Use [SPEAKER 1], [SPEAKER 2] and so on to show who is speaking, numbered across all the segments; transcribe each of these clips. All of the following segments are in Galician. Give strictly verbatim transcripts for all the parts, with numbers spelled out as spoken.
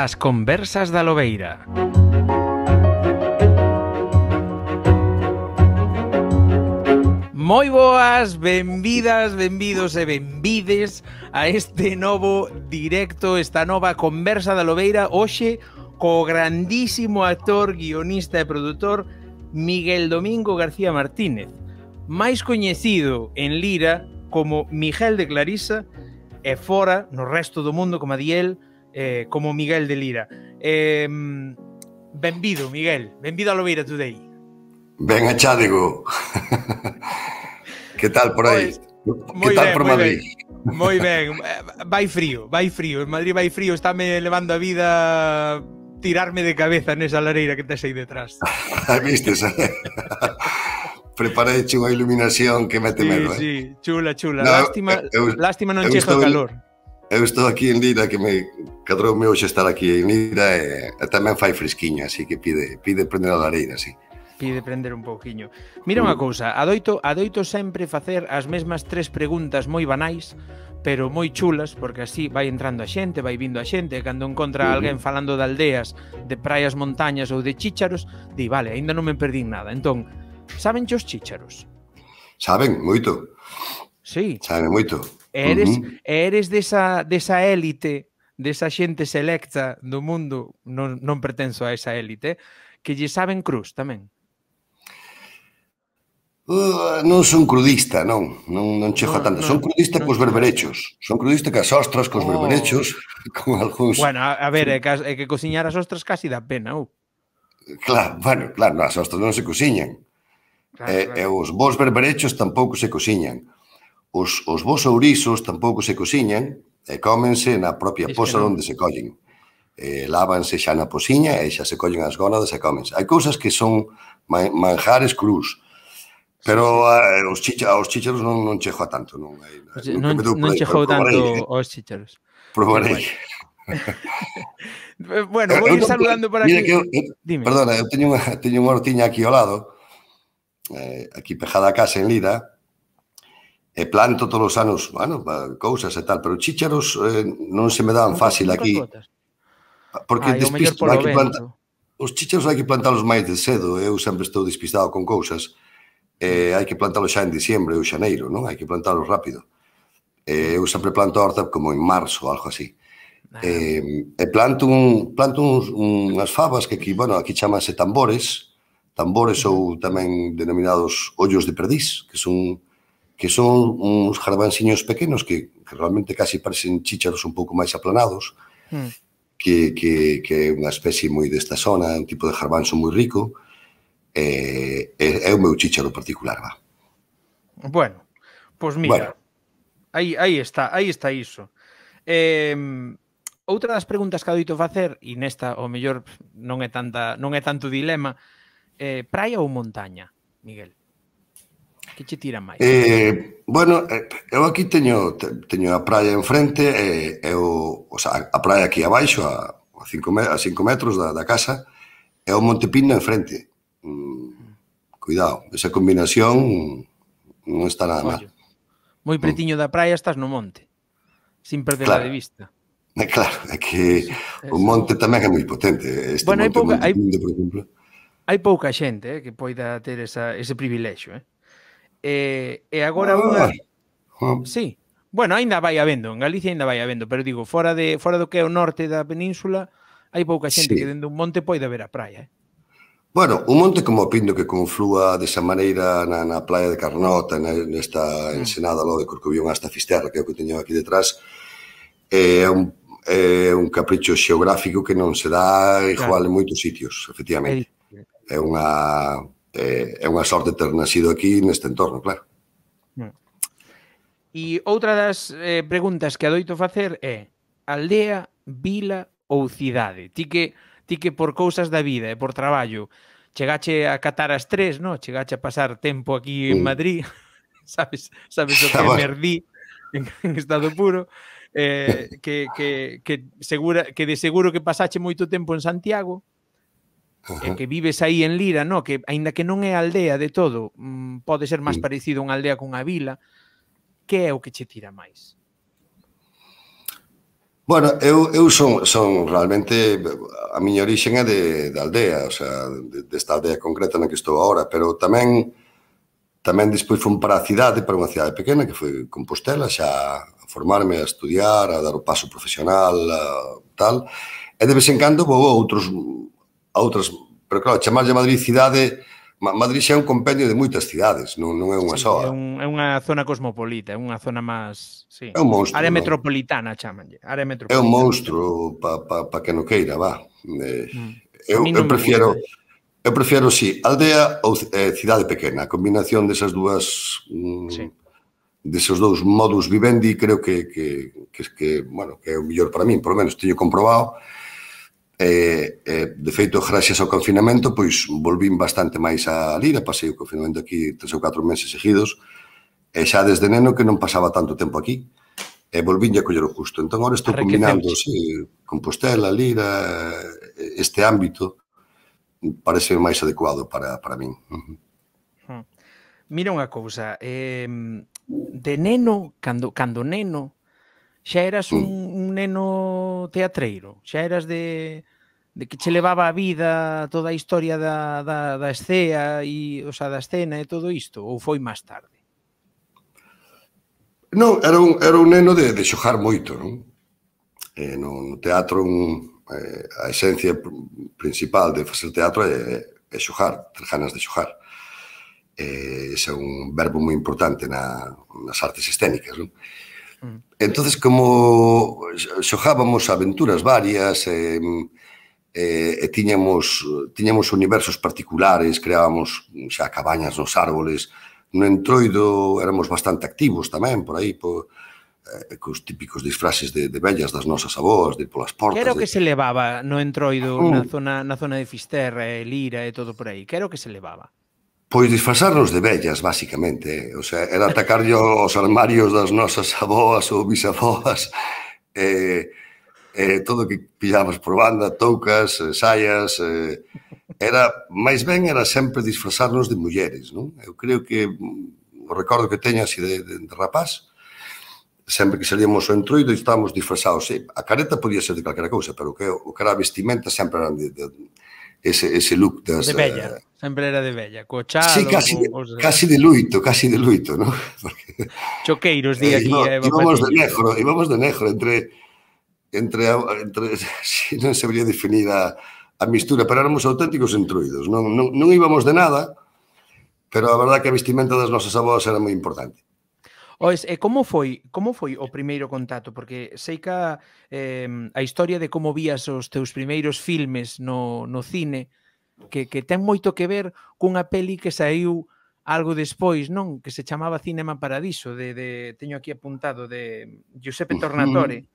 [SPEAKER 1] As conversas da Lobeira. Moi boas, benvidas, benvidos e benvides a este novo directo, esta nova conversa da Lobeira, hoxe co grandísimo actor, guionista e produtor Miguel Domingo García Martínez, máis coñecido en Lira como Miguel de Clarisa e fora, no resto do mundo, como a Diel, eh, como Miguel de Lira. Eh, benvido, Miguel, benvido a Lobeira Today.
[SPEAKER 2] Ben achádego. Que tal por aí?
[SPEAKER 1] Moi
[SPEAKER 2] que tal
[SPEAKER 1] ben,
[SPEAKER 2] por Madrid?
[SPEAKER 1] Ben. Moi ben, vai frío, vai frío. En Madrid vai frío, estáme levando a vida tirarme de cabeza nesa lareira que tes aí detrás.
[SPEAKER 2] Vistes? Preparei unha iluminación que mete
[SPEAKER 1] sí,
[SPEAKER 2] medo, eh?
[SPEAKER 1] Sí, chula, chula.
[SPEAKER 2] No,
[SPEAKER 1] lástima,
[SPEAKER 2] eu,
[SPEAKER 1] lástima non chega o calor.
[SPEAKER 2] Eu estou aquí en Lira, que me cadroume hoxe estar aquí en Lira e, e tamén fai fresquiña, así que pide, pide prender a lareira, así.
[SPEAKER 1] Pide prender un pouquiño. Mira unha cousa, adoito, adoito sempre facer as mesmas tres preguntas moi banais, pero moi chulas, porque así vai entrando a xente, vai vindo a xente, e cando encontra uh-huh. alguén falando de aldeas, de praias, montañas ou de chícharos, di, vale, aínda non me perdín nada. Entón, saben os chícharos?
[SPEAKER 2] Saben, moito.
[SPEAKER 1] Sí.
[SPEAKER 2] Saben moito.
[SPEAKER 1] Eres,
[SPEAKER 2] uh-huh.
[SPEAKER 1] eres desa, desa élite, desa xente selecta do mundo, non, non pertenzo a esa élite, que lle saben cruz tamén.
[SPEAKER 2] Uh, non son crudista, non, non, non chego no, a tanto. No, son crudista no, cos berberechos. Son crudista cas ostras, cos oh. berberechos, con algúns...
[SPEAKER 1] Bueno, a, a ver, é que, é que cociñar as ostras casi dá pena, ou?
[SPEAKER 2] Uh. Claro, bueno, claro, as ostras non se cociñan. Claro, e, claro. E os bons berberechos tampouco se cociñan. Os, os bons ourisos tampouco se cociñan e cómense na propia es posa onde se collen. Eh, lávanse xa na posiña e xa se collen as gónadas e cómense. Hai cousas que son manjares crus. Pero sí, sí. Uh, os, chicha, os chícharos non, non chego a tanto. Non,
[SPEAKER 1] pues non, non chegou tanto os chícharos.
[SPEAKER 2] Probarei.
[SPEAKER 1] Bueno, vou ir saludando por aquí.
[SPEAKER 2] Eu, eu, Dime. Perdona, eu teño unha, teño unha hortiña aquí ao lado, eh, aquí pejada a casa en Lira, e planto todos os anos, bueno, cousas e tal, pero chícharos eh, non se me dan fácil aquí. Porque
[SPEAKER 1] Ay,
[SPEAKER 2] despisto, hai que plantar, os chícharos hai que plantalos máis de cedo, eu sempre estou despistado con cousas. Eh, hai que plantalo xa en diciembre ou xaneiro, non? Hai que plantalo rápido. Eh, eu sempre planto a horta como en marzo, algo así. Eh, e planto, un, planto uns, unhas fabas que aquí, bueno, aquí chamanse tambores, tambores ou tamén denominados ollos de perdiz, que son que son uns garbanciños pequenos que, que realmente casi parecen chícharos un pouco máis aplanados, mm. que, que, que é unha especie moi desta zona, un tipo de garbanzo moi rico. É, é, é o meu chícharo particular, va.
[SPEAKER 1] Bueno, pois pues mira, bueno. aí, aí está, aí está iso. Eh, outra das preguntas que adoito facer, e nesta o mellor non é tanta, non é tanto dilema, eh, praia ou montaña, Miguel? Que che tira máis?
[SPEAKER 2] Eh, bueno, eu aquí teño teño a praia enfrente e, e o, o sea, a praia aquí abaixo, a, a, cinco, a cinco metros da, da casa, e o Monte Pino enfrente. Mm, cuidado, esa combinación non está nada mal.
[SPEAKER 1] Moi pretiño mm. da praia estás no monte, sin perderla claro. de vista.
[SPEAKER 2] É claro, é que eso, o monte eso. Tamén é moi potente. Este
[SPEAKER 1] bueno,
[SPEAKER 2] monte,
[SPEAKER 1] hai pouca,
[SPEAKER 2] monte
[SPEAKER 1] hai,
[SPEAKER 2] Pindo, por exemplo.
[SPEAKER 1] Hai pouca xente eh, que poida ter esa, ese privilexio. Eh? E, e agora unha...
[SPEAKER 2] Ah.
[SPEAKER 1] Sí, bueno, ainda vai habendo, en Galicia ainda vai habendo, pero digo, fora, de, fora do que é o norte da península, hai pouca xente sí. que dende un monte poida ver a praia, eh?
[SPEAKER 2] Bueno, un monte como o Pindo que conflúa desa maneira na, na playa de Carnota, nesta ensenada mm. logo de Corcobión hasta Fisterra, que é o que teño aquí detrás, é un, é un capricho xeográfico que non se dá igual claro. en moitos sitios, efectivamente. É unha, é, é unha sorte ter nacido aquí neste entorno, claro.
[SPEAKER 1] Mm. E outra das eh, preguntas que adoito facer é aldea, vila ou cidade? Ti que... ti que por cousas da vida e por traballo chegache a catar as tres, no? Chegache a pasar tempo aquí en Madrid, sabes, sabes o que é Merdí en, en estado puro, eh, que, que, que, segura, que de seguro que pasache moito tempo en Santiago, e que vives aí en Lira, no? Que aínda que non é aldea de todo, mmm, pode ser máis parecido a unha aldea cunha vila, que é o que che tira máis?
[SPEAKER 2] Bueno, eu, eu son, son realmente, a miña origen é de, de aldea, o sea, de, desta aldea concreta na que estou agora, pero tamén tamén despois fui para a cidade, para unha cidade pequena, que foi Compostela, xa a formarme, a estudiar, a dar o paso profesional, a, tal, e de vez en cando vou a outros, a outras, pero claro, chamarlle Madrid cidade, Madrid xa é un compendio de moitas cidades, non, non é unha
[SPEAKER 1] Sí, é,
[SPEAKER 2] soa.
[SPEAKER 1] un, é unha zona cosmopolita, é unha zona máis... Sí.
[SPEAKER 2] É un monstro,
[SPEAKER 1] Área
[SPEAKER 2] non?
[SPEAKER 1] metropolitana, chamanlle. Área
[SPEAKER 2] É un
[SPEAKER 1] metropolitana.
[SPEAKER 2] monstro pa, pa, pa que non queira, va. Eh,
[SPEAKER 1] Mm. A
[SPEAKER 2] eu,
[SPEAKER 1] mí
[SPEAKER 2] eu
[SPEAKER 1] non me
[SPEAKER 2] prefiero...
[SPEAKER 1] gusta.
[SPEAKER 2] Eu prefiero, sí, aldea ou eh, cidade pequena. A combinación desas dúas...
[SPEAKER 1] Sí.
[SPEAKER 2] Mm, deses dous modus vivendi creo que, que, que, que, bueno, que é o mellor para min, por lo menos teño comprobado. E, e, de feito, gracias ao confinamento, pois volvín bastante máis a Lira, pasei o confinamento aquí tres ou catro meses seguidos, e xa desde neno que non pasaba tanto tempo aquí, e volvín a coller o justo. Entón, agora estou combinando, sí, Compostela, Lira, este ámbito, parece máis adecuado para, para min.
[SPEAKER 1] Uh-huh. Mira unha cousa, eh, de neno, cando, cando neno, xa eras un, un neno teatreiro, xa eras de, de que che levaba a vida toda a historia da, da, da escea e, o sea, da escena e todo isto, ou foi máis tarde?
[SPEAKER 2] Non, era un, era un neno de, de xogar moito, non? Eh, no, no teatro un, eh, a esencia principal de facer teatro é, é xogar, ter ganas de xogar. Eh, ese é un verbo moi importante na, nas artes escénicas, non? Entonces, como xogábamos aventuras varias, e, e, e tiñamos, tiñamos universos particulares, creábamos xa cabañas nos árboles, no Entroido éramos bastante activos tamén, por aí, por, eh, cos típicos disfraces de, de vellas das nosas avós, de ir polas portas.
[SPEAKER 1] Que era o que
[SPEAKER 2] de...
[SPEAKER 1] se levaba no Entroido, na zona, na zona de Fisterra, e Lira e todo por aí? Que era o que se levaba?
[SPEAKER 2] Pois disfrazarnos de vellas, basicamente. O sea, era atacarlle os armarios das nosas avós ou bisavós, eh, eh, todo o que pillamos por banda, toucas, eh, saias... Eh, era, máis ben, era sempre disfrazarnos de mulleres, non? Eu creo que, o recordo que teño así de, de, de rapaz, sempre que salíamos ao Entroido estábamos disfrazados. Sí, a careta podía ser de calquera cousa, pero o que, o que era a vestimenta sempre eran de... de ese, ese look das...
[SPEAKER 1] De bella, uh, sempre era de bella, co chalo...
[SPEAKER 2] Sí, casi,
[SPEAKER 1] con,
[SPEAKER 2] de, casi de luito, casi de luito, ¿no? Porque,
[SPEAKER 1] choqueiros, di aquí,
[SPEAKER 2] eh,
[SPEAKER 1] Eva
[SPEAKER 2] íbamos
[SPEAKER 1] Patiño.
[SPEAKER 2] de negro, íbamos de negro, entre... entre, entre si non sabría definir a, a mistura, pero éramos auténticos entruidos, non, non, non íbamos de nada, pero a verdad que a vestimenta das nosas avós era moi importante.
[SPEAKER 1] Ois, e como foi, como foi o primeiro contacto? Porque sei que eh, a historia de como vías os teus primeiros filmes no, no cine, que, que ten moito que ver cunha peli que saiu algo despois, non? Que se chamaba Cinema Paradiso, de, de teño aquí apuntado, de Giuseppe Tornatore,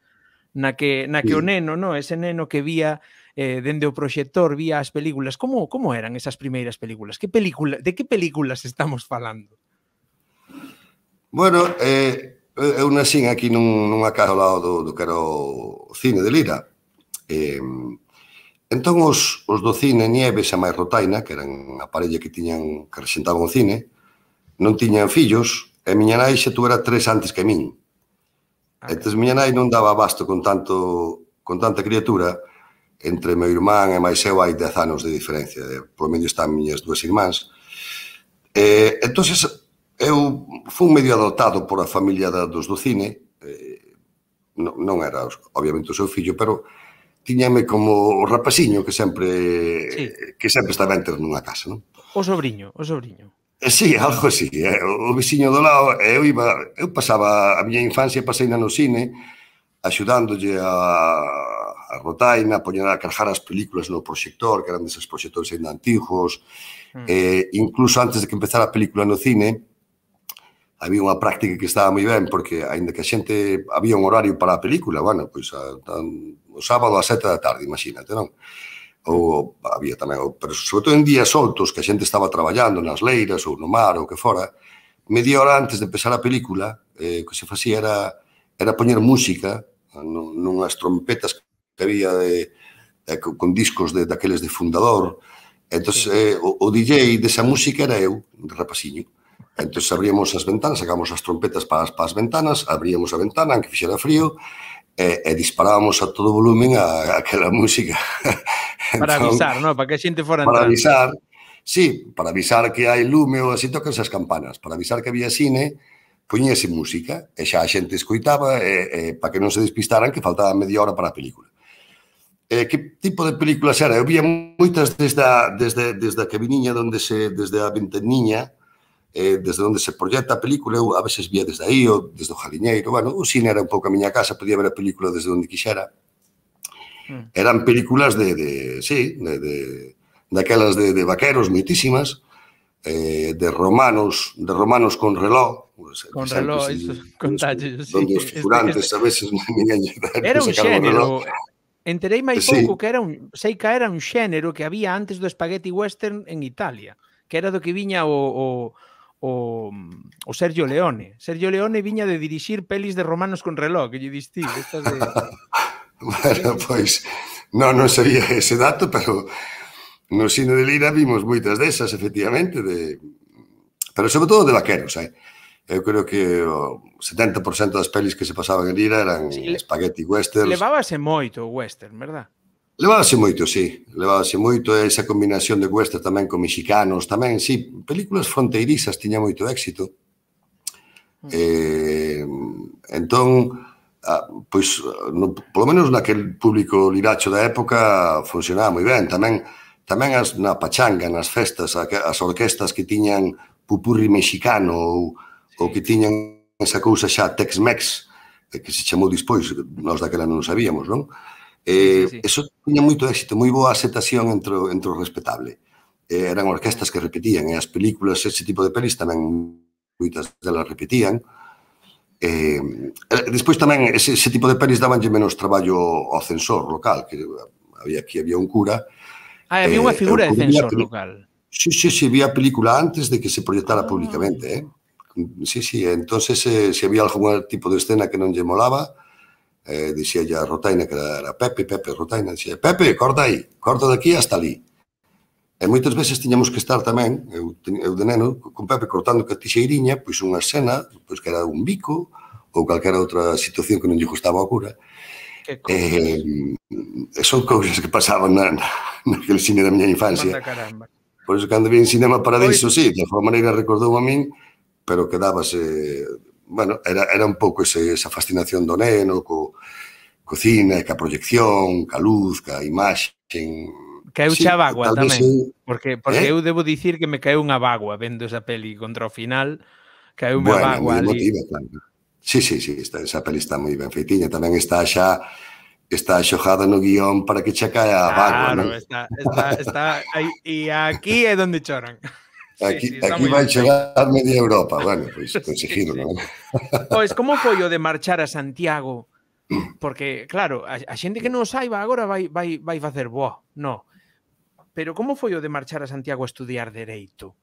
[SPEAKER 1] na que, na que o neno, non? Ese neno que vía eh, dende o proxector, vía as películas. Como, como eran esas primeiras películas? Que película, de que películas estamos falando?
[SPEAKER 2] Bueno, eh, eu nascín aquí nun, nunha casa ao lado do, do que era o cine de Lira. Eh, entón, os, os do cine Nieves e máis Rotaina, que eran a parella que tiñan que rexentaban o cine, non tiñan fillos, e miña nai xa tuvera tres antes que min. Ah, entón, miña nai non daba abasto con tanto con tanta criatura. Entre meu irmán e máis eu hai dez anos de diferencia. Por medio están miñas dúas irmáns. Eh, entón, eu fui medio adoptado por a familia da, dos do cine, eh, non, non era obviamente o seu fillo, pero tiñame como o rapaciño que sempre sí. que sempre estaba entre nunha casa, non?
[SPEAKER 1] O sobrinho, o sobrinho.
[SPEAKER 2] Eh, sí, algo así, eh, o veciño do lado, eu iba, eu pasaba a miña infancia, pasei no cine, axudándolle a, a Rotaina, a poñer a cargar as películas no proxector, que eran deses proxectores ainda antigos, mm. eh, incluso antes de que empezara a película no cine, había unha práctica que estaba moi ben, porque, aínda que a xente, había un horario para a película, bueno, pois, a, a, o sábado a sete da tarde, imagínate, non? Ou había tamén, pero sobre todo en días soltos, que a xente estaba traballando nas leiras, ou no mar, ou que fora, media hora antes de empezar a película, eh, o que se facía era, era poñer música, nunhas trompetas que había de, de, con discos de, daqueles de Fundador, entón, eh, o, o D J desa música era eu, de rapaciño. Entón, abríamos as ventanas, sacamos as trompetas para as, para as ventanas, abríamos a ventana, aunque fixera frío, e, e disparábamos a todo volumen a, a aquela música.
[SPEAKER 1] Para
[SPEAKER 2] Entón,
[SPEAKER 1] avisar, non? Para que a xente fora
[SPEAKER 2] para
[SPEAKER 1] entrando.
[SPEAKER 2] avisar, sí, para avisar que hai lume ou así tocan as campanas, para avisar que había cine, poñíase música, e xa a xente escoitaba, e, e para que non se despistaran que faltaba media hora para a película. Eh, que tipo de películas era? Eu vía moitas desde a, desde, desde a cabiniña donde se, desde a ventaniña, eh, desde onde se proyecta a película, eu a veces vía desde aí, ou desde o Jaliñeiro, bueno, o cine era un pouco a miña casa, podía ver a película desde onde quixera. Mm. Eran películas de, de sí, de, de, daquelas de, de vaqueros moitísimas, eh, de romanos, de romanos con reloj, pues,
[SPEAKER 1] con reloj, iso, con talles,
[SPEAKER 2] donde os figurantes a veces ninguén
[SPEAKER 1] era un xénero. Enterei máis pouco
[SPEAKER 2] sí.
[SPEAKER 1] que era un, sei que era un xénero que había antes do spaghetti western en Italia, que era do que viña o, o, o, o Sergio Leone. Sergio Leone viña de dirixir pelis de romanos con reloj, que lle distí, estas de...
[SPEAKER 2] Bueno, pois, non, non sabía ese dato, pero no cine de Lira vimos moitas desas, efectivamente, de... pero sobre todo de vaqueros, eh? Eu creo que o setenta por cento das pelis que se pasaban en Lira eran sí, spaghetti westerns.
[SPEAKER 1] Levábase moito o western, verdad?
[SPEAKER 2] Levábase moito, sí. Levábase moito esa combinación de western tamén con mexicanos, tamén, sí. Películas fronteirizas tiña moito éxito. Mm. Eh, entón, ah, pois, no, polo menos naquel público liracho da época funcionaba moi ben. Tamén, tamén as, na pachanga, nas festas, as orquestas que tiñan pupurri mexicano ou ou que tiñan esa cousa xa Tex-Mex, que se chamou dispois, nós daquela non sabíamos, non? Eh, sí, sí, sí. Eso tiña moito éxito, moi boa aceptación entre, entre o respetable. Eh, eran orquestas que repetían, e as películas, ese tipo de pelis tamén moitas delas repetían. Eh, despois tamén, ese, ese tipo de pelis dabanlle menos traballo ao censor local, que había, aquí había un cura.
[SPEAKER 1] Ah, había unha figura eh, de censor local.
[SPEAKER 2] Sí, sí, sí, había película antes de que se proyectara ah. públicamente, eh? Sí, sí, entonces eh, se había algún tipo de escena que non lle molaba, eh, dixía ya a Rotaina que era, era Pepe, Pepe, Rotaina, dixía, Pepe, corta aí, corta daqui hasta ali. E moitas veces tiñamos que estar tamén, eu, eu de neno, con Pepe cortando que a tixeiriña, pois unha escena, pois que era un bico, ou calquera outra situación que non lle gustaba ao cura. Eh, son cousas que pasaban na, na, naquele cine da miña infancia. Por iso, cando vi en Cinema Paradiso, sí, de alguma maneira recordou a min, pero quedábase, bueno, era, era un pouco ese, esa fascinación do neno, co, co cine, ca proyección, ca luz, ca imaxe.
[SPEAKER 1] Caeu xa a bagua tamén, sí. porque, porque eh? eu debo dicir que me caeu unha bagua vendo esa peli contra o final, caeu unha
[SPEAKER 2] bueno,
[SPEAKER 1] bagua ali.
[SPEAKER 2] Emotiva, claro. Sí, sí, sí, esta, esa peli está moi ben feitiña, tamén está xa está xojada no guión para que xa caia a bagua,
[SPEAKER 1] claro,
[SPEAKER 2] non?
[SPEAKER 1] está, está, está aí, e aquí é donde choran.
[SPEAKER 2] Aquí,
[SPEAKER 1] sí, sí,
[SPEAKER 2] aquí vai chegar media Europa, bueno, pois pues, conseguido, sí, sí. Non?
[SPEAKER 1] Pois, como foi o de marchar a Santiago? Porque, claro, a, a xente que non saiba agora vai, vai, vai facer boa, no. Pero como foi o de marchar a Santiago a estudiar Dereito?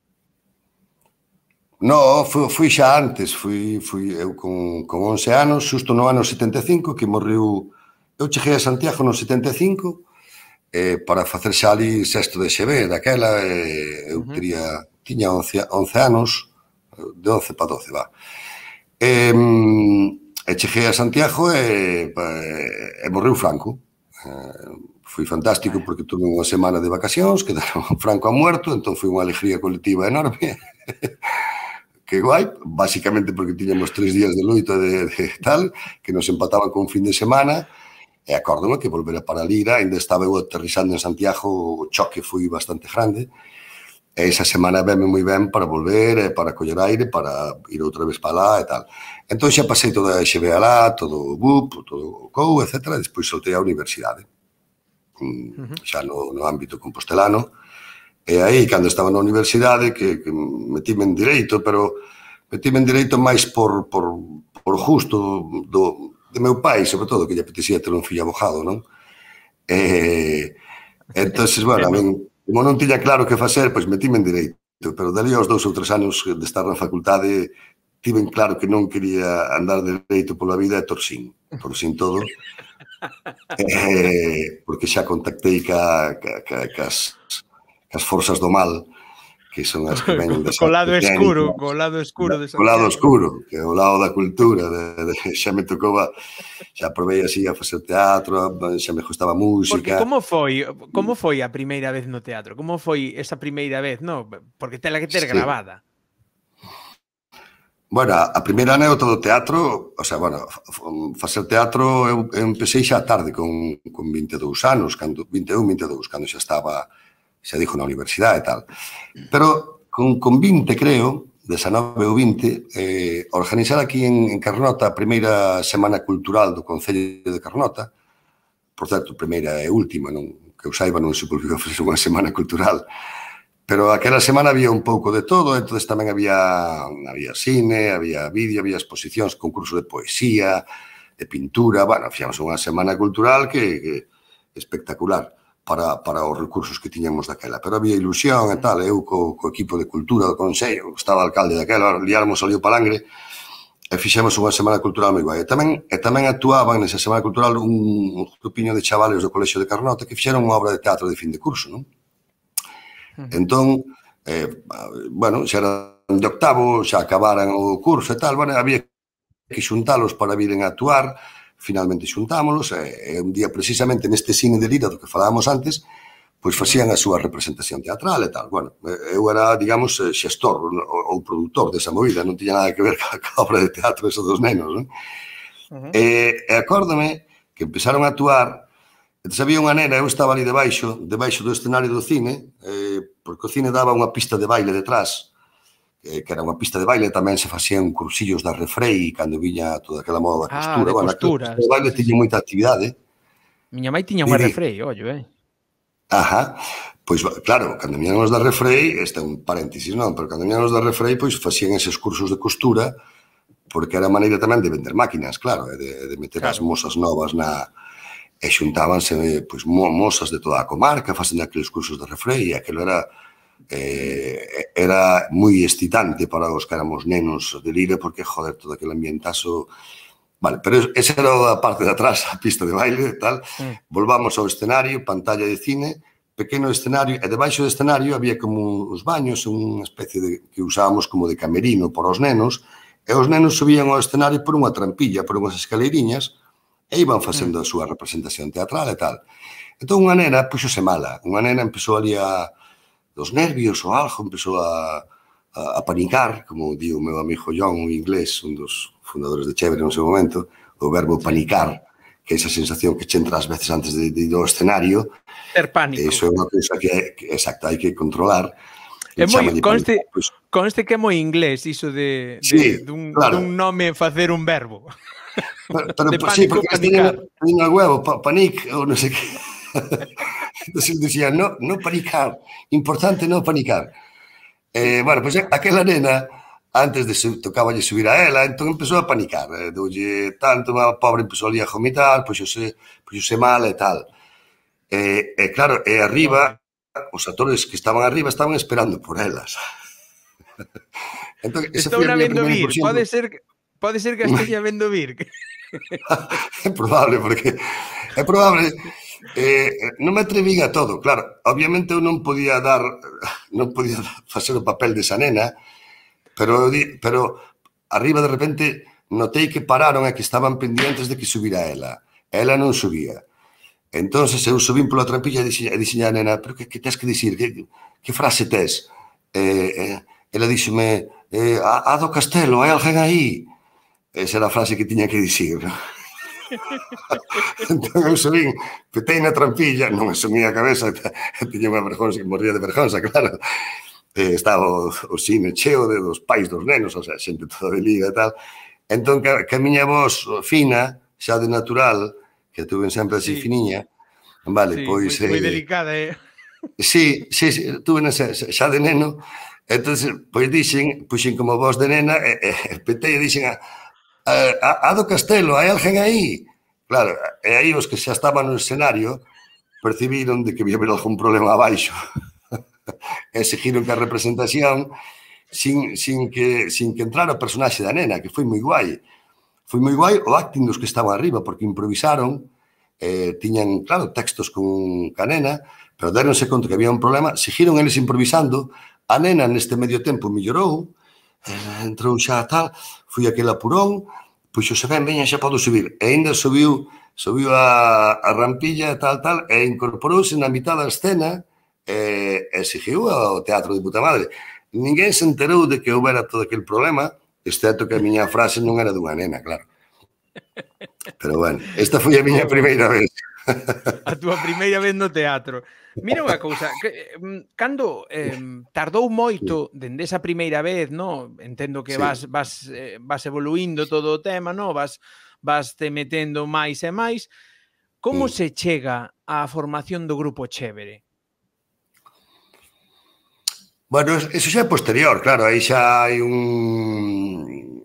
[SPEAKER 2] No, fui, fui xa antes, fui, fui eu con, con once anos, xusto no ano setenta e cinco, que morreu, eu cheguei a Santiago no setenta e cinco, eh, para facer xa ali sexto de X B, daquela, eh, eu uh -huh. teria, tiña once, once anos, de once para doce, va. E, e cheguei a Santiago e, e, e morreu Franco. Eh, foi fantástico porque tuve unha semana de vacacións, quedaron Franco a muerto, entón foi unha alegría colectiva enorme. Que guai, basicamente porque tiñamos tres días de loito de, de tal, que nos empataban con un fin de semana, e acórdome que volver para Lira, ainda estaba eu aterrizando en Santiago, o choque foi bastante grande, e esa semana venme moi ben para volver, para coller aire, para ir outra vez para lá e tal. Entón xa pasei toda a X B alá, todo o B U P, todo o C O U, etcétera, e despois soltei a universidade, xa no, no ámbito compostelano. E aí, cando estaba na universidade, que, que metíme en Dereito, pero metíme en Dereito máis por, por, por justo do, de meu pai, sobre todo, que lle apetecía ter un fillo abogado, non? E, entonces, bueno, a min, como non tiña claro que facer, pois metíme en Dereito, pero dali aos dous ou tres anos de estar na facultade, tiven claro que non quería andar de Dereito pola vida e torcín, torcín todo, eh, porque xa contactei ca, ca, ca, cas, as forzas do mal, que son as que veñen das
[SPEAKER 1] Co lado
[SPEAKER 2] artes
[SPEAKER 1] escuro,
[SPEAKER 2] escénicas,
[SPEAKER 1] co lado escuro de
[SPEAKER 2] o lado
[SPEAKER 1] Santiago.
[SPEAKER 2] oscuro, que é o lado da cultura, de, de, xa me tocou, xa provei así a facer teatro, xa me gustaba
[SPEAKER 1] Porque
[SPEAKER 2] música.
[SPEAKER 1] como foi, como foi a primeira vez no teatro? Como foi esa primeira vez, no? Porque tela que ter
[SPEAKER 2] Sí.
[SPEAKER 1] grabada.
[SPEAKER 2] Bueno, a primeira anécdota do teatro, o sea, bueno, facer teatro eu, eu empecé xa tarde, con, con vinte e dous anos, cando, vinte e un, vinte e dous, cando xa estaba, xa dixo, na universidade e tal. Pero con, con vinte, creo, dezenove ou vinte, eh, organizar aquí en, en Carnota a primeira Semana Cultural do Concello de Carnota, por certo, primeira e última, non, que eu saiba, non se volviu a facer unha semana cultural, pero aquela semana había un pouco de todo, entonces tamén había, había cine, había vídeo, había exposicións, concurso de poesía, de pintura, bueno, fixamos unha semana cultural que, que espectacular para, para os recursos que tiñamos daquela, pero había ilusión e tal, eu co, co equipo de cultura do Consello, estaba alcalde daquela, liáramos ali o palangre, e fixemos unha semana cultural moi guai. E tamén, e tamén actuaban nesa semana cultural un, un grupiño de chavales do Colexio de Carnota que fixeron unha obra de teatro de fin de curso, non? Entón, eh, bueno, xa eran de octavo, xa acabaran o curso e tal, bueno, había que xuntalos para viren a actuar, finalmente xuntámolos, e, e un día precisamente neste cine de Lira do que falábamos antes, pois facían a súa representación teatral e tal. Bueno, eu era, digamos, xestor ou produtor desa movida, non tiña nada que ver ca obra de teatro esos dos nenos, non? Uh-huh. E, e acórdame que empezaron a actuar. Entón, había unha nena, eu estaba ali debaixo, debaixo do escenario do cine, eh, porque o cine daba unha pista de baile detrás, eh, que era unha pista de baile, tamén se facían cursillos da Refrei, cando viña toda aquela moda da costura.
[SPEAKER 1] Ah, de
[SPEAKER 2] bueno,
[SPEAKER 1] costura.
[SPEAKER 2] A pista de baile tiña moita actividade.
[SPEAKER 1] Miña mãe tiña unha Refrei, ollo, eh.
[SPEAKER 2] Ajá, pois, claro, cando viñan os da Refrei, este é un paréntesis, non, pero cando viñan os da Refrei, pois facían eses cursos de costura, porque era a maneira tamén de vender máquinas, claro, de, de meter claro. as mozas novas na... e xuntábanse pois, mozas de toda a comarca facendo aqueles cursos de Refrei, e aquilo era eh, era moi excitante para os que éramos nenos de Lira, porque, joder, todo aquele ambientazo... Vale, pero esa era a parte de atrás, a pista de baile e tal. Mm. Volvamos ao escenario, pantalla de cine, pequeno escenario, e debaixo do escenario había como uns baños, unha especie de que usábamos como de camerino para os nenos, e os nenos subían ao escenario por unha trampilla, por unhas escaleiriñas, e iban facendo a súa representación teatral e tal. Entón, unha nena puxose mala. Unha nena empezou ali a... dos nervios ou algo, empezou a, a, a panicar, como di o meu amigo John, un inglés, un dos fundadores de Chévere no seu momento, o verbo panicar, que é esa sensación que che entra ás veces antes de, de ir ao escenario.
[SPEAKER 1] Ter pánico.
[SPEAKER 2] Eso é unha cousa que, que exacto, hai que controlar.
[SPEAKER 1] É moi, conste, pues, conste que é moi inglés iso de, de, sí, dun, claro. dun nome facer un verbo.
[SPEAKER 2] Pero, pero de pánico, sí, porque panicar. Teño huevo, pa, panic, ou non sei que. Entonces dicía, no, no panicar, importante no panicar. Eh, bueno, pois pues, aquela nena, antes de su, tocaballe subir a ela, entón empezou a panicar. Eh, doulle tanto, a pobre empezou ali a vomitar, pois xose, pois xose mal e tal. E, eh, claro, e arriba, os actores que estaban arriba estaban esperando por elas.
[SPEAKER 1] Entón, estou na vendo vir, pode ser, pode ser que esteña vendo vir.
[SPEAKER 2] É probable, porque é probable, eh, non me atrevín a todo, claro, obviamente eu non podía dar, non podía facer o papel desa nena, pero, pero arriba de repente notei que pararon e que estaban pendientes de que subira ela, ela non subía. Entonces eu subín pola trampilla e dixen a nena, pero que, que tens que dicir, que, que frase tes? Eh, eh, ela díxeme, eh, a, a do castelo, hai alguén aí? Esa era a frase que tiña que dicir, non? Entón eu subín, petei na trampilla, non asumía a cabeza, tiña unha vergonza, que morría de vergonza, claro. Eh, estaba o, o cine cheo de dos pais dos nenos, o sea, xente toda de liga e tal. Entón, que, que a miña voz fina, xa de natural, que tuve sempre así sí. finiña, vale,
[SPEAKER 1] sí,
[SPEAKER 2] pois...
[SPEAKER 1] moi, eh, moi delicada, eh?
[SPEAKER 2] Sí, sí, sí, tuve xa, xa de neno, entón, pois dixen, puxen como voz de nena, e, e petei e dixen a A, a do castelo, hai alguén aí? Claro, e aí os que xa estaban no escenario percibiron de que había haber algún problema abaixo e seguiron que a representación sin, sin, que, sin que entrara o personaxe da nena, que foi moi guai. Foi moi guai o acting dos que estaban arriba, porque improvisaron, eh, tiñan, claro, textos con a nena, pero deronse conta que había un problema, seguiron eles improvisando, A nena neste medio tempo mellorou, eh, entrou xa tal, fui aquel apurón, puxose ben, veña, xa podo subir. E ainda subiu, subiu a, a rampilla, tal, tal, e incorporouse na mitad da escena e, e seguiu ao teatro de puta madre. Ninguén se enterou de que houbera todo aquel problema, excepto que a miña frase non era dunha nena, claro. Pero, bueno, esta foi a miña primeira vez.
[SPEAKER 1] A túa primeira vez no teatro. Mira unha cousa, que, cando eh, tardou moito dende esa primeira vez, no? Entendo que sí. vas, vas, eh, vas evoluindo todo o tema, no? Vas, vas te metendo máis e máis. Como mm. se chega á formación do Grupo Chévere?
[SPEAKER 2] Bueno, eso xa é posterior, claro, aí xa hai un...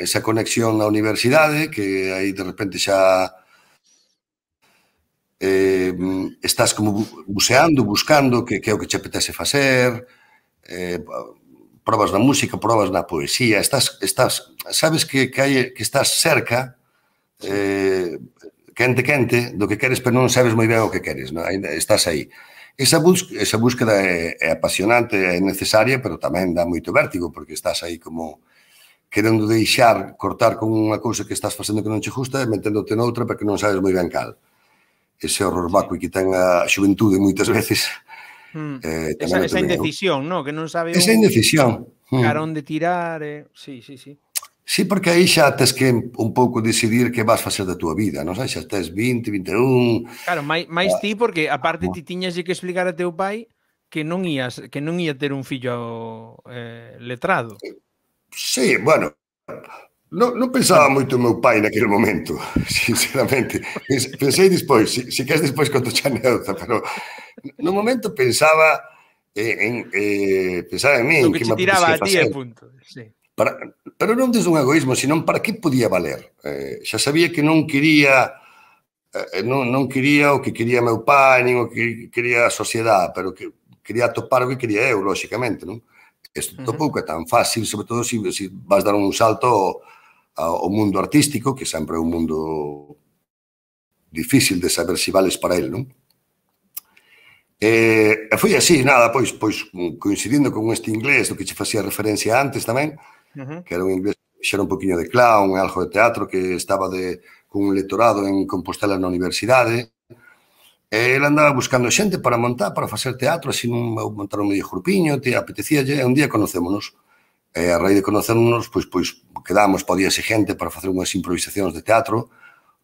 [SPEAKER 2] esa conexión na universidade, que aí de repente xa... Eh, estás como buceando, buscando que, que é o que che apetece facer, eh, probas na música, probas na poesía, estás, estás sabes que, que, hai, que estás cerca, eh, quente, quente, do que queres, pero non sabes moi ben o que queres, non? Estás aí. Esa, bus, esa búsqueda é, é apasionante, é necesaria, pero tamén dá moito vértigo, porque estás aí como querendo deixar, cortar con unha cousa que estás facendo que non che gusta e meténdote noutra porque non sabes moi ben cal. Ese horror vacui que ten a xuventude moitas veces.
[SPEAKER 1] Mm. Eh, esa, esa indecisión, ¿no? Que non sabe
[SPEAKER 2] esa
[SPEAKER 1] un...
[SPEAKER 2] indecisión.
[SPEAKER 1] Cara onde tirar. Eh... Sí, sí, sí.
[SPEAKER 2] Sí, porque aí xa tes que un pouco decidir que vas facer da túa vida, non sei, xa tes vinte, vinte e un...
[SPEAKER 1] Claro, máis, máis ti, porque aparte ti tiñas que explicar a teu pai que non ías, que non ia ter un fillo eh, letrado.
[SPEAKER 2] Sí, bueno... Non, non pensaba moito o meu pai naquele momento, sinceramente. Pensei despois, si, si queres despois conto xa anécdota, pero no momento pensaba en, eh, pensaba en min,
[SPEAKER 1] que, que me tiraba a ti e punto. Sí.
[SPEAKER 2] Para, pero non desde un egoísmo, senón para que podía valer. Eh, xa sabía que non quería eh, non, non quería o que quería meu pai, nin o que quería a sociedade, pero que quería topar o que quería eu, lóxicamente, non? Isto tampouco é tan fácil, sobre todo se si, si vas dar un salto ao mundo artístico, que sempre é un mundo difícil de saber se vales para el, non? E foi así, nada, pois, pois coincidindo con este inglés do que che facía referencia antes tamén, uh-huh. que era un inglés que xera un poquinho de clown e algo de teatro, que estaba de, con un lectorado en Compostela na universidade, e ele andaba buscando xente para montar, para facer teatro, así non montar un medio grupiño, te apetecía, e un día conocémonos. E a raíz de conocernos, pois, pois quedamos, podía ser xente para facer unhas improvisacións de teatro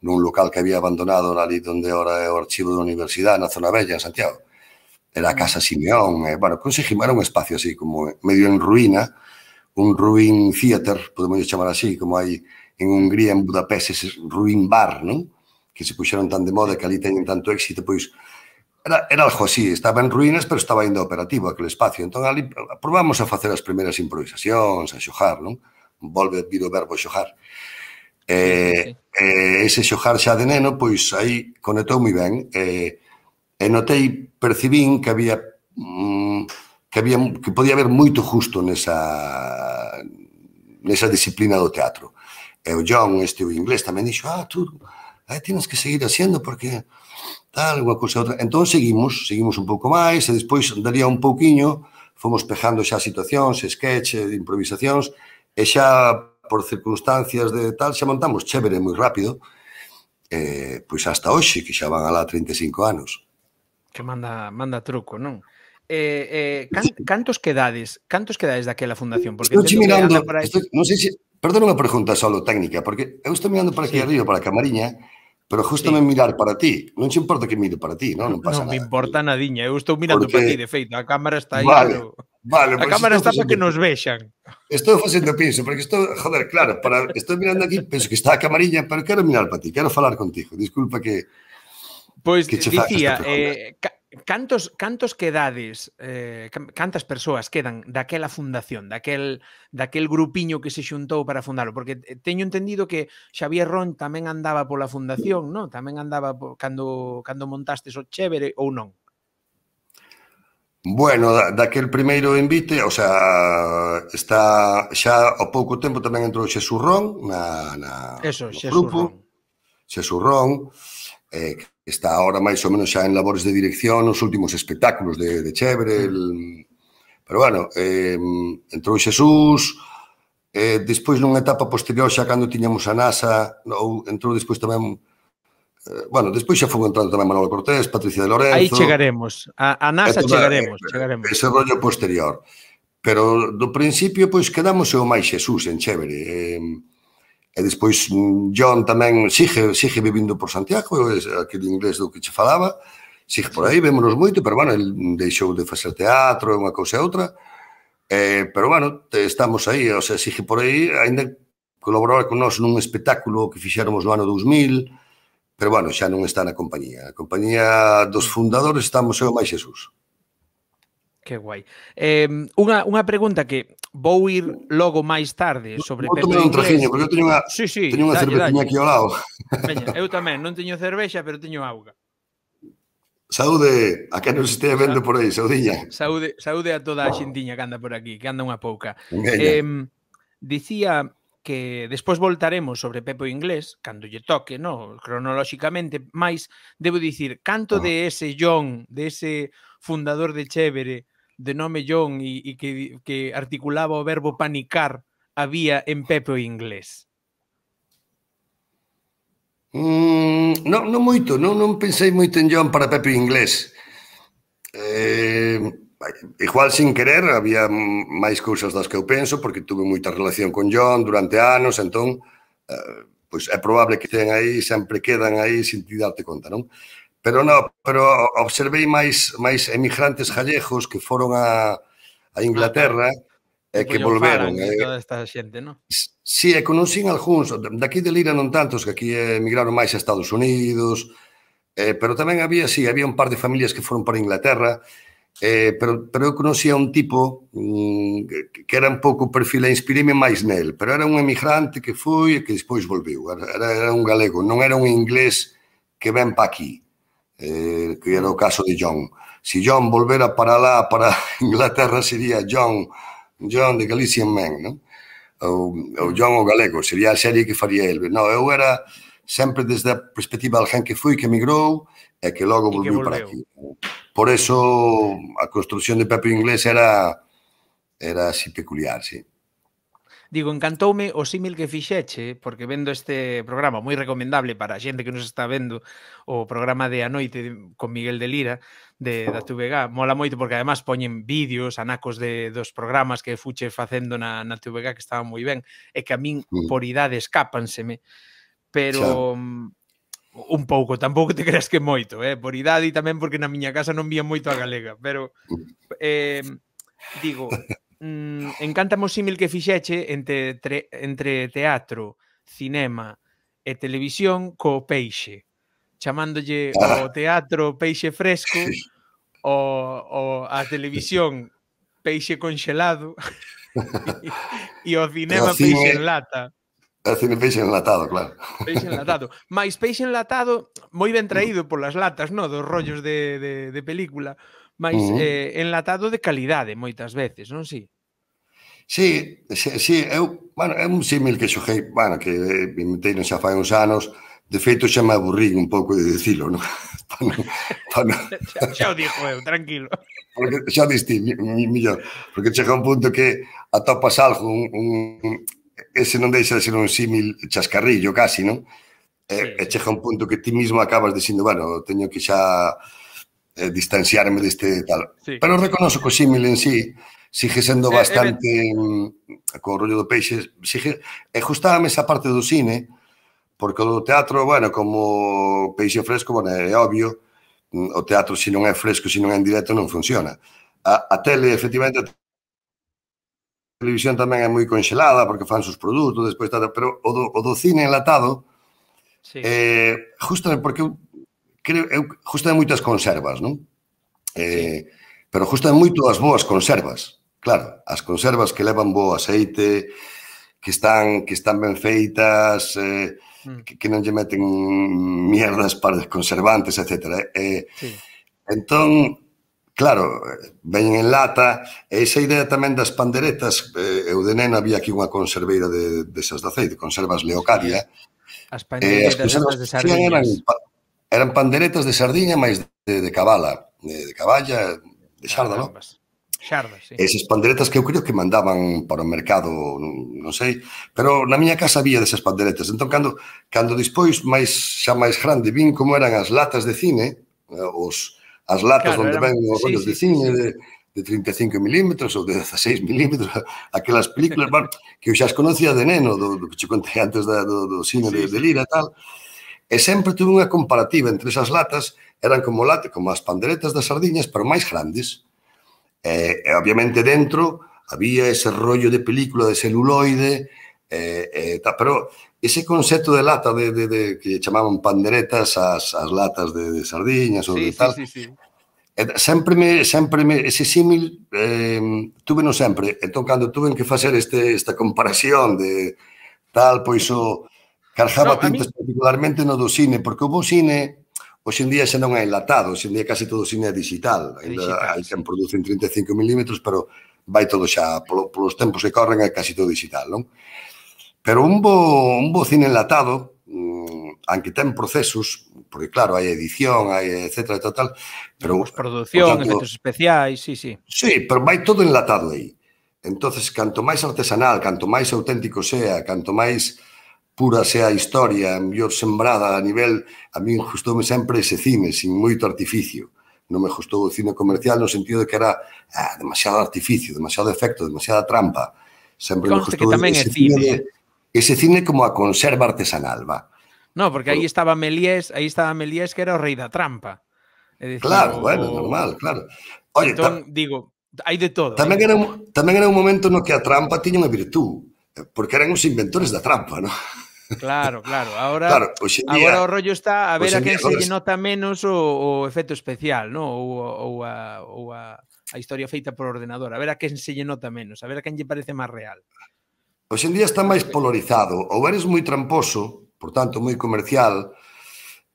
[SPEAKER 2] nun local que había abandonado ali onde ahora é o archivo da universidade, na zona bella, en Santiago. Era a Casa Simeón, e, bueno, conseguimos, era un espacio así, como medio en ruína, un ruin theater, podemos chamar así, como hai en Hungría, en Budapest, ese ruin bar, non? Que se puxeron tan de moda, que ali teñen tanto éxito, pois... Era, era algo así, estaba en ruínas, pero estaba ainda operativo aquele espacio. Entón, ali probamos a facer as primeiras improvisacións, a xojar, non? Volve vir o verbo xojar. E, e ese xojar xa de neno, pois aí conectou moi ben. E, e notei, percibín que había mm, que había que podía haber moito justo nesa nesa disciplina do teatro. E o John, este o inglés, tamén dixo, ah, tú, aí tienes que seguir haciendo porque... tal, unha cousa outra. Entón seguimos, seguimos un pouco máis, e despois daría un pouquiño, fomos pejando xa situacións, sketch, improvisacións, e xa por circunstancias de tal, xa montamos Chévere moi rápido, eh, pois hasta hoxe, que xa van alá trinta e cinco anos.
[SPEAKER 1] Que manda, manda truco, non? Eh, eh, can, cantos quedades, cantos quedades daquela fundación? Porque
[SPEAKER 2] estou mirando, aí... estou, non sei se, perdón unha pregunta solo técnica, porque eu estou mirando para aquí sí. arriba, para a camariña, pero justo sí. me mirar para ti. Non se importa que mire para ti, non? Non pasa
[SPEAKER 1] nada. Non me
[SPEAKER 2] nada.
[SPEAKER 1] importa nadiña. Eu estou mirando porque... para ti, de feito. A cámara está aí,
[SPEAKER 2] vale,
[SPEAKER 1] pero...
[SPEAKER 2] Vale,
[SPEAKER 1] a cámara está para que nos vexan.
[SPEAKER 2] Estou facendo pinso, porque estou... Joder, claro, para... estou mirando aquí, penso que está a camarilla, pero quero mirar para ti, quero falar contigo. Disculpa que...
[SPEAKER 1] Pois, pues, dicía, eh, cantos, cantos quedades, eh, cantas persoas quedan daquela fundación, daquel, daquel grupiño que se xuntou para fundalo? Porque teño entendido que Xavier Ron tamén andaba pola fundación, non? Tamén andaba po, cando, cando montastes o Chévere ou non?
[SPEAKER 2] Bueno, daquel primeiro invite, o sea, está xa ao pouco tempo tamén entrou Xesús Ron na, na,
[SPEAKER 1] Eso,
[SPEAKER 2] no
[SPEAKER 1] Xesús
[SPEAKER 2] grupo.
[SPEAKER 1] Ron.
[SPEAKER 2] Xesús Ron, eh, está ahora máis ou menos xa en labores de dirección nos últimos espectáculos de, de Chévere, el, Pero, bueno, eh, entrou Xesús, eh, despois nunha etapa posterior, xa cando tiñamos a NASA, ou entrou despois tamén, eh, bueno, despois xa foi entrando tamén Manolo Cortés, Patricia de
[SPEAKER 1] Aí
[SPEAKER 2] Lorenzo...
[SPEAKER 1] chegaremos, a, a NASA
[SPEAKER 2] toda,
[SPEAKER 1] chegaremos,
[SPEAKER 2] eh,
[SPEAKER 1] chegaremos.
[SPEAKER 2] Ese rollo posterior. Pero do principio, pois, quedamos o máis Xesús en Chévere. E, e despois John tamén sigue, sigue vivindo por Santiago, aquele inglés do que che falaba, sigue por aí, vémonos moito, pero, bueno, el deixou de facer teatro, unha cousa e outra. Eh, pero, bueno, estamos aí, o sea, sigue por aí, ainda colaborar con nós nun espectáculo que fixéramos no ano dous mil, pero, bueno, xa non está na compañía. A compañía dos fundadores estamos eu máis Xesús.
[SPEAKER 1] Que guai. Eh, unha, unha pregunta que vou ir logo máis tarde sobre
[SPEAKER 2] Vou
[SPEAKER 1] Pepe
[SPEAKER 2] tomar un
[SPEAKER 1] Inglés.
[SPEAKER 2] trajiño, porque eu teño unha,
[SPEAKER 1] sí, sí,
[SPEAKER 2] teño unha
[SPEAKER 1] dalle,
[SPEAKER 2] cerveciña
[SPEAKER 1] dalle.
[SPEAKER 2] aquí ao lado.
[SPEAKER 1] Veña, eu tamén, non teño cervexa, pero teño auga.
[SPEAKER 2] Saúde a quen nos estea vendo por aí, saudiña.
[SPEAKER 1] Saúde, saúde a toda a xintiña que anda por aquí, que anda unha pouca.
[SPEAKER 2] Veña.
[SPEAKER 1] Eh, dicía que despois voltaremos sobre Pepe Inglés, cando lle toque, no, cronolóxicamente, máis debo dicir, canto de ese John, de ese fundador de Chévere, de nome John e, e que, que articulaba o verbo panicar, había en Pepe Inglés?
[SPEAKER 2] Mm, non, non moito, non, non pensei moito en John para Pepe Inglés. Eh, igual sin querer había máis cousas das que eu penso, porque tuve moita relación con John durante anos, entón, eh, pois é probable que ten aí, sempre quedan aí sin ti darte conta, non? Pero non, pero observei máis máis emigrantes gallegos que foron a, a Inglaterra e eh, que volveron.
[SPEAKER 1] E toda esta xente, non?
[SPEAKER 2] Si, e conocín algúns, daqui de Lira non tantos, que aquí emigraron máis a Estados Unidos, eh, pero tamén había, si, había un par de familias que foron para Inglaterra, eh, pero, pero eu conocía un tipo mm, que, que era un pouco perfil, e inspiríme máis nel, pero era un emigrante que foi e que despois volveu, era, era un galego, non era un inglés que ven pa aquí, eh, que era o caso de John. Si John volvera para lá, para Inglaterra, sería John, John de Galician Man, non? Ou, ou John o galego, sería a serie que faría el. No, eu era sempre desde a perspectiva de alguén que foi, que emigrou e que logo volveu para aquí. Por eso a construción de Pepe Inglés era era así peculiar, sí.
[SPEAKER 1] Digo, encantoume o símil que fixeche, porque vendo este programa moi recomendable para a xente que nos está vendo, o programa de A Noite con Miguel de Lira, de, da T V G, mola moito porque además poñen vídeos, anacos de, dos programas que fuche facendo na, na T V G que estaban moi ben, e que a min por idade escápanseme, pero un pouco, tampouco te creas que moito, eh? Por idade e tamén porque na miña casa non vía moito a galega, pero eh, digo... Mm, encántame o símil que fixeche entre, tre, entre teatro, cinema e televisión co peixe, chamándolle ah. o teatro peixe fresco, o, o a televisión peixe conxelado e, e o cinema cine, peixe en lata.
[SPEAKER 2] O cine peixe enlatado, claro.
[SPEAKER 1] Peixe enlatado. Mais peixe enlatado moi ben traído polas latas, no, dos rollos de, de, de película, mais uh -huh. eh, enlatado de calidade moitas veces, non si?
[SPEAKER 2] Sí, sí, sí, eu, bueno, é un símil que xoguei, bueno, que inventei non xa fai uns anos, de feito xa me aburrí un pouco de dicilo, non?
[SPEAKER 1] xa, xa o dixo eu, tranquilo.
[SPEAKER 2] Porque xa diste, millor, porque chega un punto que atopas algo, un, un, ese non deixa de ser un símil chascarrillo casi, non? E, sí, e chega un punto que ti mismo acabas dicindo, bueno, teño que xa eh, distanciarme deste tal. Sí. Pero reconozo que o símil en sí sigue sendo bastante eh, eh, co rollo do peixe, sigue, e gustábame esa parte do cine, porque o teatro, bueno, como peixe fresco, bueno, é obvio, o teatro se non é fresco, se non é en directo, non funciona. A, a tele, efectivamente, a televisión tamén é moi conxelada, porque fan sus produtos, despois, pero o do, o do cine enlatado, sí. eh, justamente porque eu creo, eu justamente moitas conservas, non? Eh, sí. Pero justamente moito as boas conservas. Claro, as conservas que levan bo aceite, que están que están ben feitas, eh, mm. que, que non lle meten mierdas para conservantes, etcétera. Eh, sí. Entón, claro, veñen en lata, e esa idea tamén das panderetas, eh, eu de nena había aquí unha conserveira de, desas de aceite, conservas Leocadia.
[SPEAKER 1] As panderetas eh, as de sardiñas.
[SPEAKER 2] Eran, eran panderetas de sardiña, máis de, de cabala, de, de caballa, de xarda, non?
[SPEAKER 1] Xardas, sí.
[SPEAKER 2] Esas panderetas que eu creo que mandaban para o mercado, non sei, pero na miña casa había desas panderetas. Entón, cando, cando despois, máis, xa máis grande, vin como eran as latas de cine, os, as latas
[SPEAKER 1] Claro,
[SPEAKER 2] onde
[SPEAKER 1] eran...
[SPEAKER 2] ven os
[SPEAKER 1] sí,
[SPEAKER 2] rollos
[SPEAKER 1] sí,
[SPEAKER 2] de
[SPEAKER 1] sí,
[SPEAKER 2] cine,
[SPEAKER 1] sí.
[SPEAKER 2] de, de trinta e cinco milímetros ou de dieciséis milímetros, aquelas películas, bueno, que eu xa as conocía de neno, do, do que che contei antes da, do, do cine
[SPEAKER 1] Sí,
[SPEAKER 2] de, de
[SPEAKER 1] sí,
[SPEAKER 2] Lira
[SPEAKER 1] sí.
[SPEAKER 2] e tal, e sempre tuve unha comparativa entre esas latas, eran como late, como as panderetas das sardiñas, pero máis grandes. E, e obviamente dentro había ese rollo de película de celuloide, e, e, ta, pero ese concepto de lata de, de, de, que chamaban panderetas as, as latas de, de sardiñas ou
[SPEAKER 1] Sí,
[SPEAKER 2] de
[SPEAKER 1] sí,
[SPEAKER 2] tal,
[SPEAKER 1] sí, sí.
[SPEAKER 2] e, sempre me, sempre me, ese símil eh, tuve no sempre. Entón, cando tuve que facer este, esta comparación de tal, pois o cargaba
[SPEAKER 1] No, a
[SPEAKER 2] tintas
[SPEAKER 1] min...
[SPEAKER 2] particularmente no do cine, porque o bo cine hoxe en día xa non é enlatado, hoxe en día casi todo o cine é digital.
[SPEAKER 1] É
[SPEAKER 2] Ainda
[SPEAKER 1] digital,
[SPEAKER 2] hai
[SPEAKER 1] sí.
[SPEAKER 2] quen produce en trinta e cinco milímetros, pero vai todo xa, polo, polos tempos que corren, é casi todo digital, non? Pero un bo, un bo cine enlatado, mmm, aunque ten procesos, porque claro, hai edición, hai etcétera, tal, tal, pero, por
[SPEAKER 1] Postproducción,
[SPEAKER 2] tanto,
[SPEAKER 1] efectos especiais, sí, sí.
[SPEAKER 2] sí, pero vai todo enlatado aí. Entonces, canto máis artesanal, canto máis auténtico sea, canto máis pura sea a historia, mellor sembrada a nivel, a min gustoume sempre ese cine, sin moito artificio. Non me gustou o cine comercial no sentido de que era ah, demasiado artificio, demasiado efecto, demasiada trampa. Sempre me
[SPEAKER 1] Conste que
[SPEAKER 2] gustou
[SPEAKER 1] tamén é
[SPEAKER 2] ese cine
[SPEAKER 1] cine,
[SPEAKER 2] de,
[SPEAKER 1] eh?
[SPEAKER 2] ese cine como a conserva artesanal, va.
[SPEAKER 1] No, porque aí estaba Méliès, aí estaba Méliès que era o rei da trampa. É dicir,
[SPEAKER 2] Claro,
[SPEAKER 1] o,
[SPEAKER 2] bueno,
[SPEAKER 1] o...
[SPEAKER 2] normal, claro. Oye, ta,
[SPEAKER 1] Entón, digo, hai de todo, hai
[SPEAKER 2] tamén
[SPEAKER 1] de
[SPEAKER 2] era,
[SPEAKER 1] todo.
[SPEAKER 2] un, tamén era un momento no que a trampa tiña unha virtud, porque eran os inventores da trampa, non?
[SPEAKER 1] Claro, claro. Agora,
[SPEAKER 2] Claro, hoxe en día,
[SPEAKER 1] agora o rollo está a ver
[SPEAKER 2] hoxe
[SPEAKER 1] a
[SPEAKER 2] en día,
[SPEAKER 1] quen se
[SPEAKER 2] agora,
[SPEAKER 1] lle nota menos o, o efecto especial, ¿no? Ou, ou, a, ou a, a historia feita por ordenador. A ver a quen se lle nota menos. A ver a quen lle parece máis real.
[SPEAKER 2] hoxe en día está máis
[SPEAKER 1] Porque...
[SPEAKER 2] polarizado. Ou eres moi tramposo, por tanto moi comercial,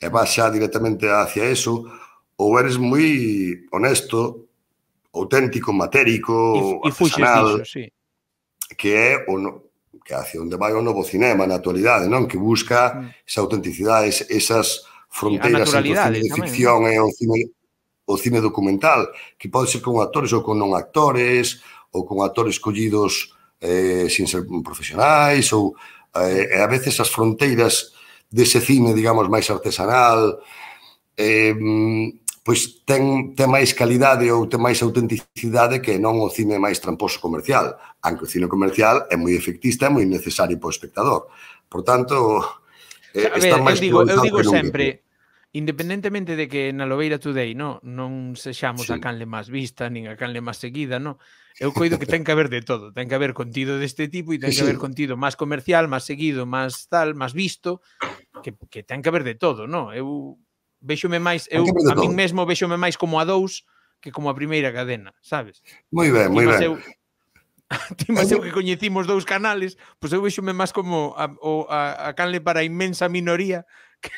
[SPEAKER 2] e vas xa directamente hacia eso, ou eres moi honesto, auténtico,
[SPEAKER 1] E,
[SPEAKER 2] matérico,
[SPEAKER 1] e fuxes
[SPEAKER 2] artesanal,
[SPEAKER 1] diso, sí.
[SPEAKER 2] que é o no, que hacia onde vai o novo cinema na actualidade, non? Que busca
[SPEAKER 1] Mm.
[SPEAKER 2] esa autenticidade, esas
[SPEAKER 1] Sí, a
[SPEAKER 2] fronteiras entre o cine
[SPEAKER 1] naturalidade
[SPEAKER 2] de
[SPEAKER 1] tamén, non?
[SPEAKER 2] ficción e o cine o cine documental, que pode ser con actores ou con non actores, ou con actores collidos eh, sin ser profesionais, ou eh, e a veces as fronteiras dese cine, digamos, máis artesanal, eh, pois ten, ten máis calidade ou ten máis autenticidade que non o cine máis tramposo comercial, aunque o cine comercial é moi efectista e moi necesario para o espectador. Por tanto, eh,
[SPEAKER 1] A
[SPEAKER 2] está
[SPEAKER 1] ver, eu
[SPEAKER 2] máis
[SPEAKER 1] digo, eu
[SPEAKER 2] polarizado
[SPEAKER 1] digo
[SPEAKER 2] que nunca.
[SPEAKER 1] sempre, independentemente de que na Lobeira Today, no, non sexamos
[SPEAKER 2] Sí.
[SPEAKER 1] a canle máis vista, nin a canle máis seguida, no, eu coido que ten que haber de todo, ten que haber contido deste tipo e ten
[SPEAKER 2] Sí,
[SPEAKER 1] que
[SPEAKER 2] sí.
[SPEAKER 1] haber contido máis comercial, máis seguido, máis tal, máis visto, que, que ten que haber de todo, no? Eu véxome máis,
[SPEAKER 2] Ten que
[SPEAKER 1] eu
[SPEAKER 2] haber de
[SPEAKER 1] a min
[SPEAKER 2] todo.
[SPEAKER 1] mesmo véxome máis como a dous que como a primeira cadena, sabes?
[SPEAKER 2] Moi ben, moi
[SPEAKER 1] Timas
[SPEAKER 2] ben.
[SPEAKER 1] eu, timas eu que coñecimos dous canales, pois eu véxome máis como a, o, a, a canle para a inmensa minoría que,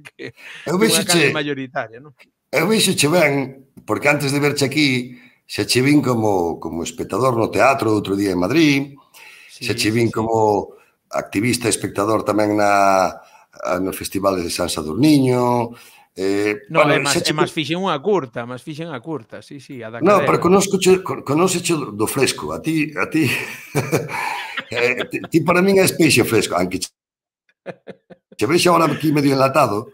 [SPEAKER 1] que,
[SPEAKER 2] Eu
[SPEAKER 1] que unha canle
[SPEAKER 2] vexoche,
[SPEAKER 1] mayoritaria, non?
[SPEAKER 2] eu vexoche ben, porque antes de verche aquí, xa che vin como, como espectador no teatro outro día en Madrid, xa
[SPEAKER 1] Sí,
[SPEAKER 2] che
[SPEAKER 1] sí,
[SPEAKER 2] vin
[SPEAKER 1] sí.
[SPEAKER 2] como activista e espectador tamén na, no Festival de San Sadurniño. Eh,
[SPEAKER 1] No,
[SPEAKER 2] bueno,
[SPEAKER 1] é máis,
[SPEAKER 2] xa
[SPEAKER 1] é
[SPEAKER 2] che...
[SPEAKER 1] máis fixen unha curta, máis fixen a curta, sí, sí, a da
[SPEAKER 2] No, pero
[SPEAKER 1] cadela.
[SPEAKER 2] conóscoche, conóseche do fresco. A ti, a ti, eh, ti, ti para min és peixe fresco, aunque che, che vexe agora aquí medio enlatado,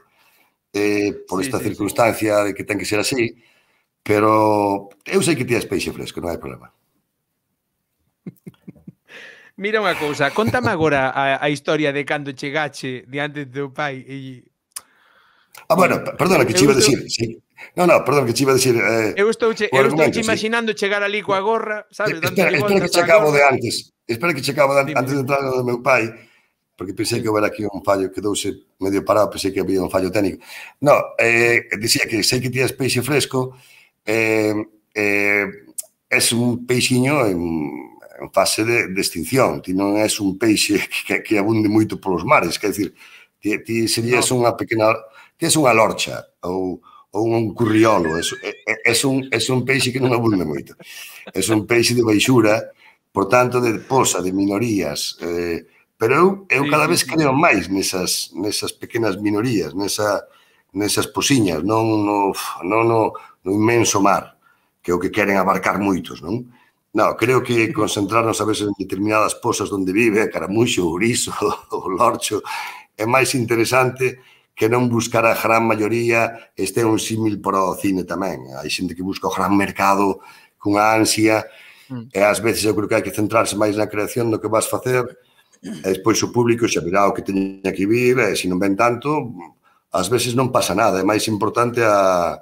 [SPEAKER 2] eh, por
[SPEAKER 1] Sí,
[SPEAKER 2] esta
[SPEAKER 1] sí, sí.
[SPEAKER 2] circunstancia de que ten que ser así, pero eu sei que ti és peixe fresco, non hai problema.
[SPEAKER 1] Mira unha cousa, contame agora a, a historia de cando chegache diante do teu pai e...
[SPEAKER 2] Ah, bueno, perdona,
[SPEAKER 1] eu,
[SPEAKER 2] que
[SPEAKER 1] eu
[SPEAKER 2] che iba a
[SPEAKER 1] estou,
[SPEAKER 2] decir, sí. No, no, perdón, que che iba a decir eh,
[SPEAKER 1] eu estou, che,
[SPEAKER 2] o
[SPEAKER 1] eu estou
[SPEAKER 2] argumento,
[SPEAKER 1] che
[SPEAKER 2] sí.
[SPEAKER 1] imaginando chegar ali coa gorra, sabes,
[SPEAKER 2] Espera,
[SPEAKER 1] dándolle
[SPEAKER 2] espera que
[SPEAKER 1] voltas
[SPEAKER 2] che
[SPEAKER 1] á
[SPEAKER 2] acabo
[SPEAKER 1] gorra.
[SPEAKER 2] de antes, espera que che acabo de antes,
[SPEAKER 1] Dime,
[SPEAKER 2] antes de
[SPEAKER 1] dime.
[SPEAKER 2] entrar no meu pai, porque pensei
[SPEAKER 1] Sí.
[SPEAKER 2] que houbera aquí un fallo, quedouse medio parado, pensei que había un fallo técnico. No, eh, dicía que sei que tías peixe fresco, eh, eh, es un peixiño en, en fase de, de extinción, ti non és un peixe que, que abunde moito polos mares, quer dizer, ti, ti serías
[SPEAKER 1] No.
[SPEAKER 2] unha pequena, ti és unha lorcha, ou, ou un curriolo, es, es, un, es un peixe que non abunde moito. Es un peixe de baixura, por tanto, de posa, de minorías, eh, pero eu, eu
[SPEAKER 1] Sí,
[SPEAKER 2] cada
[SPEAKER 1] sí,
[SPEAKER 2] vez
[SPEAKER 1] sí.
[SPEAKER 2] creo máis nesas, nesas pequenas minorías, nesa, nesas posiñas, non no, no, no, no inmenso mar, que o que queren abarcar moitos, non? Non, creo que concentrarnos a veces en determinadas posas onde vive, a caramuxo, o ourizo, o lorcho, é máis interesante que non buscar a gran maioría. Este é un símil para o cine tamén. Hai xente que busca o gran mercado cunha ansia, e ás veces eu creo que hai que centrarse máis na creación do que vas facer, e despois o público xa virá o que teña que vir, e se non ven tanto, ás veces non pasa nada. É máis importante a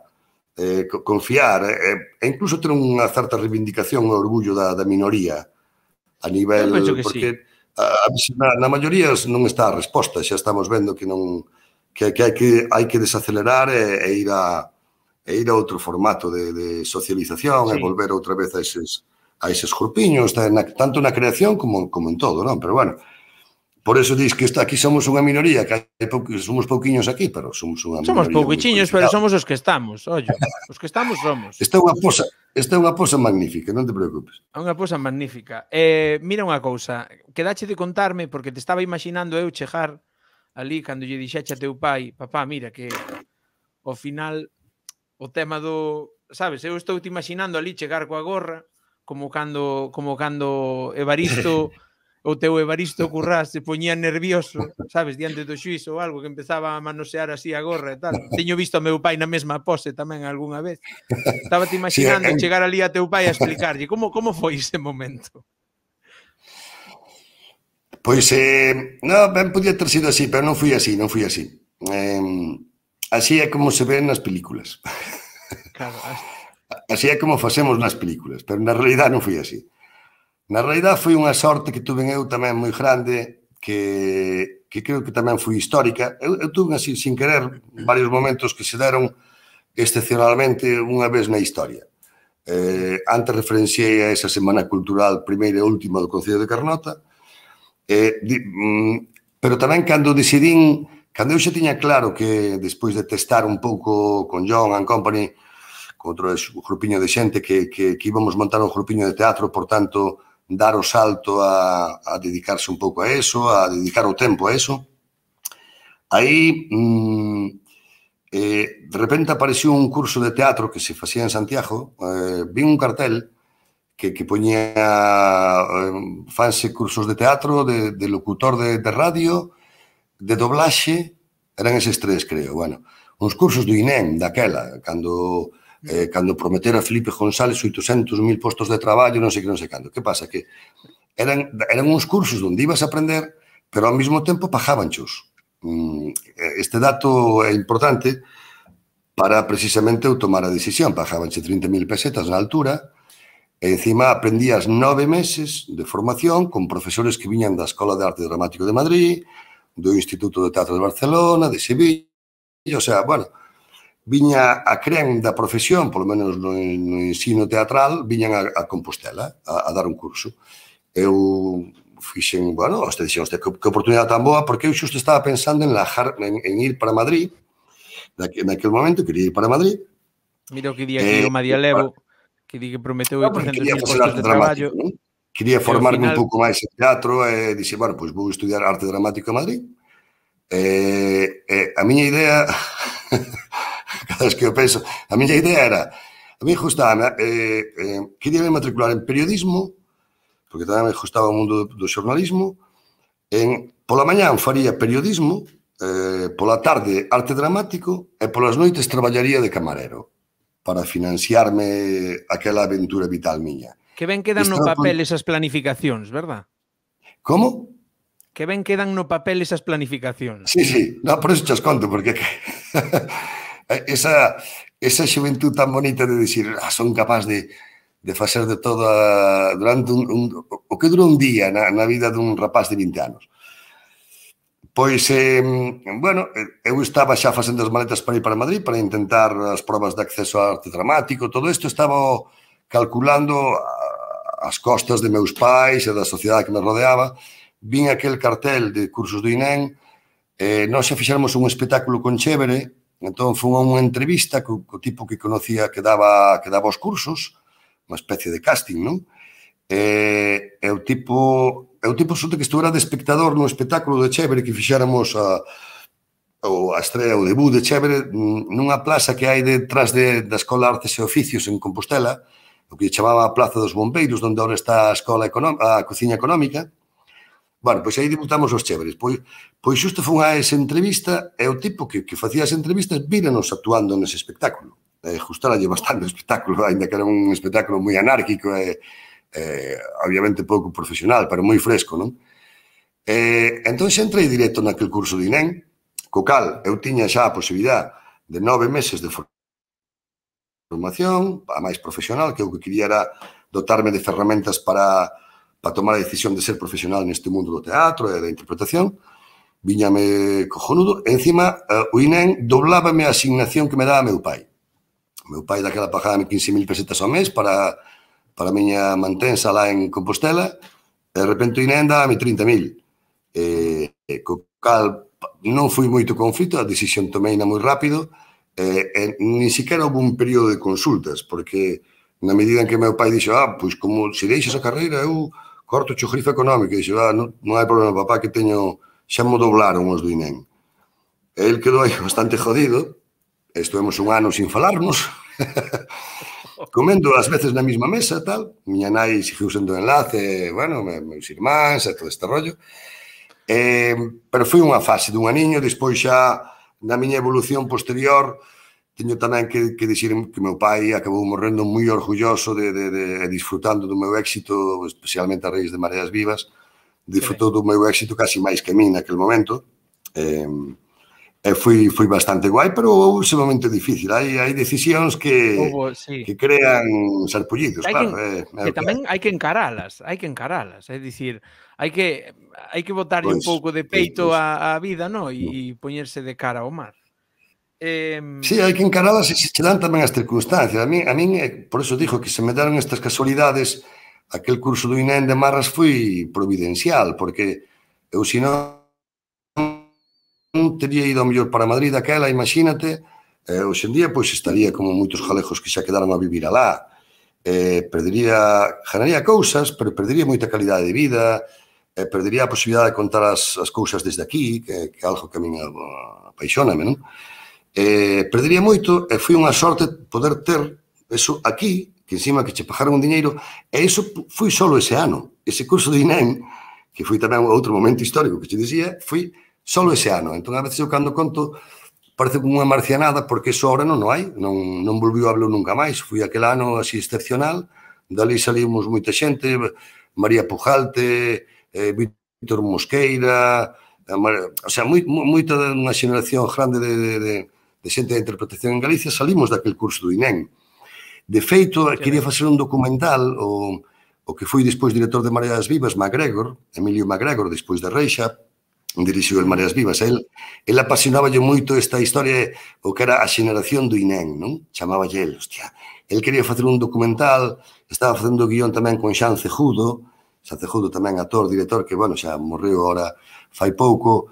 [SPEAKER 2] eh, confiar e, e incluso ter unha certa reivindicación e orgullo da, da minoría a nivel, porque sí. a, a, na, na maioría non está a resposta, xa estamos vendo que non que, que, hai, que hai que desacelerar e, e ir a e ir a outro formato de, de socialización, sí. E volver outra vez a eses, a eses grupiños, tanto na creación como, como en todo, non? Pero bueno, por eso dis que está, aquí somos unha minoría, que hai pou, somos pouquiños aquí, pero somos unha minoría.
[SPEAKER 1] Somos pouquichiños, pero somos os que estamos, ollo, os que estamos somos.
[SPEAKER 2] Esta é unha posa, esta é unha posa magnífica, non te preocupes.
[SPEAKER 1] É unha posa magnífica. Eh, mira unha cousa, quedache de contarme, porque te estaba imaginando eu chegar ali, cando lle dixeche a teu pai, papá, mira, que ao final o tema do, sabes, eu estou te imaginando ali chegar coa gorra, como cando como cando Evaristo o teu Evaristo Currás se poñía nervioso, sabes, diante do xuízo ou algo, que empezaba a manosear así a gorra e tal. Teño visto a meu pai na mesma pose tamén algunha vez. Estaba te imaginando sí, chegar ali a teu pai a explicarlle como como foi ese momento.
[SPEAKER 2] Pois, eh, non, ben podía ter sido así, pero non fui así, non fui así. Eh, así é como se ven nas películas.
[SPEAKER 1] Claro,
[SPEAKER 2] así é como facemos nas películas, pero na realidad non fui así. Na realidad foi unha sorte que tuve eu tamén moi grande, que, que creo que tamén foi histórica. Eu, eu tuve así, sin querer, varios momentos que se deron excepcionalmente unha vez na historia. Eh, antes referenciei a esa Semana Cultural primeira e última do Concello de Carnota, eh, di, mm, pero tamén cando decidín, cando eu xa tiña claro que despois de testar un pouco con John and Company, con outro grupiño de xente, que, que, que íbamos montar un grupiño de teatro, por tanto, dar o salto a, a dedicarse un pouco a eso, a dedicar o tempo a eso. Aí, mmm, eh, de repente apareció un curso de teatro que se facía en Santiago, eh, vi un cartel que, que poñía eh, fanse cursos de teatro, de, de locutor de, de radio, de doblaxe, eran eses tres, creo, bueno, uns cursos do I N E M, daquela, cando... Eh, cando prometera Felipe González oitocentos mil postos de traballo, non sei que, non sei cando. Que pasa? Que eran, eran uns cursos onde ibas a aprender, pero ao mesmo tempo pagabanchos. Este dato é importante para precisamente eu tomar a decisión. Pagabanche trinta mil pesetas na altura, e encima aprendías nove meses de formación con profesores que viñan da Escola de Arte Dramático de Madrid, do Instituto de Teatro de Barcelona, de Sevilla, o sea, bueno, viña a cren da profesión, polo menos no, no ensino teatral, viñan a, a Compostela a, a dar un curso. Eu fixen, bueno, este dixen, que, que oportunidade tan boa, porque eu xusto estaba pensando en, lajar, en, en ir para Madrid, naquel, naquel momento quería ir para Madrid.
[SPEAKER 1] Mira o que di aquí eh, o Madialevo, para... que di que prometeu oitocentos mil postos de traballo.
[SPEAKER 2] ¿No? Quería formarme final... un pouco máis en teatro, e dixe, bueno, pois vou estudiar arte dramático en Madrid. Eh, eh, a miña idea... cada vez que eu penso, a miña idea era, a mí gustaba, eh, eh, quería me matricular en periodismo, porque tamén me gustaba o mundo do, do xornalismo, en, pola mañán faría periodismo, eh, pola tarde arte dramático, e polas noites traballaría de camarero, para financiarme aquela aventura vital miña.
[SPEAKER 1] Que ben quedan no papel esas planificacións, verdad?
[SPEAKER 2] Como?
[SPEAKER 1] Que ben quedan no papel esas planificacións.
[SPEAKER 2] Sí, sí, no, por eso chas conto, porque... esa, esa xuventud tan bonita de dicir, ah, son capaz de, de facer de todo a, durante un, un, o que dura un día na, na vida dun rapaz de vinte anos. Pois, eh, bueno, eu estaba xa facendo as maletas para ir para Madrid, para intentar as probas de acceso a arte dramático, todo isto estaba calculando as costas de meus pais e da sociedade que me rodeaba. Vin aquel cartel de cursos do I N E M, eh, nós xa fixéramos un espectáculo con Chévere. Entón, foi unha entrevista co, co tipo que conocía que daba, que daba os cursos, unha especie de casting, non? E, e o tipo, e o tipo resulta que estuvera de espectador no espectáculo de Chévere que fixéramos a, o a estrea, o debut de Chévere nunha plaza que hai detrás de, da Escola de Artes e Oficios en Compostela, o que chamaba a Plaza dos Bombeiros, onde agora está a Escola a Cociña Económica. Bueno, pois aí debutamos os Chéveres. Pois, pois xusto foi a esa entrevista e o tipo que, que facía as entrevistas víranos actuando nese espectáculo. Eh, gustaralle bastante o espectáculo, ainda que era un espectáculo moi anárquico e, eh, obviamente pouco profesional, pero moi fresco, non? Eh, entón xa entrei directo naquele curso de I N E M, co cal eu tiña xa a posibilidad de nove meses de formación, a máis profesional, que o que quería era dotarme de ferramentas para, para tomar a decisión de ser profesional neste mundo do teatro e da interpretación. Viñame cojonudo. Encima, o I N E M doblábame a asignación que me daba meu pai. O meu pai daquela pagábame quince mil pesetas ao mes para, para a miña mantensa lá en Compostela, e de repente o I N E M daba-me trinta mil. Eh, co cal non foi moito conflito, a decisión tomeina moi rápido, e, e ni siquiera houve un período de consultas, porque na medida en que meu pai dixo, ah, pois como se deixas a carreira, eu corto o grifo económico, e dixo, ah, non, non hai problema, papá, que teño, xa mo doblaron os do I N E M. E el quedou aí bastante jodido, estuvemos un ano sin falarnos, comendo ás veces na mesma mesa, tal, miña nai seguiu sendo enlace, bueno, meus irmáns e todo este rollo. Eh, pero foi unha fase dun aniño, despois xa na miña evolución posterior teño tamén que, que dicir que meu pai acabou morrendo moi orgulloso de, de, de, de disfrutando do meu éxito, especialmente a raíz de Mareas Vivas, disfrutou do meu éxito casi máis que a mí naquele momento. Eh, e foi, foi bastante guai, pero houve ese momento difícil. Hai, hai decisións que, Obo, sí. que crean sarpullidos, claro.
[SPEAKER 1] Que, eh, que tamén hai que encaralas, hai que encaralas, é dicir, hai que hai que botarlle pues, un pouco de peito pues, a, a vida, no? E, e poñerse de cara ao mar. Eh...
[SPEAKER 2] Sí, hai que encaralas e se che dan tamén as circunstancias. A min, a min, por eso dixo que se me deron estas casualidades, aquel curso do I N E M de Marras foi providencial, porque eu, se non teria ido ao mellor para Madrid daquela, imagínate, eh, hoxe en día pois estaría como moitos galegos que xa quedaron a vivir alá, eh, perdería, ganaría cousas, pero perdería moita calidade de vida, eh, perdería a posibilidade de contar as, as cousas desde aquí, que, que é algo que a min apaixóname, non? Eh, perdería moito, e foi unha sorte poder ter eso aquí, que encima que che pagaron un diñeiro, e iso foi solo ese ano. Ese curso de I N E M, que foi tamén outro momento histórico que che dicía, foi solo ese ano. Entón, a veces eu cando conto, parece como unha marcianada, porque eso ahora non o hai, non, non volviu a hablar nunca máis. Foi aquel ano así excepcional, dali salimos moita xente, María Pujalte, eh, Víctor Mosqueira, o sea, moi, moita unha xeneración grande de, de, de, de xente de interpretación en Galicia, salimos daquel curso do I N E M. De feito, quería facer un documental, o, o que foi despois director de Mareas Vivas, MacGregor, Emilio MacGregor, despois de Reixa, dirixiu el Mareas Vivas. El, el apasionáballe moito esta historia, o que era a xeneración do I N E M, non? Chamáballe el, hostia. El quería facer un documental, estaba facendo guión tamén con Xan Cejudo, Xan Cejudo tamén actor, director, que, bueno, xa morreu ahora fai pouco.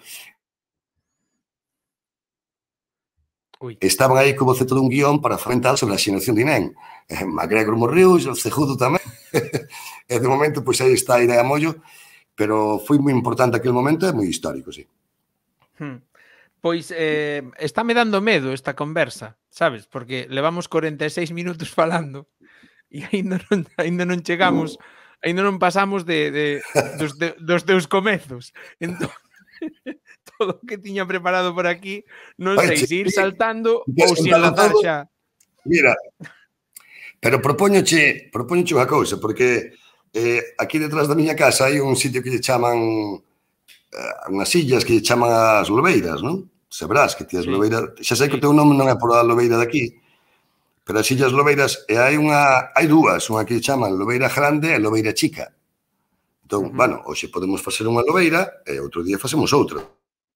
[SPEAKER 2] Ui. Estaban aí como boceto dun guión para fomentar sobre a xeneración de I N E M. Eh, MacGregor morreu, Xan Cejudo tamén. E de momento, pois aí está a idea a mollo, pero foi moi importante aquel momento e moi histórico, sí.
[SPEAKER 1] Hmm. Pois eh, estáme dando medo esta conversa, sabes? Porque levamos corenta e seis minutos falando e aínda non, aínda non chegamos, aínda non pasamos de, de, dos, de, dos teus comezos. Entón, todo o que tiña preparado por aquí, non sei se ir saltando ou se enlazar xa.
[SPEAKER 2] Mira, pero propóñoche, propóñoche unha cousa, porque Eh, aquí detrás da miña casa hai un sitio que lle chaman eh, unhas illas que lle chaman as lobeiras, non? Sabrás que ti as sí. lobeiras, xa sei que o teu nome non é por a lobeira daqui, pero as illas lobeiras, e hai unha, hai dúas, unha que lle chaman lobeira grande e lobeira chica. Entón, uh -huh. bueno, hoxe podemos facer unha lobeira e outro día facemos outra.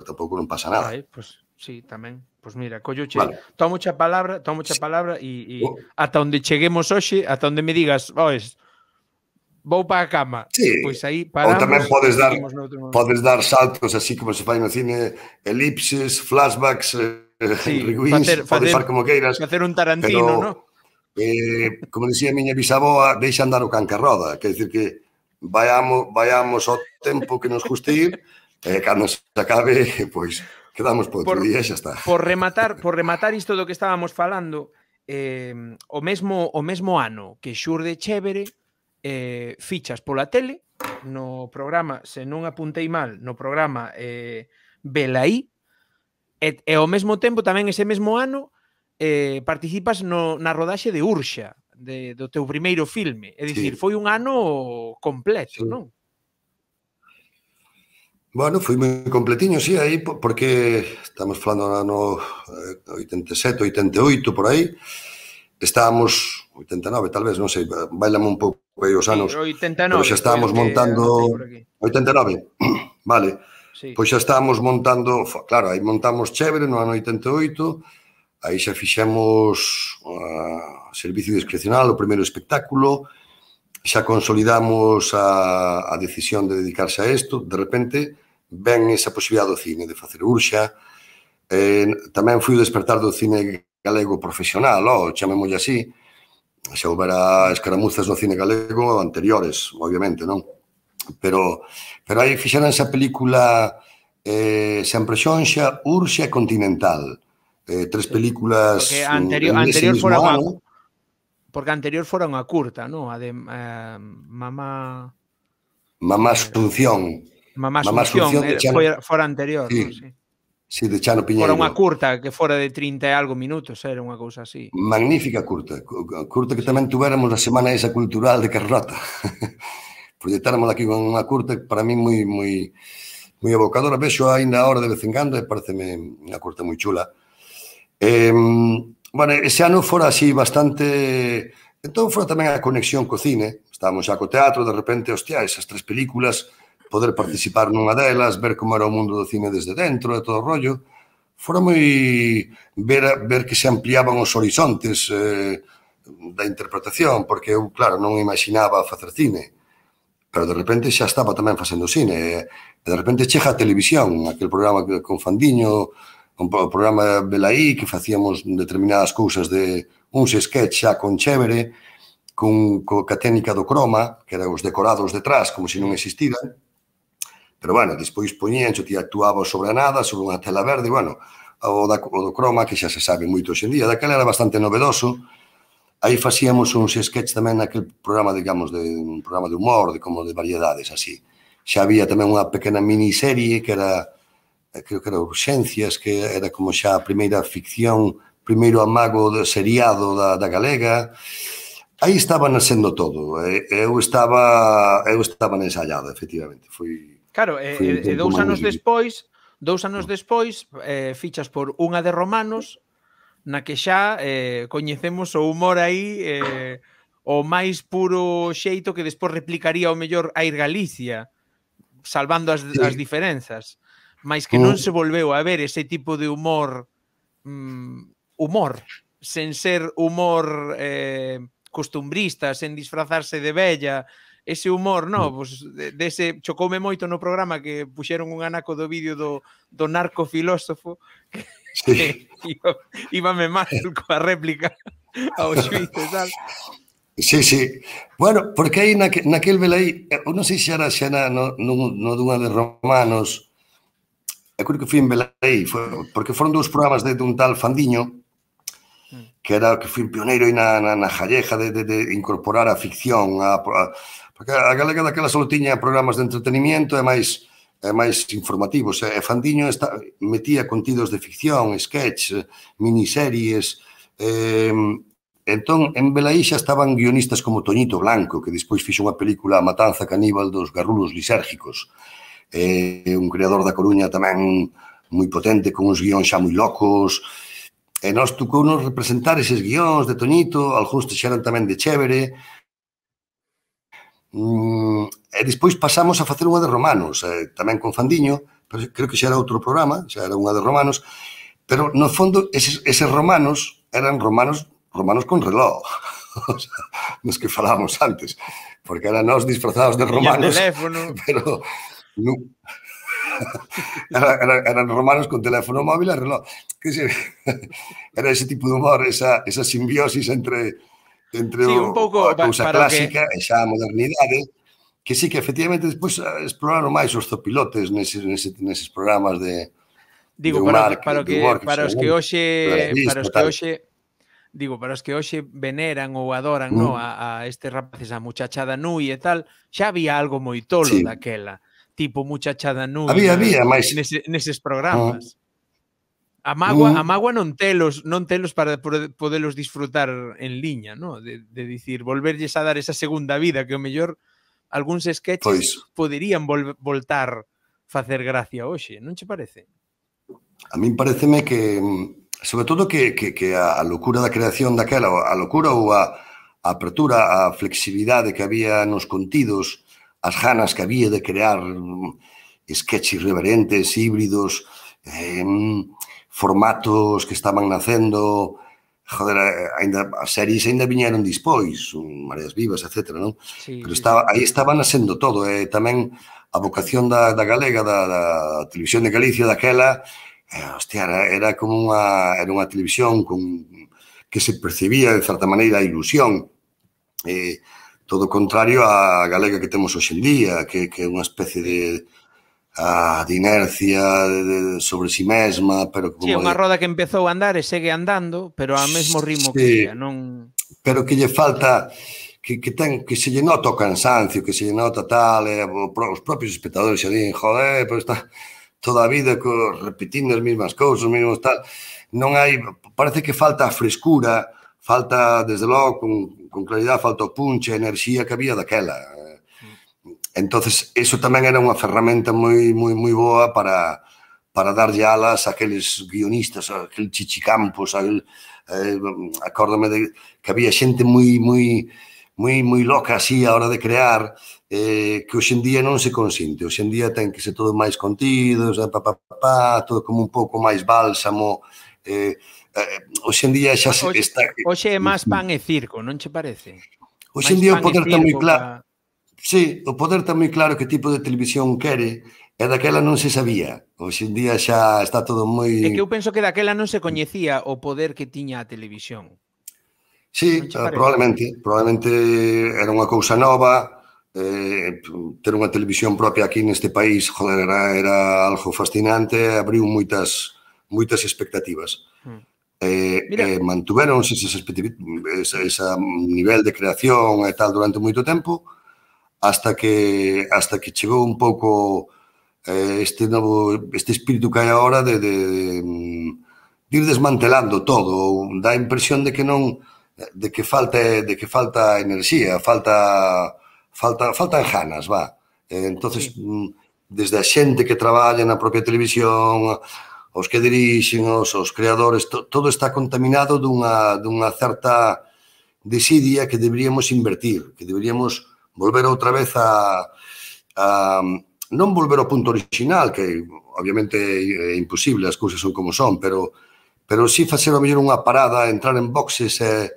[SPEAKER 2] Tampouco non pasa nada.
[SPEAKER 1] Ai, pois pues, sí, tamén. Pois pues mira, colloche, vale. tomo xa palabra, tomo xa palabra e, e oh. ata onde cheguemos hoxe, ata onde me digas, oes, vou para a cama.
[SPEAKER 2] Sí.
[SPEAKER 1] Pois aí paramos.
[SPEAKER 2] Ou tamén podes dar, podes dar saltos así como se fai no cine, elipses, flashbacks,
[SPEAKER 1] sí,
[SPEAKER 2] rewind, podes far como queiras.
[SPEAKER 1] Facer un Tarantino, non?
[SPEAKER 2] Eh, como dicía a miña bisaboa, deixa andar o can que roda, quer dizer que vayamos, vayamos ao tempo que nos guste ir, e eh, cando se acabe, pois, Quedamos para outro
[SPEAKER 1] por,
[SPEAKER 2] día, xa está.
[SPEAKER 1] por rematar, por rematar isto do que estábamos falando, eh, o mesmo o mesmo ano que xurde Chévere, eh, fichas pola tele, no programa, se non apuntei mal, no programa eh, Velaí, e, e ao mesmo tempo tamén ese mesmo ano eh, participas no, na rodaxe de Urxa, de, do teu primeiro filme. É dicir,
[SPEAKER 2] Sí,
[SPEAKER 1] foi un ano completo,
[SPEAKER 2] sí.
[SPEAKER 1] non?
[SPEAKER 2] Bueno, foi moi completiño, sí, aí, porque estamos falando no ano oitenta e sete, oitenta e oito, por aí. Estábamos, oitenta e nove, tal vez, non sei, bailame un pouco aí os
[SPEAKER 1] Sí,
[SPEAKER 2] anos,
[SPEAKER 1] oitenta e
[SPEAKER 2] pero
[SPEAKER 1] nove
[SPEAKER 2] xa
[SPEAKER 1] foi o
[SPEAKER 2] estábamos
[SPEAKER 1] que anotei
[SPEAKER 2] montando...
[SPEAKER 1] por aquí.
[SPEAKER 2] oitenta e nove? Vale.
[SPEAKER 1] Sí.
[SPEAKER 2] Pois xa estábamos montando... Claro, aí montamos Chévere no ano oitenta e oito, aí xa fixemos uh, Servicio Discrecional, o primeiro espectáculo, xa consolidamos a, a decisión de dedicarse a isto, de repente ven esa posibilidad do cine, de facer Urxa, eh, tamén fui o despertar do cine galego profesional, oh, chamémoslle así, xa houbera escaramuzas no cine galego anteriores, obviamente, non? Pero, pero aí fixeran esa película eh, Sempre Xonxa, Urxa e Continental, eh, tres
[SPEAKER 1] Sí.
[SPEAKER 2] películas
[SPEAKER 1] Porque anterior,
[SPEAKER 2] en ese
[SPEAKER 1] anterior
[SPEAKER 2] mismo
[SPEAKER 1] fora unha,
[SPEAKER 2] ano.
[SPEAKER 1] porque anterior fora unha curta, non? A de eh, Mamá
[SPEAKER 2] Mamá
[SPEAKER 1] eh,
[SPEAKER 2] Asunción,
[SPEAKER 1] Mamá
[SPEAKER 2] Mamá
[SPEAKER 1] Asunción,
[SPEAKER 2] Asunción de
[SPEAKER 1] eh,
[SPEAKER 2] Chano,
[SPEAKER 1] foi fora anterior, non?
[SPEAKER 2] sí,
[SPEAKER 1] Sí.
[SPEAKER 2] sí, de Chano
[SPEAKER 1] Fora unha
[SPEAKER 2] Piñeiro.
[SPEAKER 1] curta que fora de trinta e algo minutos, era unha cousa así.
[SPEAKER 2] Magnífica curta, curta que
[SPEAKER 1] Sí.
[SPEAKER 2] tamén tuveramos a Semana esa cultural de Carrota. Proyectáramos aquí con unha curta para mí moi moi moi evocadora, vexo aínda a hora de vez en cando e pareceme unha curta moi chula. Eh, bueno, ese ano fora así bastante... Entón fora tamén a conexión co cine, estábamos xa co teatro, de repente, hostia, esas tres películas, poder participar nunha delas, ver como era o mundo do cine desde dentro e todo o rollo, fora moi ver, ver que se ampliaban os horizontes eh, da interpretación, porque eu, claro, non imaginaba facer cine, pero de repente xa estaba tamén facendo cine, e de repente chega a televisión, aquel programa con Fandiño, un programa Velaí, que facíamos determinadas cousas de uns sketch xa con Chévere, con, co, ca técnica do croma, que eran os decorados detrás, como se non existiran, pero, bueno, despois poñían, ti actuaba sobre a nada, sobre unha tela verde, bueno, o, da, o do croma, que xa se sabe moito hoxendía, daquela era bastante novedoso. Aí facíamos uns sketch tamén naquele programa, digamos, de un programa de humor, de como de variedades, así. Xa había tamén unha pequena miniserie que era, creo que era Urxencias, que era como xa a primeira ficción, primeiro amago de seriado da, da galega. Aí estaba nascendo todo. Eu estaba, eu estaba ensaiado, efectivamente. Foi...
[SPEAKER 1] Claro, e, e dous anos despois, dous anos despois, eh, fichas por Unha de Romanos, na que xa eh, coñecemos o humor aí eh, o máis puro xeito que despois replicaría o mellor Air Galicia, salvando as,
[SPEAKER 2] Sí.
[SPEAKER 1] as diferenzas, mais que non se volveu a ver ese tipo de humor mm, humor, sen ser humor eh, costumbrista, sen disfrazarse de vella, ese humor, no, pues, de, de ese, chocoume moito no programa que puxeron un anaco do vídeo do, do narcofilósofo que,
[SPEAKER 2] Sí.
[SPEAKER 1] que iba, íbame mal coa réplica ao xuiz, sabes?
[SPEAKER 2] Sí, sí. Bueno, porque aí naque, naquel velaí, eu non sei se era xa na, no, no, no dunha de Romanos, eu creo que fui en Velaí, foi, porque foron dous programas de, de un tal Fandiño, que era que fui pioneiro aí na, na, na jalleja de, de, de incorporar a ficción, a, a, porque a galega daquela só tiña programas de entretenimiento e máis e máis informativos, e Fandiño está, metía contidos de ficción, sketch, miniseries, eh, entón en Velaí xa estaban guionistas como Toñito Blanco, que despois fixo unha película A matanza caníbal dos garrulos lisérgicos, eh, un creador da Coruña tamén moi potente, con uns guións xa moi locos, e nos tocounos representar eses guións de Toñito, algúns xa eran tamén de Chévere, mm, e despois pasamos a facer unha de Romanos, eh, tamén con Fandiño, pero creo que xa era outro programa, xa era unha de Romanos, pero no fondo eses, eses romanos eran romanos romanos con reloj, o sea, nos que falábamos antes, porque eran nós disfrazados de romanos, pero no, era, era, eran romanos con teléfono móvil e reloj, que se, era ese tipo de humor, esa, esa simbiosis entre entre
[SPEAKER 1] sí,
[SPEAKER 2] o,
[SPEAKER 1] un pouco,
[SPEAKER 2] a cousa clásica
[SPEAKER 1] que...
[SPEAKER 2] e xa a modernidade, que sí que efectivamente despois exploraron máis os zopilotes neses, neses, neses programas de,
[SPEAKER 1] Digo,
[SPEAKER 2] de un
[SPEAKER 1] para,
[SPEAKER 2] mar
[SPEAKER 1] que-
[SPEAKER 2] que,
[SPEAKER 1] para,
[SPEAKER 2] de
[SPEAKER 1] que,
[SPEAKER 2] humor que
[SPEAKER 1] para
[SPEAKER 2] se
[SPEAKER 1] os que
[SPEAKER 2] non
[SPEAKER 1] hoxe para
[SPEAKER 2] realista,
[SPEAKER 1] os que
[SPEAKER 2] tal.
[SPEAKER 1] hoxe digo, para os que hoxe veneran ou adoran, no,
[SPEAKER 2] Mm,
[SPEAKER 1] a, a estes rapaces, a Muchachada Nui e tal, xa había algo moi tolo
[SPEAKER 2] sí.
[SPEAKER 1] daquela, tipo Muchachada Nui
[SPEAKER 2] Había,
[SPEAKER 1] na,
[SPEAKER 2] había, máis...
[SPEAKER 1] nese, neses
[SPEAKER 2] Uh,
[SPEAKER 1] programas. A mágoa, a
[SPEAKER 2] mm,
[SPEAKER 1] mágoa non telos, non telos para podelos disfrutar en liña, no? De, de dicir, volverlles a dar esa segunda vida que o mellor algúns sketches
[SPEAKER 2] pois,
[SPEAKER 1] poderían vol voltar facer gracia hoxe, non che parece?
[SPEAKER 2] a min pareceme que, sobre todo que, que, que a, a locura da creación daquela, a locura ou a, a apertura, a flexibilidade que había nos contidos, as ganas que había de crear sketches irreverentes, híbridos, eh, formatos que estaban nacendo, joder, ainda, as series ainda viñeron dispois, Mareas Vivas, etcétera, non?
[SPEAKER 1] Sí,
[SPEAKER 2] Pero
[SPEAKER 1] sí, sí.
[SPEAKER 2] estaba, aí estaba nascendo todo, e eh, tamén a vocación da, da galega, da, da televisión de Galicia daquela, eh, hostia, era, era como unha, era unha televisión con, que se percibía, de certa maneira, a ilusión. Eh, todo o contrario á galega que temos hoxe en día, que, que é unha especie
[SPEAKER 1] Sí.
[SPEAKER 2] de, a, de inercia de, de, sobre si mesma, pero
[SPEAKER 1] Sí,
[SPEAKER 2] como
[SPEAKER 1] unha
[SPEAKER 2] de...
[SPEAKER 1] roda que empezou a andar e segue andando, pero ao mesmo ritmo que
[SPEAKER 2] Sí,
[SPEAKER 1] ía, non...
[SPEAKER 2] pero que lle falta... Que, que, ten, que se lle nota o cansancio, que se lle nota tal, e os propios espectadores xa din, joder, pero está toda a vida co, repetindo as mesmas cousas, os mesmos tal. Non hai, parece que falta a frescura, falta, desde logo, con, con claridade, falta o punche, a enerxía que había daquela. Entonces, eso tamén era unha ferramenta moi moi moi boa para para darlle alas a aqueles guionistas, a aquel Chichi Campos, a aquel, eh, acórdame de que había xente moi moi moi moi loca así a hora de crear, eh, que hoxe en día non se consiente. Hoxe en día ten que ser todo máis contidos, pa, pa, pa, pa, todo como un pouco máis bálsamo. Eh, eh, hoxe en día xa se
[SPEAKER 1] Hoxe,
[SPEAKER 2] está...
[SPEAKER 1] hoxe é máis pan e circo, non che parece?
[SPEAKER 2] Hoxe en
[SPEAKER 1] Máis
[SPEAKER 2] día o
[SPEAKER 1] pan e
[SPEAKER 2] poder está moi
[SPEAKER 1] circo
[SPEAKER 2] claro.
[SPEAKER 1] pa...
[SPEAKER 2] Sí, o poder está moi claro que tipo de televisión quere, e daquela non se sabía. Hoxe en día xa está todo moi...
[SPEAKER 1] É que eu penso que daquela non se coñecía o poder que tiña a televisión. Non
[SPEAKER 2] Sí,
[SPEAKER 1] che
[SPEAKER 2] uh,
[SPEAKER 1] parece?
[SPEAKER 2] probablemente, probablemente era unha cousa nova, eh, ter unha televisión propia aquí neste país, joder, era, era algo fascinante, abriu moitas moitas expectativas.
[SPEAKER 1] Hmm.
[SPEAKER 2] Eh,
[SPEAKER 1] Mira,
[SPEAKER 2] eh, mantuveronse ese, ese, ese nivel de creación e tal durante moito tempo, hasta que hasta que chegou un pouco eh, este novo este espírito que hai agora de, de, de ir desmantelando todo, dá a impresión de que non de que falta de que falta enerxía, falta falta faltan ganas, va. Eh, entonces,
[SPEAKER 1] sí.
[SPEAKER 2] desde a xente que traballa na propia televisión, os que dirixen, os, os creadores, to, todo está contaminado dunha, dunha certa desidia que deberíamos invertir, que deberíamos volver outra vez a, a non volver ao punto original, que obviamente é imposible, as cousas son como son, pero pero sí facer ao mellor unha parada, entrar en boxes e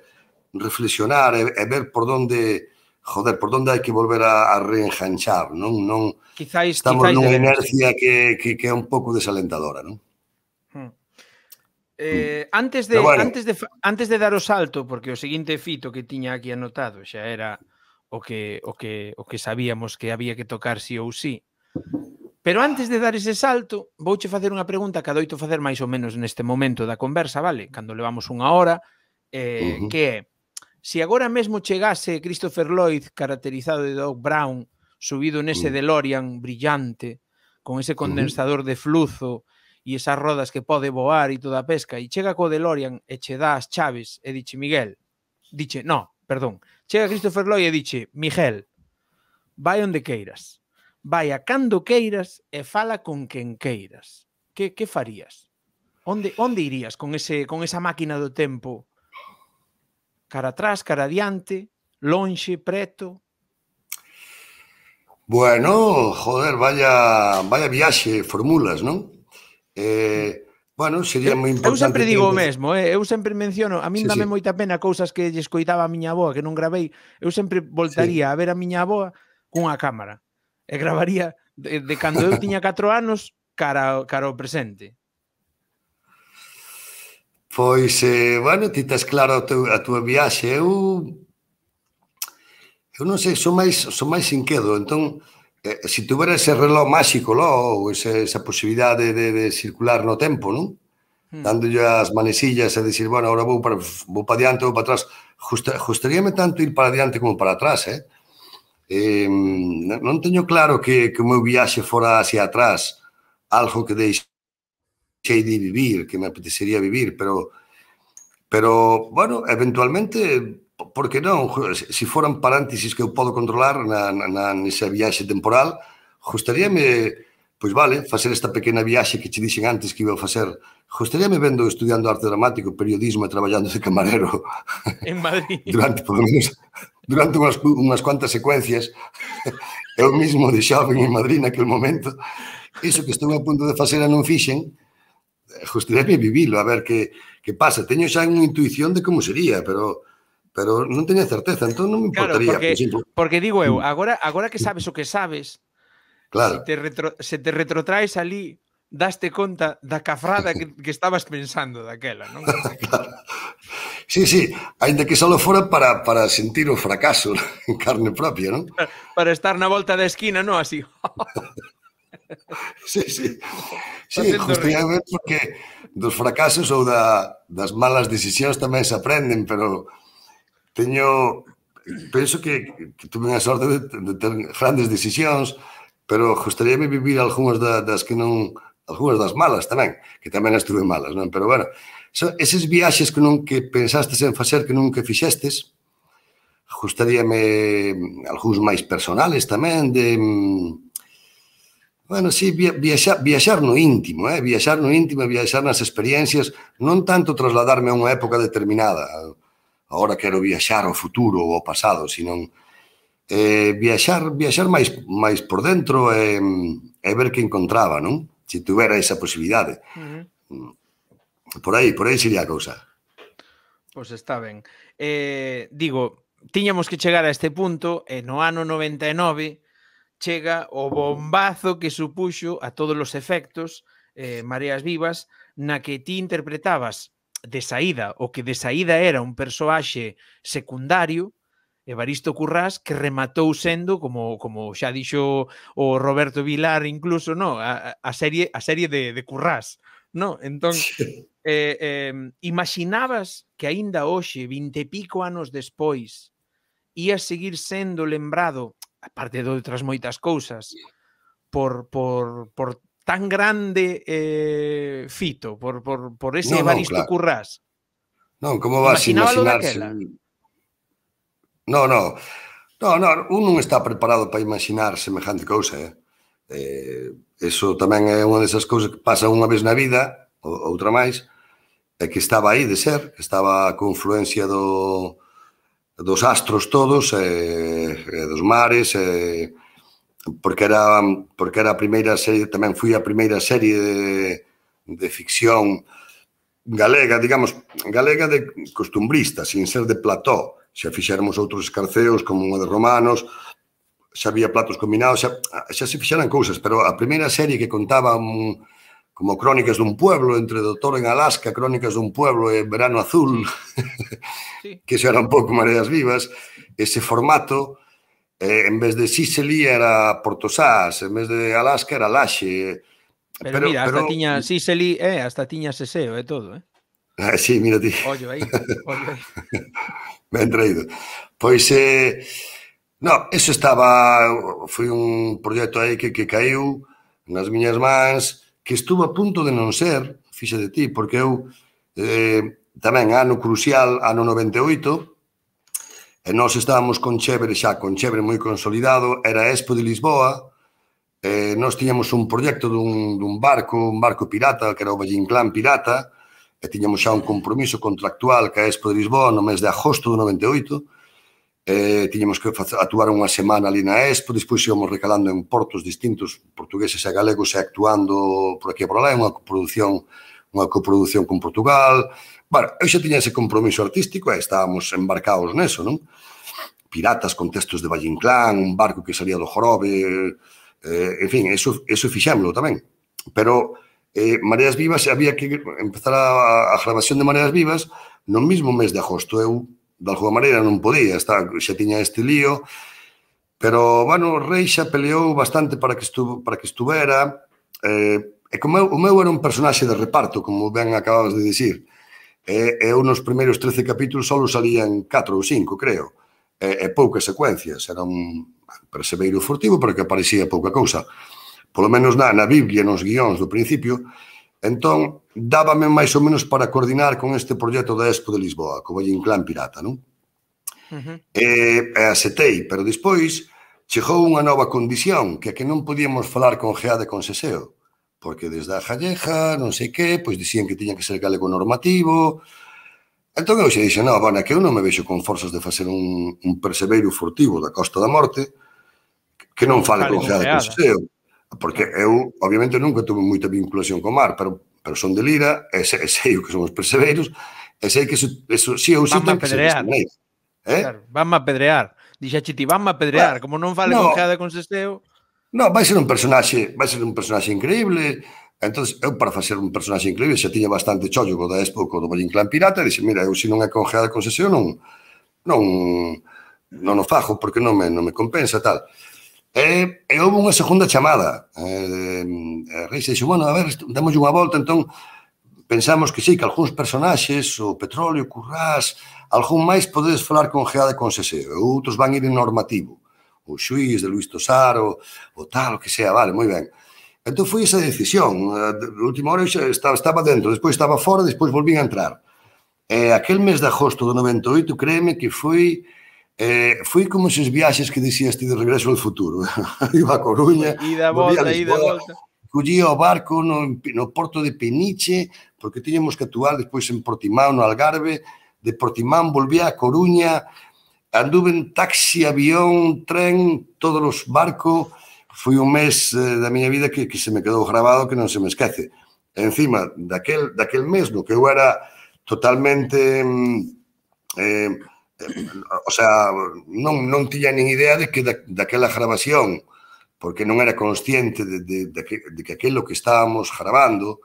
[SPEAKER 2] reflexionar e, e ver por donde, joder, por donde hai que volver a, a reenganchar, non? non
[SPEAKER 1] Quizáis,
[SPEAKER 2] estamos
[SPEAKER 1] quizáis
[SPEAKER 2] nunha
[SPEAKER 1] deberse.
[SPEAKER 2] inercia que, que, que é un pouco desalentadora, non?
[SPEAKER 1] Hmm. Eh, antes
[SPEAKER 2] Pero
[SPEAKER 1] de
[SPEAKER 2] bueno,
[SPEAKER 1] antes de antes de dar o salto, porque o seguinte fito que tiña aquí anotado xa era o que o que o que sabíamos que había que tocar sí ou sí. Pero antes de dar ese salto, vouche facer unha pregunta que adoito facer máis ou menos neste momento da conversa, vale? Cando levamos unha hora, eh,
[SPEAKER 2] uh -huh.
[SPEAKER 1] que é, se agora mesmo chegase Christopher Lloyd caracterizado de Doc Brown, subido nese
[SPEAKER 2] uh -huh.
[SPEAKER 1] DeLorean brillante, con ese condensador uh -huh. de fluzo e esas rodas que pode voar e toda a pesca, e chega co DeLorean e che dá as chaves e diche Miguel, diche, no, perdón, chega Christopher Lloyd e diche, Miguel, vai onde queiras. Vai a cando queiras e fala con quen queiras. Que, que farías? Onde, onde irías con, ese, con esa máquina do tempo? Cara atrás, cara adiante, lonxe, preto?
[SPEAKER 2] Bueno, joder, vaya, vaya viaxe, formulas, non? Eh, bueno, sería
[SPEAKER 1] Eu,
[SPEAKER 2] moi
[SPEAKER 1] eu
[SPEAKER 2] importante
[SPEAKER 1] sempre
[SPEAKER 2] ter...
[SPEAKER 1] digo o mesmo, eh? Eu sempre menciono, a min
[SPEAKER 2] Sí,
[SPEAKER 1] dame
[SPEAKER 2] sí.
[SPEAKER 1] moita pena cousas que lle escoitaba a miña avoa que non gravei. Eu sempre voltaría
[SPEAKER 2] Sí.
[SPEAKER 1] a ver a miña avoa cunha cámara e gravaría de, de cando eu tiña catro anos cara, cara ao presente.
[SPEAKER 2] Pois, eh, bueno, ti tes claro a, teu, a túa viaxe. Eu, eu non sei, son máis, son máis inquedo, entón eh, se tuvera ese reloj máxico, lo, ou ese, esa posibilidade de, de circular no tempo, non?
[SPEAKER 1] Mm.
[SPEAKER 2] Dándolle as manesillas e dicir, bueno, agora vou para, vou para diante, vou para atrás. Justa, justaríame tanto ir para diante como para atrás, eh? eh mm. Non teño claro que, que o meu viaxe fora hacia atrás algo que deixei de vivir, que me apetecería vivir, pero, pero bueno, eventualmente, por que non? Se foran paréntesis que eu podo controlar na, na, nesa viaxe temporal, gustaríame, pois vale, facer esta pequena viaxe que che dixen antes que iba a facer. Gustaríame vendo estudando arte dramático, periodismo e traballando de camarero
[SPEAKER 1] en Madrid
[SPEAKER 2] durante, por lo menos, durante unhas, unhas cuantas secuencias. Eu mismo de xoven en Madrid naquele momento, iso que estou a punto de facer e non fixen, gustaríame vivilo, a ver que, que pasa. Teño xa unha intuición de como sería, pero pero non teño certeza, entón non me importaría.
[SPEAKER 1] Claro, porque,
[SPEAKER 2] por exemplo,
[SPEAKER 1] porque digo eu, agora, agora que sabes o que sabes,
[SPEAKER 2] claro.
[SPEAKER 1] se te, retro, se te retrotraes ali, daste conta da cafrada que, que estabas pensando daquela, non?
[SPEAKER 2] Claro. Sí, sí, ainda que só fora para, para sentir o fracaso en carne propia, non?
[SPEAKER 1] Para, para estar na volta da esquina, non? Así.
[SPEAKER 2] Sí, sí. Sí, justamente porque dos fracasos ou da, das malas decisións tamén se aprenden, pero teño... Penso que, que tuve a sorte de, de ter grandes decisións, pero gustaríame vivir algunhas da, das que non... algunhas das malas tamén, que tamén as tuve malas, non? Pero, bueno, so, eses viaxes que non que pensastes en facer que nunca fixestes, gustaríame algúns máis personales tamén, de... Bueno, sí, viaxar, viaxar no íntimo, eh? viaxar no íntimo, viaxar nas experiencias, non tanto trasladarme a unha época determinada, agora quero viaxar ao futuro ou ao pasado, sino eh, viaxar, viaxar máis, máis por dentro e, e ver que encontraba, non? Se tuvera esa posibilidade. Uh -huh. Por aí, por aí sería a cousa.
[SPEAKER 1] Pois está ben. Eh, digo, tiñamos que chegar a este punto, e no ano noventa e nove chega o bombazo que supuxo a todos os efectos eh, Mareas Vivas, na que ti interpretabas de saída, o que de saída era un persoaxe secundario, Evaristo Currás, que rematou sendo, como, como xa dixo o Roberto Vilar incluso, no, a, a serie a serie de, de Currás, no? Entón, eh, eh, imaginabas que aínda hoxe, vinte e pico anos despois, ías seguir sendo lembrado, aparte de outras moitas cousas, por, por, por tan grande eh, fito, por, por, por ese no, Evaristo no, claro. Currás.
[SPEAKER 2] Non, como vas a imaginarse? No, no, no, no, un non está preparado para imaginar semejante cousa, eh? eh eso tamén é unha desas cousas que pasa unha vez na vida, outra máis, é que estaba aí de ser, que estaba a confluencia do... dos astros todos, e, e dos mares, e, porque era porque era a primeira serie, tamén fui a primeira serie de, de ficción galega, digamos, galega de costumbrista, sin ser de plató. Xa fixéramos outros escarceos, como o de romanos, xa había platos combinados, xa, xa se fixeran cousas, pero a primeira serie que contaba un, como Crónicas dun pueblo, entre Doutor en Alaska, Crónicas dun pueblo e Verano Azul, sí. Que xa era un pouco Mareas Vivas, ese formato, eh, en vez de Sicily era Portosás, en vez de Alaska era Laxe.
[SPEAKER 1] Pero, pero mira, hasta pero... tiña Sicily, eh, hasta tiña Seseo e todo, eh?
[SPEAKER 2] Ah, sí, mira ti.
[SPEAKER 1] Ollo aí, ollo aí.
[SPEAKER 2] Ben traído. Pois, eh, no, eso estaba, foi un proxecto aí que, que caiu nas miñas mans, que estuvo a punto de non ser, fixe de ti, porque eu, eh, tamén, ano crucial, ano noventa e oito, e nós estábamos con Chebre xa, con Chebre moi consolidado, era a Expo de Lisboa, eh, nós tiñamos un proxecto dun, dun barco, un barco pirata, que era o Valle Inclán Pirata, e tiñamos xa un compromiso contractual que a Expo de Lisboa no mes de agosto do noventa e oito, eh, tiñamos que actuar unha semana ali na Expo, despois íamos recalando en portos distintos, portugueses e galegos, e actuando por aquí e por alá, unha coproducción, unha coproducción con Portugal. Bueno, eu xa tiña ese compromiso artístico e estábamos embarcados neso, non? Piratas con textos de Valle Inclán, un barco que salía do Jorobe, eh, en fin, eso, eso fixémolo tamén. Pero eh, Mareas Vivas, había que empezar a, a grabación de Mareas Vivas no mismo mes de agosto. Eu, de alguma maneira, non podía, está, xa tiña este lío, Pero, bueno, Reixa peleou bastante para que, estu, para que estuvera. Eh, e como eu, o meu era un personaxe de reparto, como ben acababas de dicir. E, e eu nos primeiros trece capítulos só salían catro ou cinco, creo. E, e poucas secuencias. Era un perseveiro furtivo, pero que aparecía pouca cousa. Polo menos na, na Biblia, nos guións do principio. Entón, dábame máis ou menos para coordinar con este proxecto da Expo de Lisboa, como en Clan Pirata, non? Uh-huh. E, e aceptei, pero despois chegou unha nova condición, que é que non podíamos falar con G A de con Seseo, porque desde a Jalleja, non sei que, pois dicían que tiña que ser galego normativo. Entón eu xe dixe, non, bueno, que eu non me vexo con forzas de facer un, un perseveiro furtivo da Costa da Morte que non fale con G A de con Seseo, porque eu, obviamente, nunca tuve moita vinculación co mar, pero, pero son de Lira, e sei, sei o que son os perseveiros, e sei que eso, eso sí ou sí ten que ser desta maneira.
[SPEAKER 1] Eh? Claro, vanme a pedrear. Dixache ti, vanme a pedrear, bueno, como non fale no, con G A de con Seseo.
[SPEAKER 2] No, vai ser un personaxe, vai ser un personaxe increíble. Entonces, eu para facer un personaxe increíble xa tiña bastante chollo co da Expo, co do Valle Inclán Pirata, e dixe, mira, eu se non é con G A de con Seseo non non non o fajo porque non me, non me compensa tal. E, e houve unha segunda chamada. E, e Reis dixo, bueno, a ver, damos unha volta, entón pensamos que sí, que algúns personaxes, o Petróleo, Currás, algún máis podedes falar con G A de con Seseo, e outros van ir en normativo, o Xuís de Luís Tosar, o, o tal, o que sea, vale, moi ben. Entón foi esa decisión, a última hora eu estaba, estaba dentro, despois estaba fora, despois volvín a entrar. E aquel mes de agosto do noventa e oito, créeme que foi, eh, foi como esos viaxes que dicías ti de Regreso ao Futuro. Iba a Coruña,
[SPEAKER 1] ida volta, ida volta.
[SPEAKER 2] Collía o barco no, no porto de Peniche, porque tiñamos que actuar despois en Portimao, no Algarve. De Portimán volvía a Coruña, anduve en taxi, avión, tren, todos os barcos. Foi un mes eh, da miña vida que, que se me quedou grabado, que non se me esquece. E encima, daquel, daquel mes, no que eu era totalmente... Eh, o sea, non, non tiña nin idea de que da, daquela grabación, porque non era consciente de, de, de, que, de que aquilo que estábamos grabando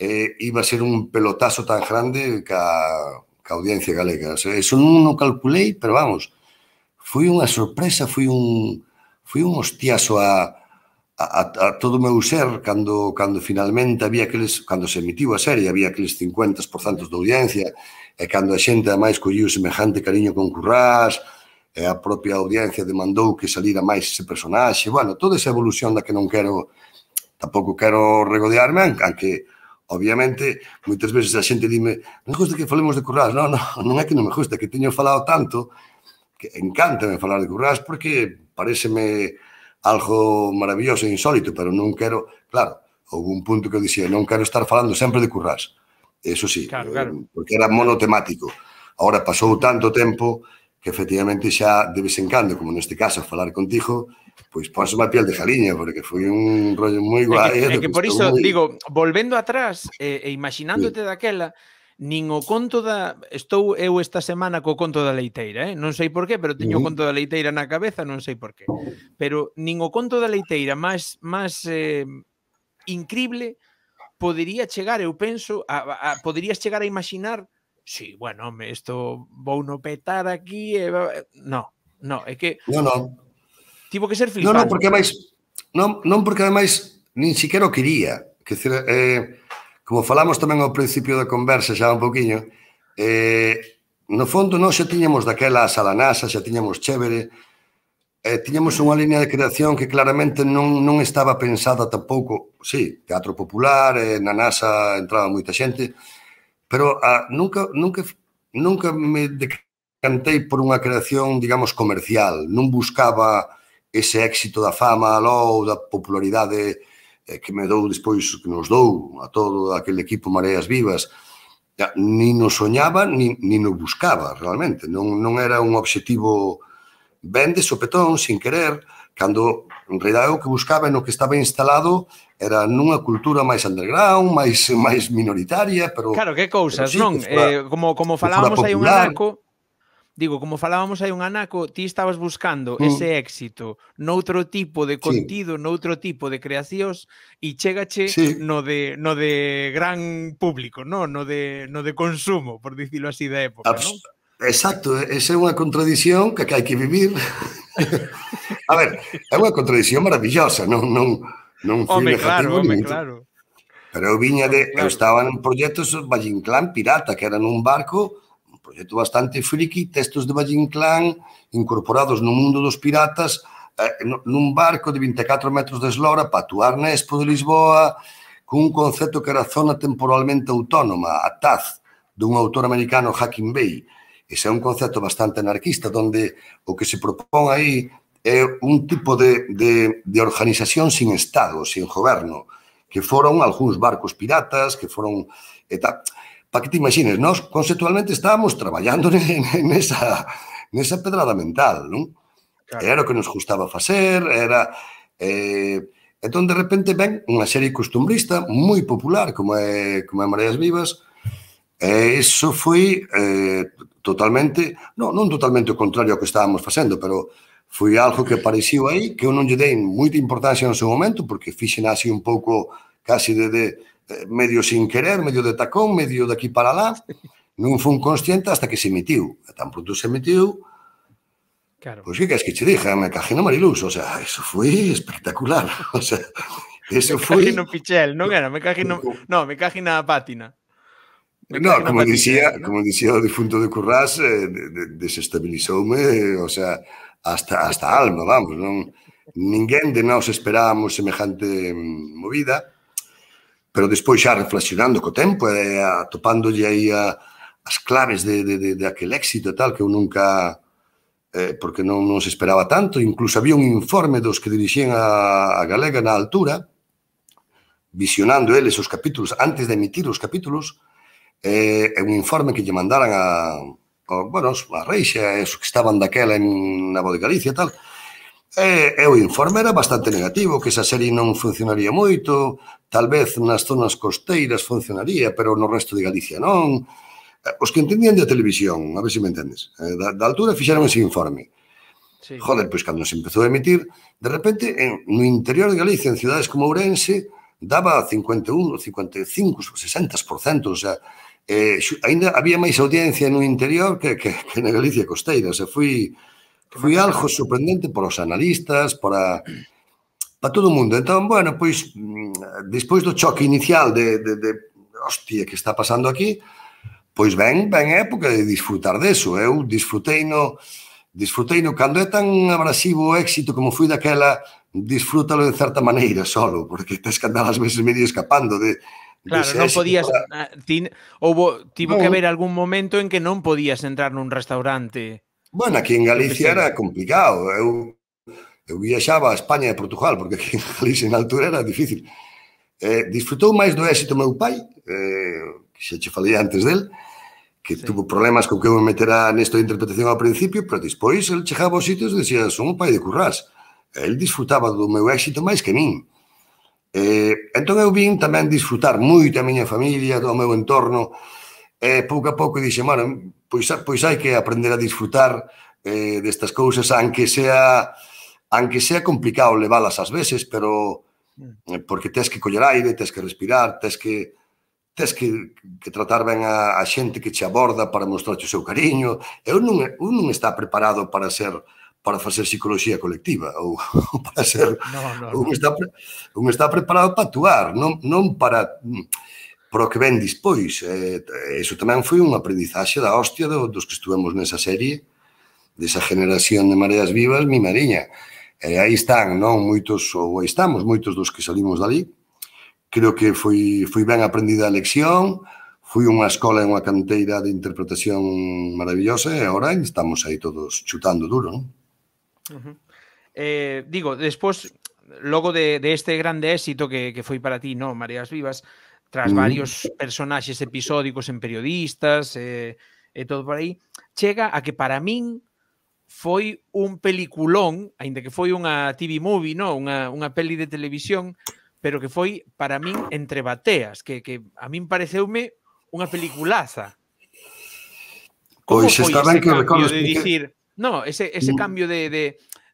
[SPEAKER 2] eh, iba a ser un pelotazo tan grande ca, ca audiencia galega. O sea, eso non o calculei, pero vamos, foi unha sorpresa, foi un, foi un hostiazo a, a, a todo o meu ser cando, cando finalmente había aqueles, cando se emitiu a serie, había aqueles cincuenta por cento de audiencia, e cando a xente ademais colliu semejante cariño con Currás, e a propia audiencia demandou que salira máis ese personaxe. Bueno, toda esa evolución da que non quero, tampouco quero regodearme, aunque, obviamente, moitas veces a xente dime, non gusta que falemos de Currás. Non, non, non é que non me gusta, que teño falado tanto, que encántame falar de Currás, porque pareceme algo maravilloso e insólito, pero non quero, claro, houve un punto que eu dixía, non quero estar falando sempre de Currás. Eso sí, claro, claro. Porque era monotemático. Ahora pasou tanto tempo que efectivamente xa de vez en cando, como neste caso, falar contigo, pois ponse má piel de jaliña, porque foi un rollo moi guai.
[SPEAKER 1] É que, é que por iso, moi... digo, volvendo atrás e, e imaginándote sí. daquela, nin o conto da... Estou eu esta semana co conto da leiteira, eh? Non sei por qué, pero teño uh -huh. o conto da leiteira na cabeza, non sei por qué. Pero nin o conto da leiteira máis, máis eh, incrible podería chegar, eu penso, a, a, poderías chegar a imaginar. Sí, bueno, home, isto vou no petar aquí e... No, no, é que...
[SPEAKER 2] Non, non.
[SPEAKER 1] Tivo que ser flipante.
[SPEAKER 2] Non, non, porque ademais... Non, non porque ademais nin siquiera o quería. Que, eh, como falamos tamén ao principio da conversa xa un poquinho, eh, no fondo nós xa tiñamos daquela sala NASA, xa tiñamos chévere, eh, tiñamos unha línea de creación que claramente non, non estaba pensada tampouco... Sí, teatro popular, eh, na NASA entraba moita xente... Pero ah, nunca, nunca, nunca me decantei por unha creación, digamos, comercial. Non buscaba ese éxito da fama ou da popularidade eh, que me dou despois, que nos dou a todo aquele equipo Mareas Vivas. Ya, ni nos soñaba, ni, ni nos buscaba, realmente. Non, non era un obxectivo ben de sopetón, sin querer, cando, en realidad, o que buscaba e no que estaba instalado era nunha cultura máis underground, máis máis minoritaria, pero...
[SPEAKER 1] Claro, que cousas, sí, non? Eh, como, como falábamos hai un anaco, digo, como falábamos hai un anaco, ti estabas buscando mm. ese éxito noutro tipo de contido, sí. noutro tipo de creacións, e chégache sí. no, de, no de gran público, no, no, de, no de consumo, por dicilo así, da época,
[SPEAKER 2] Abs non? Exacto, esa é unha contradición que hai que vivir. A ver, é unha contradición maravillosa, non, non, non fui
[SPEAKER 1] Home,
[SPEAKER 2] negativo
[SPEAKER 1] claro,
[SPEAKER 2] ni
[SPEAKER 1] home,
[SPEAKER 2] moito.
[SPEAKER 1] claro.
[SPEAKER 2] Pero eu viña
[SPEAKER 1] Home,
[SPEAKER 2] de... Eu
[SPEAKER 1] claro.
[SPEAKER 2] estaba en proxectos Valle Inclán pirata, que era nun barco, un proxecto bastante friki, textos de Valle Inclán incorporados no mundo dos piratas, eh, nun barco de vinte e catro metros de eslora para actuar na Expo de Lisboa, cun concepto que era zona temporalmente autónoma, a T A Z, dun autor americano, Hacking Bay. Ese é un concepto bastante anarquista, donde o que se propón aí é un tipo de, de, de organización sin Estado, sin goberno, que foron algúns barcos piratas, que foron... Para que te imagines, nós conceptualmente estábamos traballando nesa, nesa pedrada mental, non? Claro. Era o que nos gustaba facer, era... Eh, entón, de repente, ven unha serie costumbrista moi popular, como é, como é Mareas Vivas, e iso foi eh, totalmente... Non, non totalmente o contrario ao que estábamos facendo, pero foi algo que apareciu aí, que eu non lle dei moita importancia no seu momento, porque fixen así un pouco casi de, de medio sin querer, medio de tacón, medio de aquí para lá, non fui consciente hasta que se emitiu. E tan pronto se emitiu, claro. Pois que queres que che dixa? Me caje no Mariluz, o sea, eso foi espectacular. O sea, eso foi...
[SPEAKER 1] Me caje no Pichel, non era? Me caje no... No, me caje na pátina.
[SPEAKER 2] No, como dicía, como dicía o difunto de Currás, eh, de, de, desestabilizoume, o sea, hasta, hasta a alma, vamos, non? Ninguén de nós esperábamos semejante movida, pero despois xa reflexionando co tempo e atopándolle aí a, as claves de, de, de, de aquel éxito e tal, que eu nunca, eh, porque non, non se esperaba tanto, incluso había un informe dos que dirixían a, a Galega na altura, visionando eles os capítulos, antes de emitir os capítulos, eh, un informe que lle mandaran a, a bueno, a Reixa, esos que estaban daquela en na Voz de Galicia e tal, E, e o informe era bastante negativo, que esa serie non funcionaría moito, tal vez nas zonas costeiras funcionaría, pero no resto de Galicia non. Os que entendían de televisión, a ver se me entendes, da, da altura fixeron ese informe. Sí. Joder, pois cando se empezou a emitir, de repente, en, no interior de Galicia, en cidades como Ourense, daba cincuenta e un, cincuenta e cinco, sesenta por cento, o sea, eh, ainda había máis audiencia no interior que, que, que na Galicia costeira, o sea, fui... Foi algo sorprendente para os analistas, para, para todo o mundo. Entón, bueno, pois, despois do choque inicial de, de, de hostia, que está pasando aquí, pois ven, ven a época de disfrutar deso. Eu disfrutei no, disfrutei no, cando é tan abrasivo o éxito como foi daquela, disfrútalo de certa maneira solo, porque tes que andar ás veces medio escapando de...
[SPEAKER 1] Claro, non podías... Para... Tin, houbo, tivo no. que haber algún momento en que non podías entrar nun restaurante...
[SPEAKER 2] Bueno, aquí en Galicia era complicado. Eu, eu viaxaba a España e Portugal, porque aquí en Galicia na altura era difícil. Eh, disfrutou máis do éxito meu pai, eh, que xa che falei antes del, que sí. Tuvo problemas con que eu me metera nesto de interpretación ao principio, pero despois el chegaba aos sitios e dicía, son o pai de Currás. El disfrutaba do meu éxito máis que min. Eh, entón eu vin tamén disfrutar moito a miña familia, do meu entorno, e pouco a pouco dixen, bueno, pois, pois hai que aprender a disfrutar eh, destas cousas, aunque sea aunque sea complicado leválas ás veces, pero eh, porque tes que coller aire, tes que respirar, tes que tes que, que tratar ben a, a xente que che aborda para mostrarche o seu cariño. Eu non, eu non está preparado para ser para facer psicología colectiva ou, ou para ser
[SPEAKER 1] no, no,
[SPEAKER 2] un,
[SPEAKER 1] no.
[SPEAKER 2] Está, un está preparado para actuar, non, non para para o que ven dispois. Eh, eso tamén foi unha aprendizaxe da hostia do, dos que estuvemos nesa serie, desa generación de Mareas Vivas, mi mariña. E aí están, non, moitos, ou aí estamos, moitos dos que salimos dali. Creo que foi, foi ben aprendida a lección, foi unha escola e unha canteira de interpretación maravillosa e agora estamos aí todos chutando duro, non?
[SPEAKER 1] Uh-huh. Eh, digo, despois, logo de, de este grande éxito que, que foi para ti, non, Mareas Vivas, tras varios personaxes episódicos en periodistas e, e todo por aí, chega a que para min foi un peliculón, aínda que foi unha T V movie, no? unha, unha peli de televisión, pero que foi para min entre bateas, que, que a min pareceume unha peliculaza. Como
[SPEAKER 2] pois
[SPEAKER 1] foi
[SPEAKER 2] está
[SPEAKER 1] ese
[SPEAKER 2] ben que
[SPEAKER 1] cambio de
[SPEAKER 2] que...
[SPEAKER 1] dicir, no, ese, ese cambio de, de,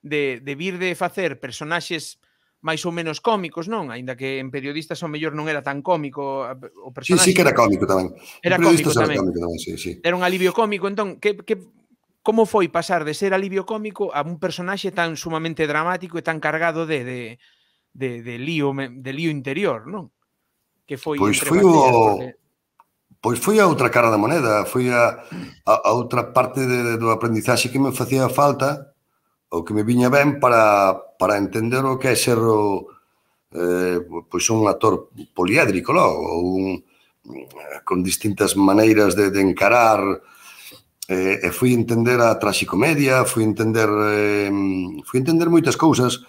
[SPEAKER 1] de, de vir de facer personaxes máis ou menos cómicos, non? Aínda que en periodistas ao mellor non era tan cómico o personaxe.
[SPEAKER 2] Sí, sí que era cómico tamén.
[SPEAKER 1] Era cómico
[SPEAKER 2] tamén.
[SPEAKER 1] tamén.
[SPEAKER 2] Cómico tamén, sí, sí.
[SPEAKER 1] Era un alivio cómico, entón, que, que, como foi pasar de ser alivio cómico a un personaxe tan sumamente dramático e tan cargado de, de, de, de, lío, de lío interior, non? Que foi
[SPEAKER 2] Pois
[SPEAKER 1] Entre
[SPEAKER 2] foi
[SPEAKER 1] Bateas,
[SPEAKER 2] o...
[SPEAKER 1] porque...
[SPEAKER 2] Pois foi a outra cara da moneda, foi a, a, a outra parte de, do aprendizaxe que me facía falta, o que me viña ben para, para entender o que é ser o, eh, pois un actor poliédrico, lo, ou un, con distintas maneiras de, de encarar, eh, e fui entender a traxicomedia, fui entender eh, fui entender moitas cousas.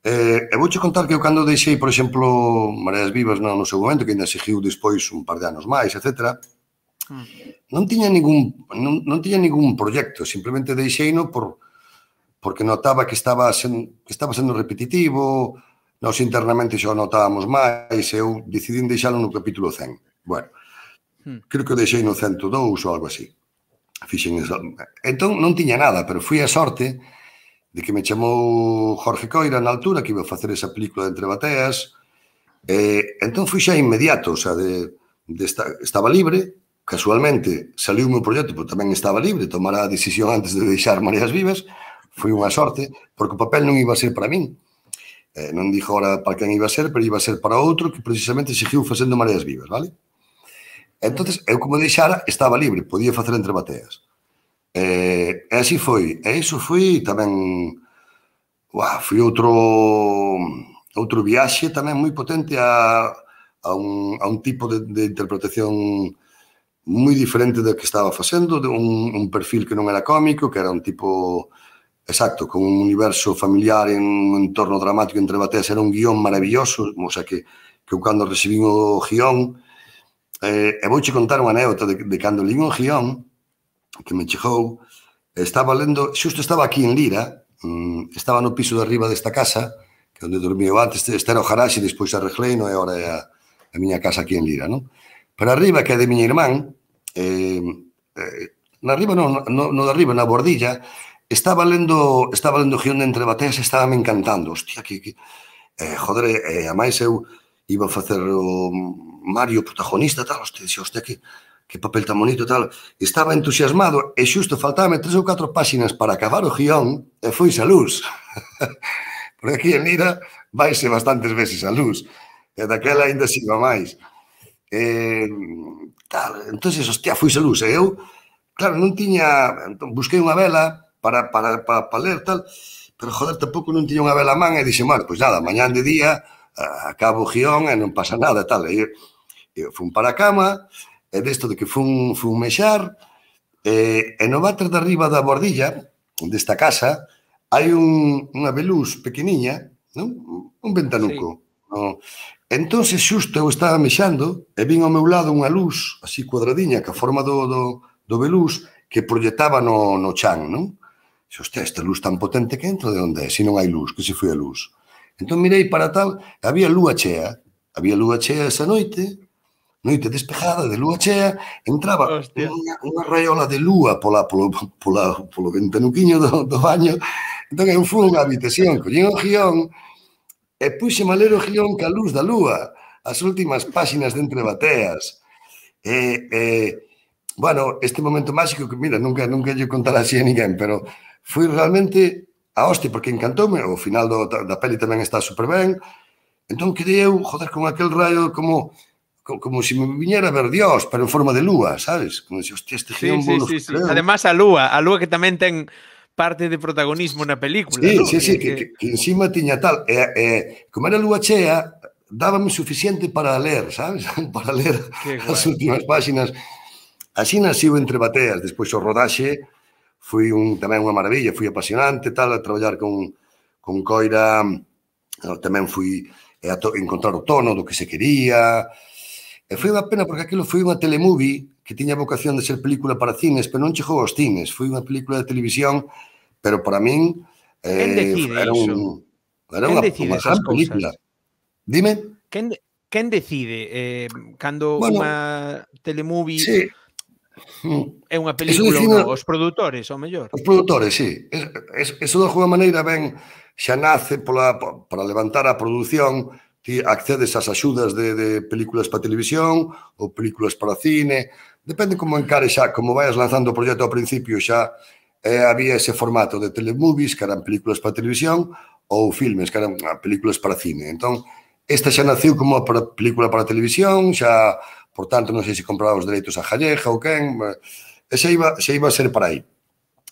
[SPEAKER 2] Eh, e vouche contar que eu cando deixei, por exemplo, Mareas Vivas no, no seu momento, que ainda seguiu despois un par de anos máis, etcétera, mm. non tiña ningún non, non tiña ningún proxecto, simplemente deixeino por porque notaba que estaba sen, que estaba sendo repetitivo, nós internamente xa o notábamos máis, e eu decidín deixalo no capítulo cen. Bueno, mm. creo que o deixei no cento e dous ou algo así. Fixen eso. Entón non tiña nada, pero fui a sorte de que me chamou Jorge Coira na altura, que iba a facer esa película de Entre Bateas, e entón fui xa inmediato, o sea, de, de esta, estaba libre, casualmente saliu o meu proxecto, pero tamén estaba libre, tomar a decisión antes de deixar Mareas Vivas, foi unha sorte, porque o papel non iba a ser para min, eh, non dixo ahora para quen iba a ser, pero iba a ser para outro que precisamente seguiu facendo Mareas Vivas, vale? Entonces, eu como deixara, estaba libre, podía facer Entre Bateas. E, e así foi. E iso foi tamén... Uah, foi outro outro viaxe tamén moi potente a, a, un, a un tipo de, de interpretación moi diferente do que estaba facendo, de un, un perfil que non era cómico, que era un tipo... Exacto, con un universo familiar en un entorno dramático. Entre Bateas era un guión maravilloso, o sea que, que eu cando recibín o guión, Eh, e vouche contar unha anécdota de, de cando lín o guión que me chegou, estaba lendo, xusto estaba aquí en Lira, mmm, estaba no piso de arriba desta casa, que onde dormía antes, este era o garaxe, despois arreglei, non é agora é a, a miña casa aquí en Lira, non? Pero arriba, que é de miña irmán, eh, eh, na arriba, non, no, no de arriba, na bordilla, estaba lendo, estaba lendo o guión de Entre Bateas e estaba me encantando, hostia, que, que eh, joder, eh, a máis eu iba a facer o Mario protagonista, tal, hostia, dixo, hostia, que, que papel tan bonito, tal. Estaba entusiasmado e xusto faltábame tres ou catro páxinas para acabar o guión e foise a luz. Porque aquí en Lira vaise bastantes veces a luz. E daquela ainda sigo máis. E, tal, entonces, hostia, foise a luz. E eu, claro, non tiña... Entón, busquei unha vela para, para, para, para ler, tal, pero, joder, tampouco non tiña unha vela a man e dixe, mal, pois nada, mañán de día acabo o guión e non pasa nada, tal. E eu fun para a cama, e desto de que fun, fun mexar, e, e no váter de arriba da bordilla desta casa hai un, unha veluz pequeniña, non? Un ventanuco. Sí. No? Entón, xusto eu estaba mexando e vin ao meu lado unha luz así cuadradiña, que a forma do, do, do veluz que proyectaba no, no chan, non? Xe, hostia, esta luz tan potente que entra de onde é? Se non hai luz, que se foi a luz. Entón mirei para tal, había lúa chea, había lúa chea esa noite, noite despejada de lúa chea, entraba unha, unha raiola de lúa pola, polo, pola, polo ventanuquiño do, do baño. Entón eu fui unha habitación, collín o guión e puxeme a ler o guión ca luz da lúa, as últimas páxinas de Entre Bateas. E, e bueno, este momento máxico que, mira, nunca, nunca lle contará así a ninguén, pero foi realmente a hostia, porque encantoume, o final do, da, da peli tamén está super ben, entón quedei eu, joder, con aquel raio como como, como se me viñera a ver Dios, pero en forma de lúa, sabes? Como se, hostia, este guión
[SPEAKER 1] sí, sí, sí, sí. Además a lúa, a lúa que tamén ten parte de protagonismo na película,
[SPEAKER 2] sí,
[SPEAKER 1] ¿no?
[SPEAKER 2] Sí, sí, que, que, que encima tiña tal, e, e como era lúa chea, dábame suficiente para ler, sabes? Para ler as últimas páxinas. Así naciu Entre Bateas, despois o rodaxe foi un, tamén unha maravilla, foi apasionante, tal, a traballar con, con Coira, tamén fui a to, encontrar o tono do que se quería, e foi unha pena porque aquilo foi unha telemovie que tiña vocación de ser película para cines, pero non chegou aos cines, foi unha película de televisión, pero para min
[SPEAKER 1] eh,
[SPEAKER 2] era, un, era unha, unha gran película. Dime?
[SPEAKER 1] Quen, quen decide eh, cando
[SPEAKER 2] bueno,
[SPEAKER 1] unha telemovie...
[SPEAKER 2] Sí.
[SPEAKER 1] É unha película ou non? Os produtores, ao mellor?
[SPEAKER 2] Os produtores, sí. Eso de alguma maneira ben xa nace pola, para levantar a produción, ti accedes ás axudas de, de películas para televisión ou películas para cine, depende como encare xa, como vayas lanzando o proxecto ao principio xa, eh, había ese formato de telemovies, que eran películas para televisión, ou filmes, que eran películas para cine. Entón, esta xa naciu como para película para televisión, xa, por tanto, non sei se compraba os dereitos a Jalleja ou quen, e xa iba, xa iba a ser para aí.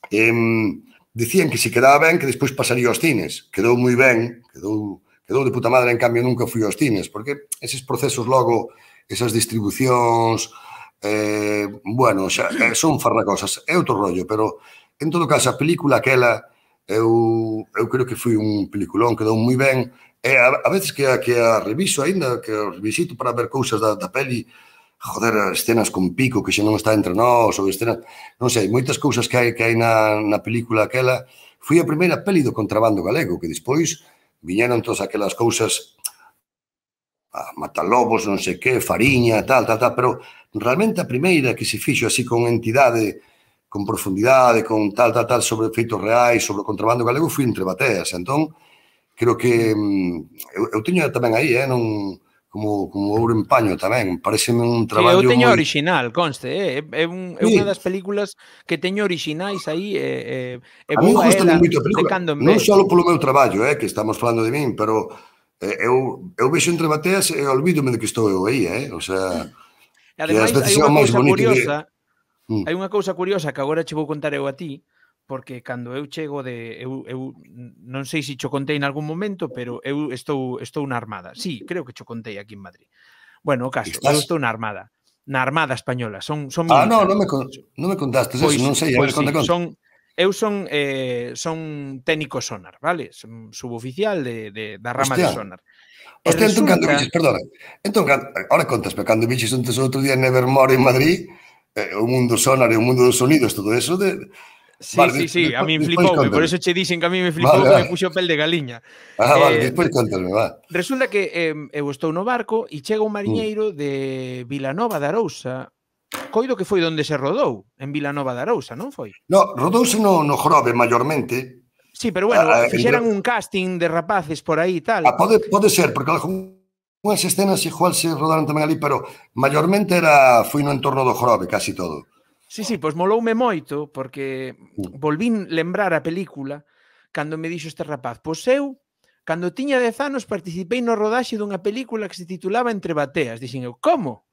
[SPEAKER 2] Eh, dicían que se quedaba ben, que despois pasaría aos cines. Quedou moi ben, quedou, quedou de puta madre, en cambio nunca fui aos cines, porque eses procesos logo, esas distribucións, eh, bueno, xa, eh, son farragosas, é outro rollo, pero en todo caso, a película aquela, eu, eu creo que foi un peliculón, quedou moi ben, e a, a veces que a, que a reviso aínda, que a revisito para ver cousas da, da peli, joder, escenas con Pico que xa non está entre nós, ou escenas, non sei, moitas cousas que hai que hai na, na película aquela. Foi a primeira peli do contrabando galego, que despois viñeron todas aquelas cousas, a Matalobos, non sei que, Fariña, tal, tal, tal, pero realmente a primeira que se fixo así con entidade, con profundidade, con tal, tal, tal, sobre feitos reais, sobre o contrabando galego, foi Entre Bateas. Entón, creo que eu, eu teño tamén aí, eh, non... como, como ouro en paño tamén, pareceme un traballo moi...
[SPEAKER 1] Sí, eu teño
[SPEAKER 2] moi...
[SPEAKER 1] original, conste, eh? é, un, é
[SPEAKER 2] sí.
[SPEAKER 1] unha das películas que teño orixinais aí, e, e, e
[SPEAKER 2] a mí
[SPEAKER 1] vou a
[SPEAKER 2] gusta
[SPEAKER 1] ela
[SPEAKER 2] moito a
[SPEAKER 1] de
[SPEAKER 2] película,
[SPEAKER 1] cando en
[SPEAKER 2] non
[SPEAKER 1] vez.
[SPEAKER 2] só polo meu traballo, eh, que estamos falando de min, pero eh, eu, eu vexo Entre Bateas e olvídome de que estou eu aí, eh? O sea,
[SPEAKER 1] E
[SPEAKER 2] que ás
[SPEAKER 1] ademais,
[SPEAKER 2] veces
[SPEAKER 1] hai
[SPEAKER 2] é o
[SPEAKER 1] unha
[SPEAKER 2] máis
[SPEAKER 1] cousa
[SPEAKER 2] bonito
[SPEAKER 1] curiosa,
[SPEAKER 2] de... Mm.
[SPEAKER 1] hai unha cousa curiosa que agora che vou contar eu a ti, porque cando eu chego de... Eu, eu non sei se cho contei en algún momento, pero eu estou, estou na Armada. Sí, creo que cho contei aquí en Madrid. Bueno, o caso, eu
[SPEAKER 2] Estás?
[SPEAKER 1] estou na Armada. Na Armada Española, son, son
[SPEAKER 2] Ah, no,
[SPEAKER 1] militar.
[SPEAKER 2] non me, con... non me contastes eso,
[SPEAKER 1] Pois,
[SPEAKER 2] non sei, a ver,
[SPEAKER 1] pois
[SPEAKER 2] conta,
[SPEAKER 1] sí,
[SPEAKER 2] conta.
[SPEAKER 1] son... Eu son, eh, son técnico sonar, vale? Son suboficial de, de, da rama
[SPEAKER 2] Hostia,
[SPEAKER 1] de sonar. E
[SPEAKER 2] hostia, entón cando
[SPEAKER 1] resulta...
[SPEAKER 2] viches, perdona, entón, ahora contas, pero cando viches antes outro día en Nevermore en Madrid, eh, o mundo sonar e o mundo dos sonidos, todo eso, de...
[SPEAKER 1] Sí,
[SPEAKER 2] Vale,
[SPEAKER 1] sí,
[SPEAKER 2] despois,
[SPEAKER 1] sí, a
[SPEAKER 2] despois,
[SPEAKER 1] min
[SPEAKER 2] despois
[SPEAKER 1] flipoume, por
[SPEAKER 2] contame.
[SPEAKER 1] eso che dixen que a mí me flipou,
[SPEAKER 2] Vale,
[SPEAKER 1] que me
[SPEAKER 2] vale.
[SPEAKER 1] puxo pel de galiña.
[SPEAKER 2] Ah, vale,
[SPEAKER 1] Eh,
[SPEAKER 2] despois contame, va.
[SPEAKER 1] resulta que eh, eu estou no barco e chega un
[SPEAKER 2] Mm.
[SPEAKER 1] mariñeiro de Vilanova de Arousa, coido que foi onde se rodou, en Vilanova de Arousa, non foi?
[SPEAKER 2] No, rodouse no, no Jorobe, maiormente.
[SPEAKER 1] Sí, pero bueno,
[SPEAKER 2] A, a,
[SPEAKER 1] fixeran
[SPEAKER 2] entre...
[SPEAKER 1] un casting de rapaces por aí e tal.
[SPEAKER 2] ah, pode, pode ser, porque algunhas escenas igual se rodaron tamén ali, pero maiormente era, foi no entorno do Jorobe, casi todo.
[SPEAKER 1] Sí, sí, pois moloume moito, porque volvín lembrar a película cando me dixo este rapaz. Pois eu, cando tiña dez anos, participei no rodaxe dunha película que se titulaba Entre Bateas. Dixen eu, como?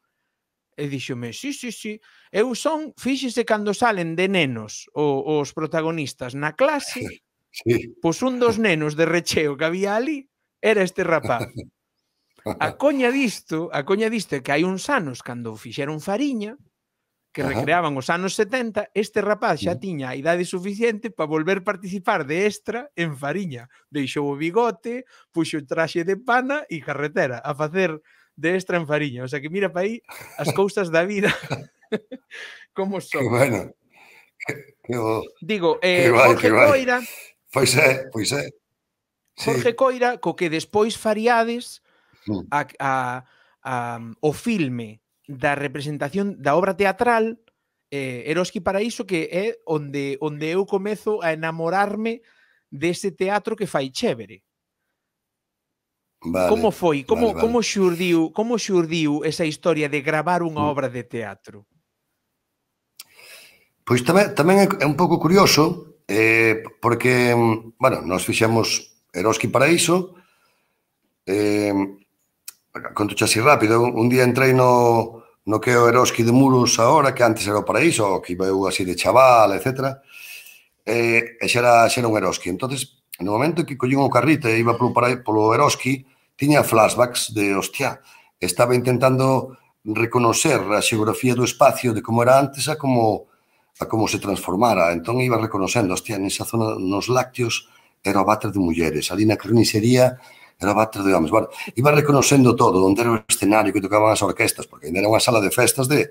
[SPEAKER 1] E díxome, sí, sí, sí. Eu son, fíxese cando salen de nenos o, os protagonistas na clase,
[SPEAKER 2] Sí.
[SPEAKER 1] pois un dos nenos de recheo que había ali era este rapaz. A coña disto, a coña disto é que hai uns anos, cando fixeron Fariña, que
[SPEAKER 2] Ajá.
[SPEAKER 1] recreaban os anos setenta, este rapaz xa tiña a idade suficiente para volver participar de extra en Fariña. Deixou o bigote, puxo o traxe de pana e carretera a facer de extra en Fariña. O sea que mira para aí as cousas da vida como son.
[SPEAKER 2] Que bueno. Que, que bo.
[SPEAKER 1] Digo,
[SPEAKER 2] que
[SPEAKER 1] eh,
[SPEAKER 2] guai,
[SPEAKER 1] Jorge
[SPEAKER 2] que guai.
[SPEAKER 1] Coira...
[SPEAKER 2] Pois é, pois é.
[SPEAKER 1] Jorge sí. Coira, co que despois faríades
[SPEAKER 2] mm.
[SPEAKER 1] a, a, a, o filme da representación da obra teatral eh, Eroski Paraíso, que é onde onde eu comezo a enamorarme dese teatro que fai chévere.
[SPEAKER 2] Vale,
[SPEAKER 1] como foi? Como,
[SPEAKER 2] vale, vale.
[SPEAKER 1] como xurdiu, como xurdiu esa historia de gravar unha
[SPEAKER 2] mm.
[SPEAKER 1] obra de teatro?
[SPEAKER 2] Pois tamén, tamén é un pouco curioso, eh, porque, bueno, nós fixemos Eroski Paraíso, eh, conto así rápido, un día entrei no, no que é o Eroski de Muros agora, que antes era o Paraíso, que iba eu así de chaval, etcétera, e, e xa, era, xa era un Eroski. Entonces, no momento que collín o carrito e iba polo, polo Eroski, tiña flashbacks de, hostia, estaba intentando reconocer a xeografía do espacio de como era antes a como, a como se transformara. Entón iba reconocendo, hostia, nesa zona, nos lácteos, era o váter de mulleres, ali na carnicería era o váter de homens. Bueno, iba reconocendo todo, onde era o escenario que tocaban as orquestas, porque ainda era unha sala de festas de...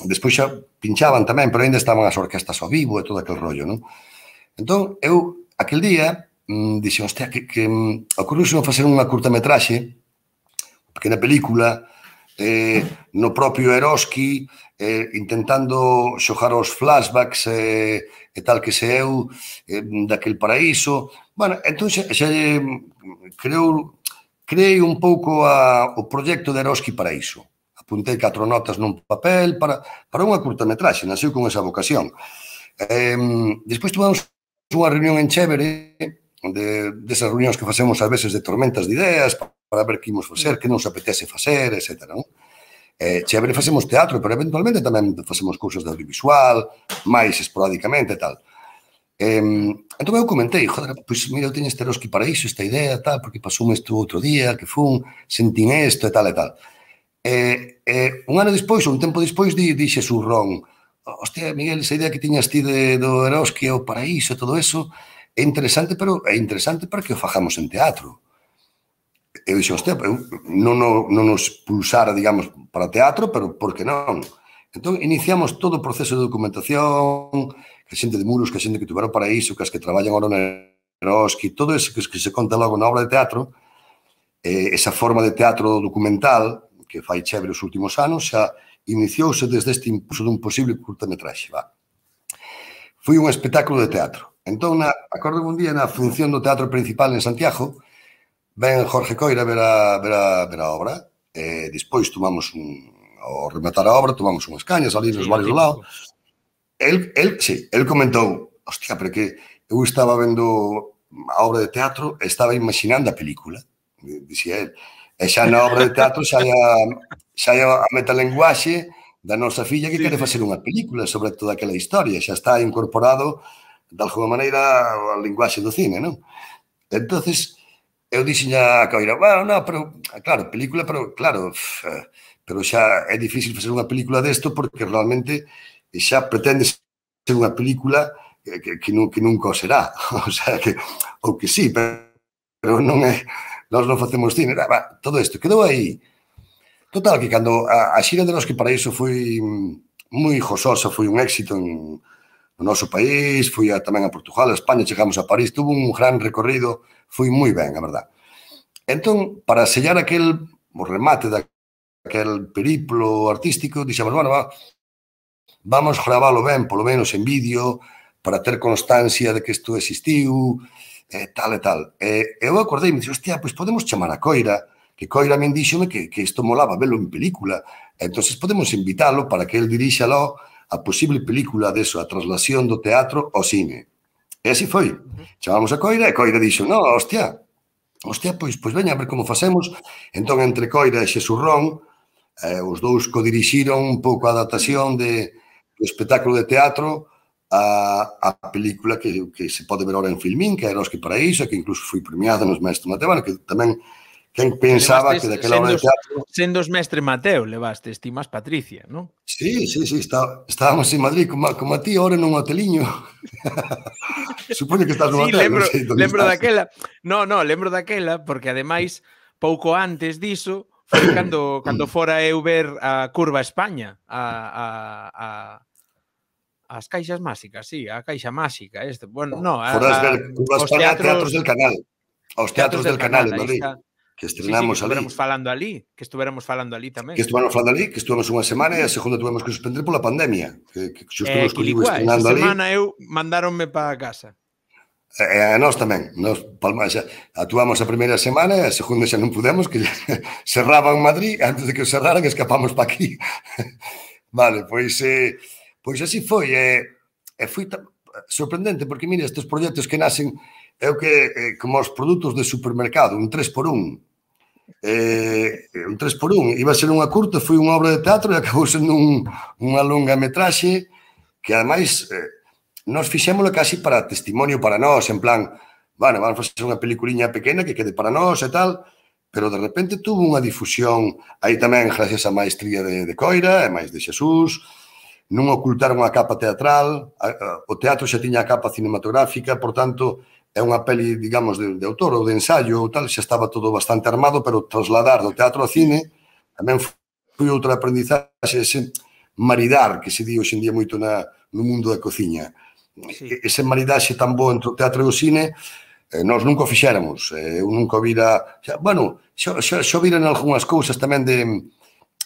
[SPEAKER 2] Despois xa pinchaban tamén, pero ainda estaban as orquestas ao vivo e todo aquel rollo, non? Entón, eu, aquel día, mmm, dixen, hostia, que, que mm, ocurriu-se facer unha curtametraxe, pequena película, eh, no propio Eroski, eh, intentando xogar os flashbacks eh, e tal que se eu eh, daquel paraíso. Bueno, entón xa, xa creo, creei un pouco a, o proxecto de Eroski Paraíso. Apuntei catro notas nun papel para, para unha curtametraxe, nasceu con esa vocación. Eh, despois tomamos unha reunión en Chévere, de, desas reunións que facemos ás veces de tormentas de ideas, para ver que imos facer, que nos apetece facer, etcétera. Non? Eh, Chévere facemos teatro, pero eventualmente tamén facemos cousas de audiovisual, máis esporádicamente e tal. Eh, entón eu comentei, joder, pois mira, eu teño este Eroski Paraíso, esta idea, tal, porque pasou isto outro día, que fun, sentín isto e tal e tal. Eh, eh, un ano despois, ou un tempo despois, di, di Xesús Ron, hostia, Miguel, esa idea que tiñas ti de, do Eroski e o Paraíso, todo eso, é interesante, pero é interesante para que o fajamos en teatro. Eu dixo, hostia, eu non, non nos pulsara, digamos, para teatro, pero por que non? Entón, iniciamos todo o proceso de documentación, que xente de Muros, que xente que tuveron para iso, que as que traballan ahora no Eroski, todo eso que, que se conta logo na obra de teatro, eh, esa forma de teatro documental que fai Chévere os últimos anos, xa iniciouse desde este impulso dun posible curtametraxe. Va. Foi un espectáculo de teatro. Entón, na, acordo un día na función do teatro principal en Santiago, ven Jorge Coira a ver a, ver a, ver a obra, e despois tomamos un, ao rematar a obra, tomamos unhas cañas ali nos sí, bares do lado. El, el, sí, el comentou, hostia, pero que eu estaba vendo a obra de teatro e estaba imaginando a película, dixía el, e xa na obra de teatro xa hai a, xa hai a metalenguaxe da nosa filla que sí, quere facer unha película sobre toda aquela historia, xa está incorporado de alguma maneira a linguaxe do cine, non? Entonces, eu dixen a Coira, bueno, no, pero, claro, película, pero, claro, pero xa é difícil facer unha película desto porque realmente xa pretende ser unha película que, que, que, non, que nunca o será. O sea, que, ou que sí, pero, pero non é, nós non facemos cine. Va, todo isto quedou aí. Total, que cando a, a xira de Eroski Paraíso foi moi jososa, foi un éxito en, no noso país, foi a, tamén a Portugal, a España, chegamos a París, tuvo un gran recorrido, foi moi ben, a verdad. Entón, para sellar aquel, o remate daquel periplo artístico, dixemos, bueno, va, vamos graválo ben, polo menos en vídeo, para ter constancia de que isto existiu, e tal e tal. E eu acordei e me dixo, hostia, pois podemos chamar a Coira, que Coira me díxome que, que isto molaba velo en película, entonces podemos invitalo para que el dirixalo a posible película deso, a traslación do teatro ao cine. E así foi. Chamamos a Coira e Coira dixo, no, hostia, hostia, pois, pois veña, a ver como facemos. Entón, entre Coira e Xesús Ron, eh, os dous codirixiron un pouco a adaptación de do espectáculo de teatro a, a película que, que se pode ver ahora en Filmín, que é Eroski Paraíso, que incluso foi premiada nos Mestre Mateo, que tamén quen pensaba que daquela hora de teatro...
[SPEAKER 1] Sendo os Mestre Mateo, levastes ti máis Patricia, non?
[SPEAKER 2] Sí, sí, sí, está, estábamos en Madrid como, como a ti ahora nun hoteliño. Supoño que estás no
[SPEAKER 1] sí,
[SPEAKER 2] hotel,
[SPEAKER 1] lembro,
[SPEAKER 2] non sei
[SPEAKER 1] lembro
[SPEAKER 2] estás.
[SPEAKER 1] daquela. No, no, lembro daquela, porque ademais, pouco antes diso, foi cando, cando fora eu ver a Curva España, a, a, a as caixas máxicas, sí, a caixa máxica, este. Bueno, no, a,
[SPEAKER 2] Foras
[SPEAKER 1] a,
[SPEAKER 2] ver Curva España, teatros, teatros del Canal. Os teatros, teatros del, del Canal, canal en Madrid. Que estrenamos
[SPEAKER 1] sí, sí, que estuvéramos
[SPEAKER 2] ali.
[SPEAKER 1] falando ali, que estuvéramos falando ali tamén.
[SPEAKER 2] Que estuvéramos falando ali, que estuvemos unha semana e a segunda tuvemos que suspender pola pandemia, que, que xusto
[SPEAKER 1] eh,
[SPEAKER 2] nos colliu estrenando
[SPEAKER 1] ali. Esa
[SPEAKER 2] ali.
[SPEAKER 1] semana eu mandáronme para casa.
[SPEAKER 2] E a nós tamén, nós Palma, xa, actuamos a primeira semana e a segunda xa non pudemos, que cerraban Madrid, antes de que o cerraran escapamos para aquí. Vale, pois, eh, pois así foi, e, e foi sorprendente, porque mira, estes proxectos que nacen, é o que, eh, como os produtos de supermercado, un tres por un, eh, un tres por un, iba a ser unha curta, foi unha obra de teatro e acabou sendo un, unha longa metraxe que ademais eh, nos fixémolo casi para testimonio para nós, en plan, bueno, vamos a facer unha peliculiña pequena que quede para nós e tal, pero de repente tuvo unha difusión aí tamén gracias á maestría de, de Coira e máis de Xesús, non ocultaron a capa teatral, o teatro xa tiña a capa cinematográfica, por tanto, é unha peli, digamos, de, de autor ou de ensayo ou tal, xa estaba todo bastante armado, pero trasladar do teatro ao cine tamén foi outra aprendizaxe, ese maridar que se di hoxe en día moito na, no mundo da cociña. Sí. Ese maridaxe tan bo entre o teatro e o cine, eh, nós nunca o fixéramos. Eh, eu nunca vira... Xa, bueno, xa, xa, xa viran algunhas cousas tamén de,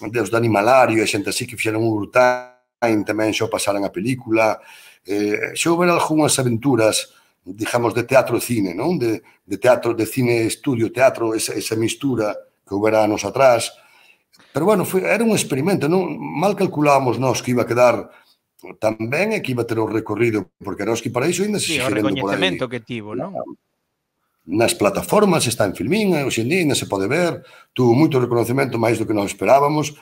[SPEAKER 2] de os de Animalario e xente así que fixeron un Urtain, tamén xa pasaran a película. Eh, xa houver algunhas aventuras, digamos, de teatro e cine, non? De, de teatro, de cine, estudio, teatro, esa, esa mistura que houbera anos atrás. Pero, bueno, foi, era un experimento, non? Mal calculábamos nós que iba a quedar tamén é que iba a ter o recorrido, porque Eroski Paraíso ainda se
[SPEAKER 1] Sí, o
[SPEAKER 2] sigue vendo por aí.
[SPEAKER 1] recoñecemento que tivo, non?
[SPEAKER 2] Nas plataformas, está en Filmín, hoxe en día ainda se pode ver, tuvo moito reconocemento máis do que nós esperábamos,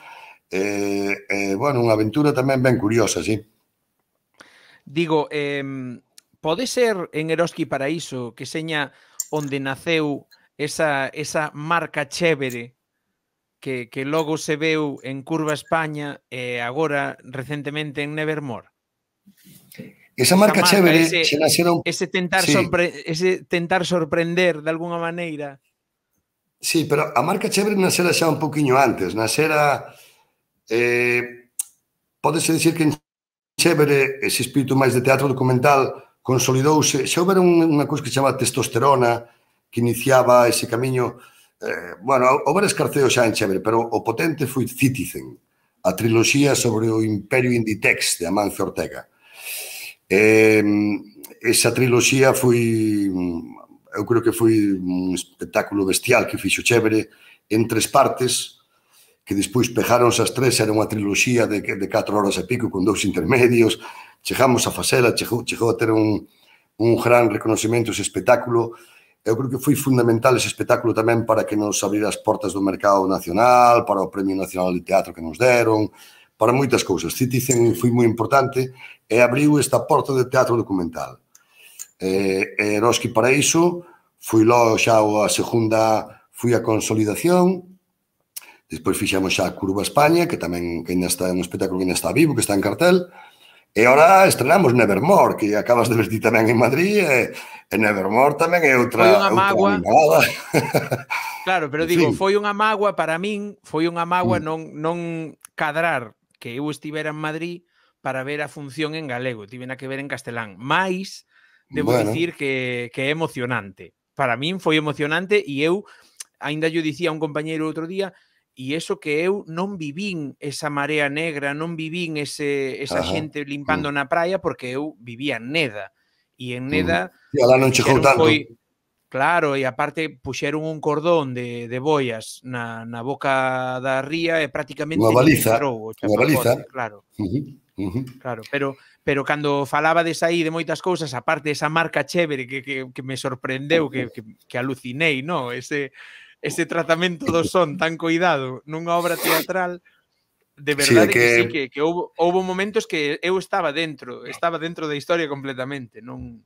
[SPEAKER 2] e, eh, bueno, unha aventura tamén ben curiosa, sí.
[SPEAKER 1] Digo, eh, pode ser en Eroski Paraíso que seña onde naceu esa, esa marca chévere que, que logo se veu en Curva España e agora recentemente en Nevermore?
[SPEAKER 2] Esa marca, marca chévere
[SPEAKER 1] ese,
[SPEAKER 2] se nasera un...
[SPEAKER 1] ese, tentar
[SPEAKER 2] sí.
[SPEAKER 1] sorpre... ese tentar sorprender de alguna maneira.
[SPEAKER 2] Sí, pero a marca chévere nasera xa un poquinho antes, nasera... Eh, pódese dicir que en chévere ese espírito máis de teatro documental consolidouse, xa houbera unha cousa que se chama testosterona que iniciaba ese camiño, eh, bueno, houbera escarceo xa en chévere, pero o potente foi Citizen, a triloxía sobre o Imperio Inditex de Amancio Ortega. Eh, esa triloxía foi, eu creo que foi un espectáculo bestial que fixo chévere en tres partes, que despois pejáronse as tres, era unha triloxía de, de catro horas e pico con dous intermedios, chegamos a facela, chegou, chegou a ter un, un gran reconocimento ese espectáculo. Eu creo que foi fundamental ese espectáculo tamén para que nos abrira as portas do mercado nacional, para o Premio Nacional de Teatro que nos deron, para moitas cousas. Citizen foi moi importante e abriu esta porta de teatro documental. E, e Eroski Paraíso foi logo xa a segunda, foi a consolidación. Despois fixemos xa a Curva España, que tamén que ainda está un espectáculo que ainda está vivo, que está en cartel. E agora estrenamos Nevermore, que acabas de ver ti tamén en Madrid, e, e Nevermore tamén é outra,
[SPEAKER 1] foi unha mágoa.
[SPEAKER 2] Outra
[SPEAKER 1] claro, pero digo, foi unha mágoa para min, foi unha mágoa mm. non, non cadrar que eu estivera en Madrid para ver a función en galego, tivena que ver en castelán. Mais, debo bueno. dicir que, que é emocionante. Para min foi emocionante e eu, ainda yo dicía a un compañeiro outro día, e eso que eu non vivín esa marea negra, non vivín ese, esa Ajá. xente limpando mm. na praia, porque eu vivía en Neda. E en Neda...
[SPEAKER 2] Mm. E alá non chegou tanto. Foi,
[SPEAKER 1] claro, e aparte puxeron un cordón de, de boias na, na boca da ría e prácticamente
[SPEAKER 2] unha baliza,
[SPEAKER 1] entrou o
[SPEAKER 2] unha baliza.
[SPEAKER 1] Claro.
[SPEAKER 2] Uh -huh. Uh -huh.
[SPEAKER 1] Claro, pero pero cando falaba de saí de moitas cousas, aparte esa marca chévere que, que, que me sorprendeu, que, que, que alucinei, no? Ese, ese tratamento do son tan cuidado nunha obra teatral, de verdade sí, que... que sí, que, que houve, houve momentos que eu estaba dentro, estaba dentro da historia completamente, non...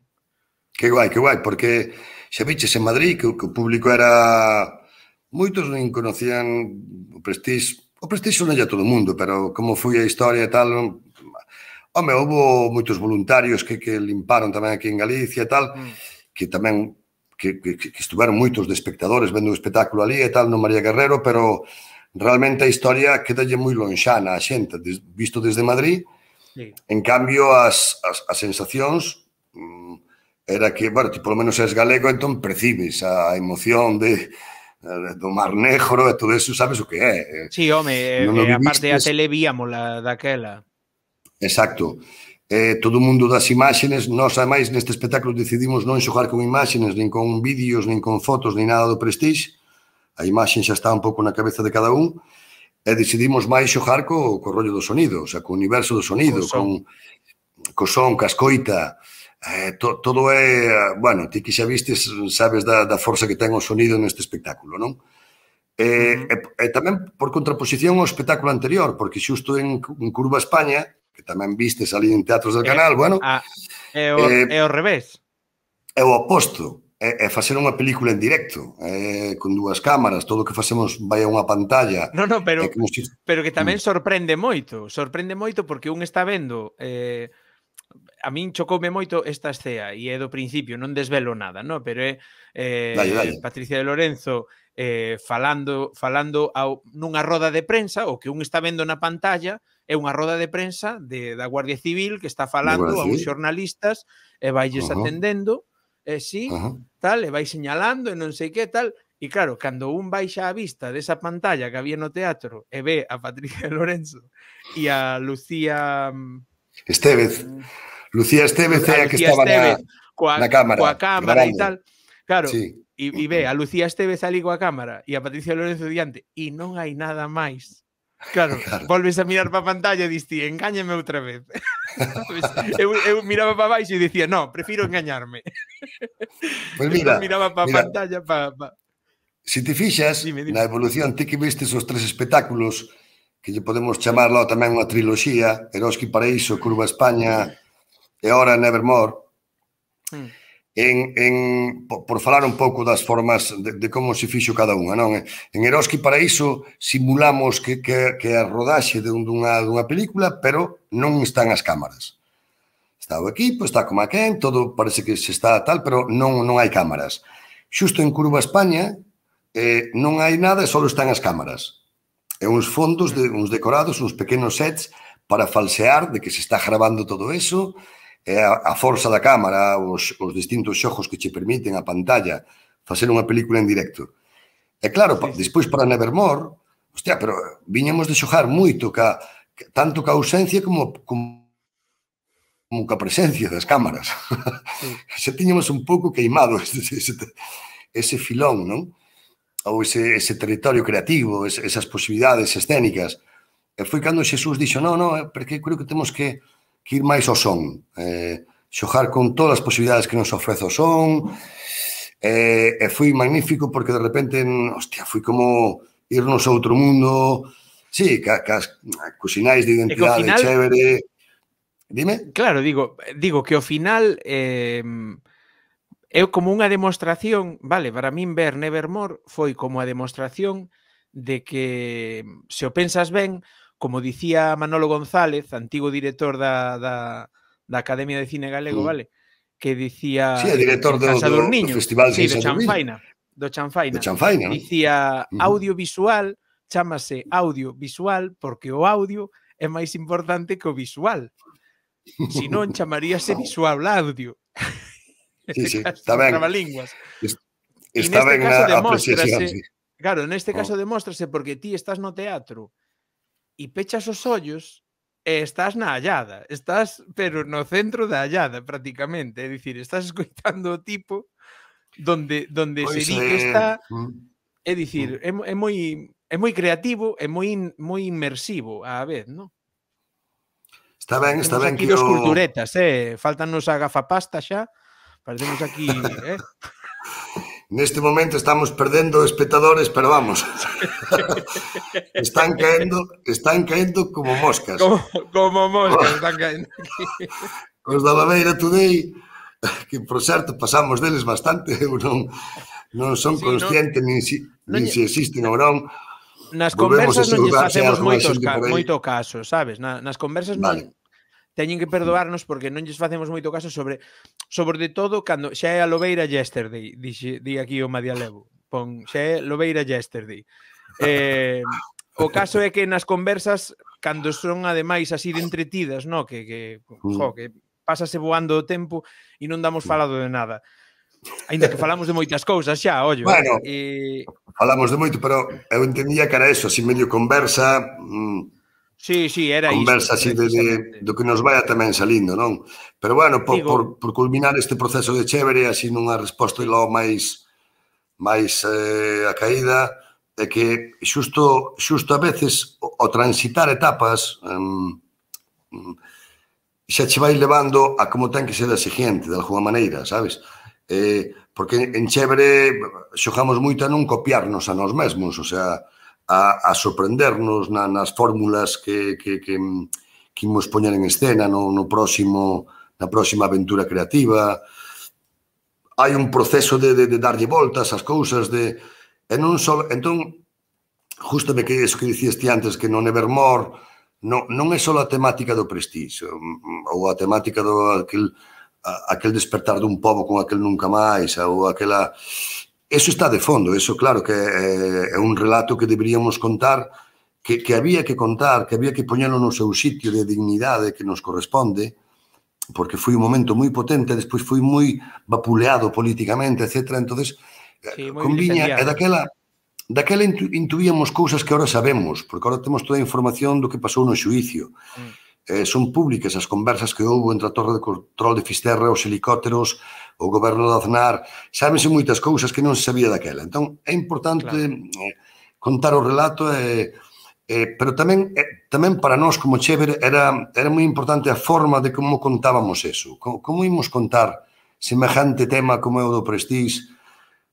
[SPEAKER 2] Que guai, que guai, porque xa viches en Madrid que, que o público era... Moitos non conocían o Prestige, o Prestige non é todo o mundo, pero como foi a historia e tal... Home, houve moitos voluntarios que, que limparon tamén aquí en Galicia e tal, mm. que tamén que, que, que estuveron moitos de espectadores vendo o espectáculo ali e tal no María Guerrero, pero realmente a historia quedalle moi lonxana a xente, des, visto desde Madrid. Sí. En cambio, as, as, as sensacións mm, era que, bueno, ti polo menos és galego, entón percibes a emoción de do Mar Negro e todo eso, sabes o que é.
[SPEAKER 1] Sí, home, no, no e aparte a tele víamola daquela.
[SPEAKER 2] Exacto. Eh, todo o mundo das imágenes, nós, ademais, neste espectáculo decidimos non xogar con imágenes, nin con vídeos, nin con fotos, nin nada do Prestige. A imaxen xa está un pouco na cabeza de cada un. E decidimos máis xogar co, co rollo do sonido, o sea, co universo do sonido, con co son, ca escoita. Eh, to, todo é... Bueno, ti que xa vistes, sabes da, da forza que ten o sonido neste espectáculo, non? Eh, uh-huh. e, e tamén por contraposición ao espectáculo anterior, porque xusto en, en Curva España, que tamén vistes ali en Teatros del Canal, eh, bueno...
[SPEAKER 1] Ah, é, o, eh, é o revés.
[SPEAKER 2] É o oposto. É, é facer unha película en directo, é, con dúas cámaras, todo o que facemos vai a unha pantalla.
[SPEAKER 1] No, no, pero, si... pero que tamén sorprende moito. Sorprende moito porque un está vendo... Eh, a min chocoume moito esta escena e é do principio, non desvelo nada, no? Pero é eh,
[SPEAKER 2] dale, dale.
[SPEAKER 1] Patricia de Lorenzo eh, falando, falando ao, nunha roda de prensa, o que un está vendo na pantalla é unha roda de prensa de, da Guardia Civil que está falando a uns xornalistas e vailles uh -huh. atendendo, e sí, uh -huh. tal, e vai señalando e non sei que tal, e claro, cando un baixa a vista desa pantalla que había no teatro e ve a Patricia de Lorenzo e a Lucía...
[SPEAKER 2] Estévez. Lucía Estévez é a que estaba na,
[SPEAKER 1] coa,
[SPEAKER 2] na cámara.
[SPEAKER 1] Coa cámara e tal. Claro,
[SPEAKER 2] sí.
[SPEAKER 1] e, e ve a Lucía Estévez ali coa cámara e a Patricia Lorenzo diante e non hai nada máis Claro, volves a mirar para a pantalla e diste, engáñame outra vez. eu, eu miraba para baixo e dicía, no, prefiro engañarme.
[SPEAKER 2] Pois mira,
[SPEAKER 1] entón miraba para a pantalla para... Pa...
[SPEAKER 2] Se te fixas,
[SPEAKER 1] dime, dime.
[SPEAKER 2] na evolución, ti que vistes os tres espectáculos, que lle podemos chamar lá tamén unha triloxía, Eroski Paraíso, Curva España e ora Nevermore, mm. en, en, por, por falar un pouco das formas de, de como se fixo cada unha, non? En Eroski Paraíso simulamos que, que, que a rodaxe de dunha, dunha película, pero non están as cámaras. Está o equipo, está como aquén, todo parece que se está tal, pero non, non hai cámaras. Xusto en Curva España eh, non hai nada e só están as cámaras. E uns fondos, de, uns decorados, uns pequenos sets para falsear de que se está grabando todo eso, e a, a forza da cámara, os, os distintos xogos que che permiten a pantalla facer unha película en directo. E claro, sí, sí. Despois para Nevermore, hostia, pero viñamos de xogar moito, ca, tanto ca ausencia como, como, como ca presencia das cámaras. Sí. Se tiñamos un pouco queimado ese, ese, ese filón, non? Ou ese, ese territorio creativo, ese, esas posibilidades escénicas. E foi cando Xesús dixo, non, non, porque creo que temos que que ir máis ao son, eh, xogar con todas as posibilidades que nos ofrece o son, eh, e foi magnífico porque de repente, hostia, foi como irnos a outro mundo, sí, ca, ca, cos sinais de identidade final, chévere. Dime?
[SPEAKER 1] Claro, digo, digo que ao final eh, é como unha demostración, vale, para min ver Nevermore foi como a demostración de que, se o pensas ben, como dicía Manolo González, antigo director da, da, da Academia de Cine Galego, mm. vale? Que dicía...
[SPEAKER 2] Sí, é director do, do, do Festival
[SPEAKER 1] sí, de Chanfaina, do Chanfaina.
[SPEAKER 2] Do Chanfaina,
[SPEAKER 1] dicía, ¿no? Audiovisual, chámase audiovisual porque o audio é máis importante que o visual. Si non, chamaríase visual audio.
[SPEAKER 2] Sí, sí, está ben.
[SPEAKER 1] Trabalínguas.
[SPEAKER 2] Está ben a apreciación, sí.
[SPEAKER 1] Claro, neste caso demóstrase porque ti estás no teatro e pechas os ollos e estás na allada, estás, pero no centro da allada, prácticamente, é dicir, estás escoitando o tipo donde, donde pues se di que está, é dicir, é, é moi é moi creativo, é moi, moi inmersivo á vez, non?
[SPEAKER 2] Está ben, está ben
[SPEAKER 1] que
[SPEAKER 2] que
[SPEAKER 1] o... Temos aquí dos
[SPEAKER 2] o...
[SPEAKER 1] culturetas, eh? Faltannos a gafapasta xa, parecemos aquí, eh?
[SPEAKER 2] Neste momento estamos perdendo espectadores, pero vamos. Están caendo, están caendo como moscas.
[SPEAKER 1] Como, como moscas están caendo aquí.
[SPEAKER 2] Os da Laveira Today, que por certo pasamos deles bastante, eu non, non son sí, consciente non, nin si, non, nin si existen ou non.
[SPEAKER 1] Nas conversas non lles facemos moitos, ca, moito caso, sabes? Na, nas conversas vale. non... Teñen que perdoarnos porque non lles facemos moito caso sobre sobre de todo cando xa é a Lobeira yesterday, dixe, di aquí o Madialevo. Pon, xa é Lobeira yesterday. Eh, o caso é que nas conversas cando son ademais así de entretidas, no, que que, jo, que pásase voando o tempo e non damos falado de nada. Ainda que falamos de moitas cousas xa, ollo.
[SPEAKER 2] Bueno,
[SPEAKER 1] eh,
[SPEAKER 2] falamos de moito, pero eu entendía que era eso, así medio conversa, mmm,
[SPEAKER 1] sí, sí, era
[SPEAKER 2] conversa
[SPEAKER 1] isto,
[SPEAKER 2] así de, de, do que nos vaya tamén salindo, non? Pero bueno, por,
[SPEAKER 1] Digo,
[SPEAKER 2] por, por culminar este proceso de chévere, así nunha resposta logo máis máis eh, a caída, é que xusto, xusto a veces o, o transitar etapas um, xa che vai levando a como ten que ser a seguinte, de alguma maneira, sabes? Eh, porque en chévere xogamos moito a non copiarnos a nós mesmos, o sea, a, a sorprendernos na, nas fórmulas que, que, que, que imos poñer en escena no, no próximo, na próxima aventura creativa. Hai un proceso de, de, de darlle voltas ás cousas, de, e non só, entón, justamente que eso que dicías ti antes, que no Nevermore non, non é só a temática do prestige, ou a temática do aquel, a, aquel despertar dun pobo con aquel nunca máis, ou aquela... Eso está de fondo, eso claro que é, é un relato que deberíamos contar, que, que había que contar, que había que poñelo no seu sitio de dignidade que nos corresponde, porque foi un momento moi potente, despois foi moi vapuleado políticamente, etcétera. Entonces, sí, conviña, e daquela, daquela intu, intuíamos cousas que ahora sabemos, porque ahora temos toda a información do que pasou no xuicio. Mm. Eh, son públicas as conversas que houve entre a Torre de Control de Fisterra, os helicópteros, o goberno de Aznar, sábense moitas cousas que non se sabía daquela. Entón, é importante claro. eh, contar o relato e, Eh, pero tamén eh, tamén para nós como Chever era, era moi importante a forma de como contábamos eso. Como, como imos contar semejante tema como é o do Prestige?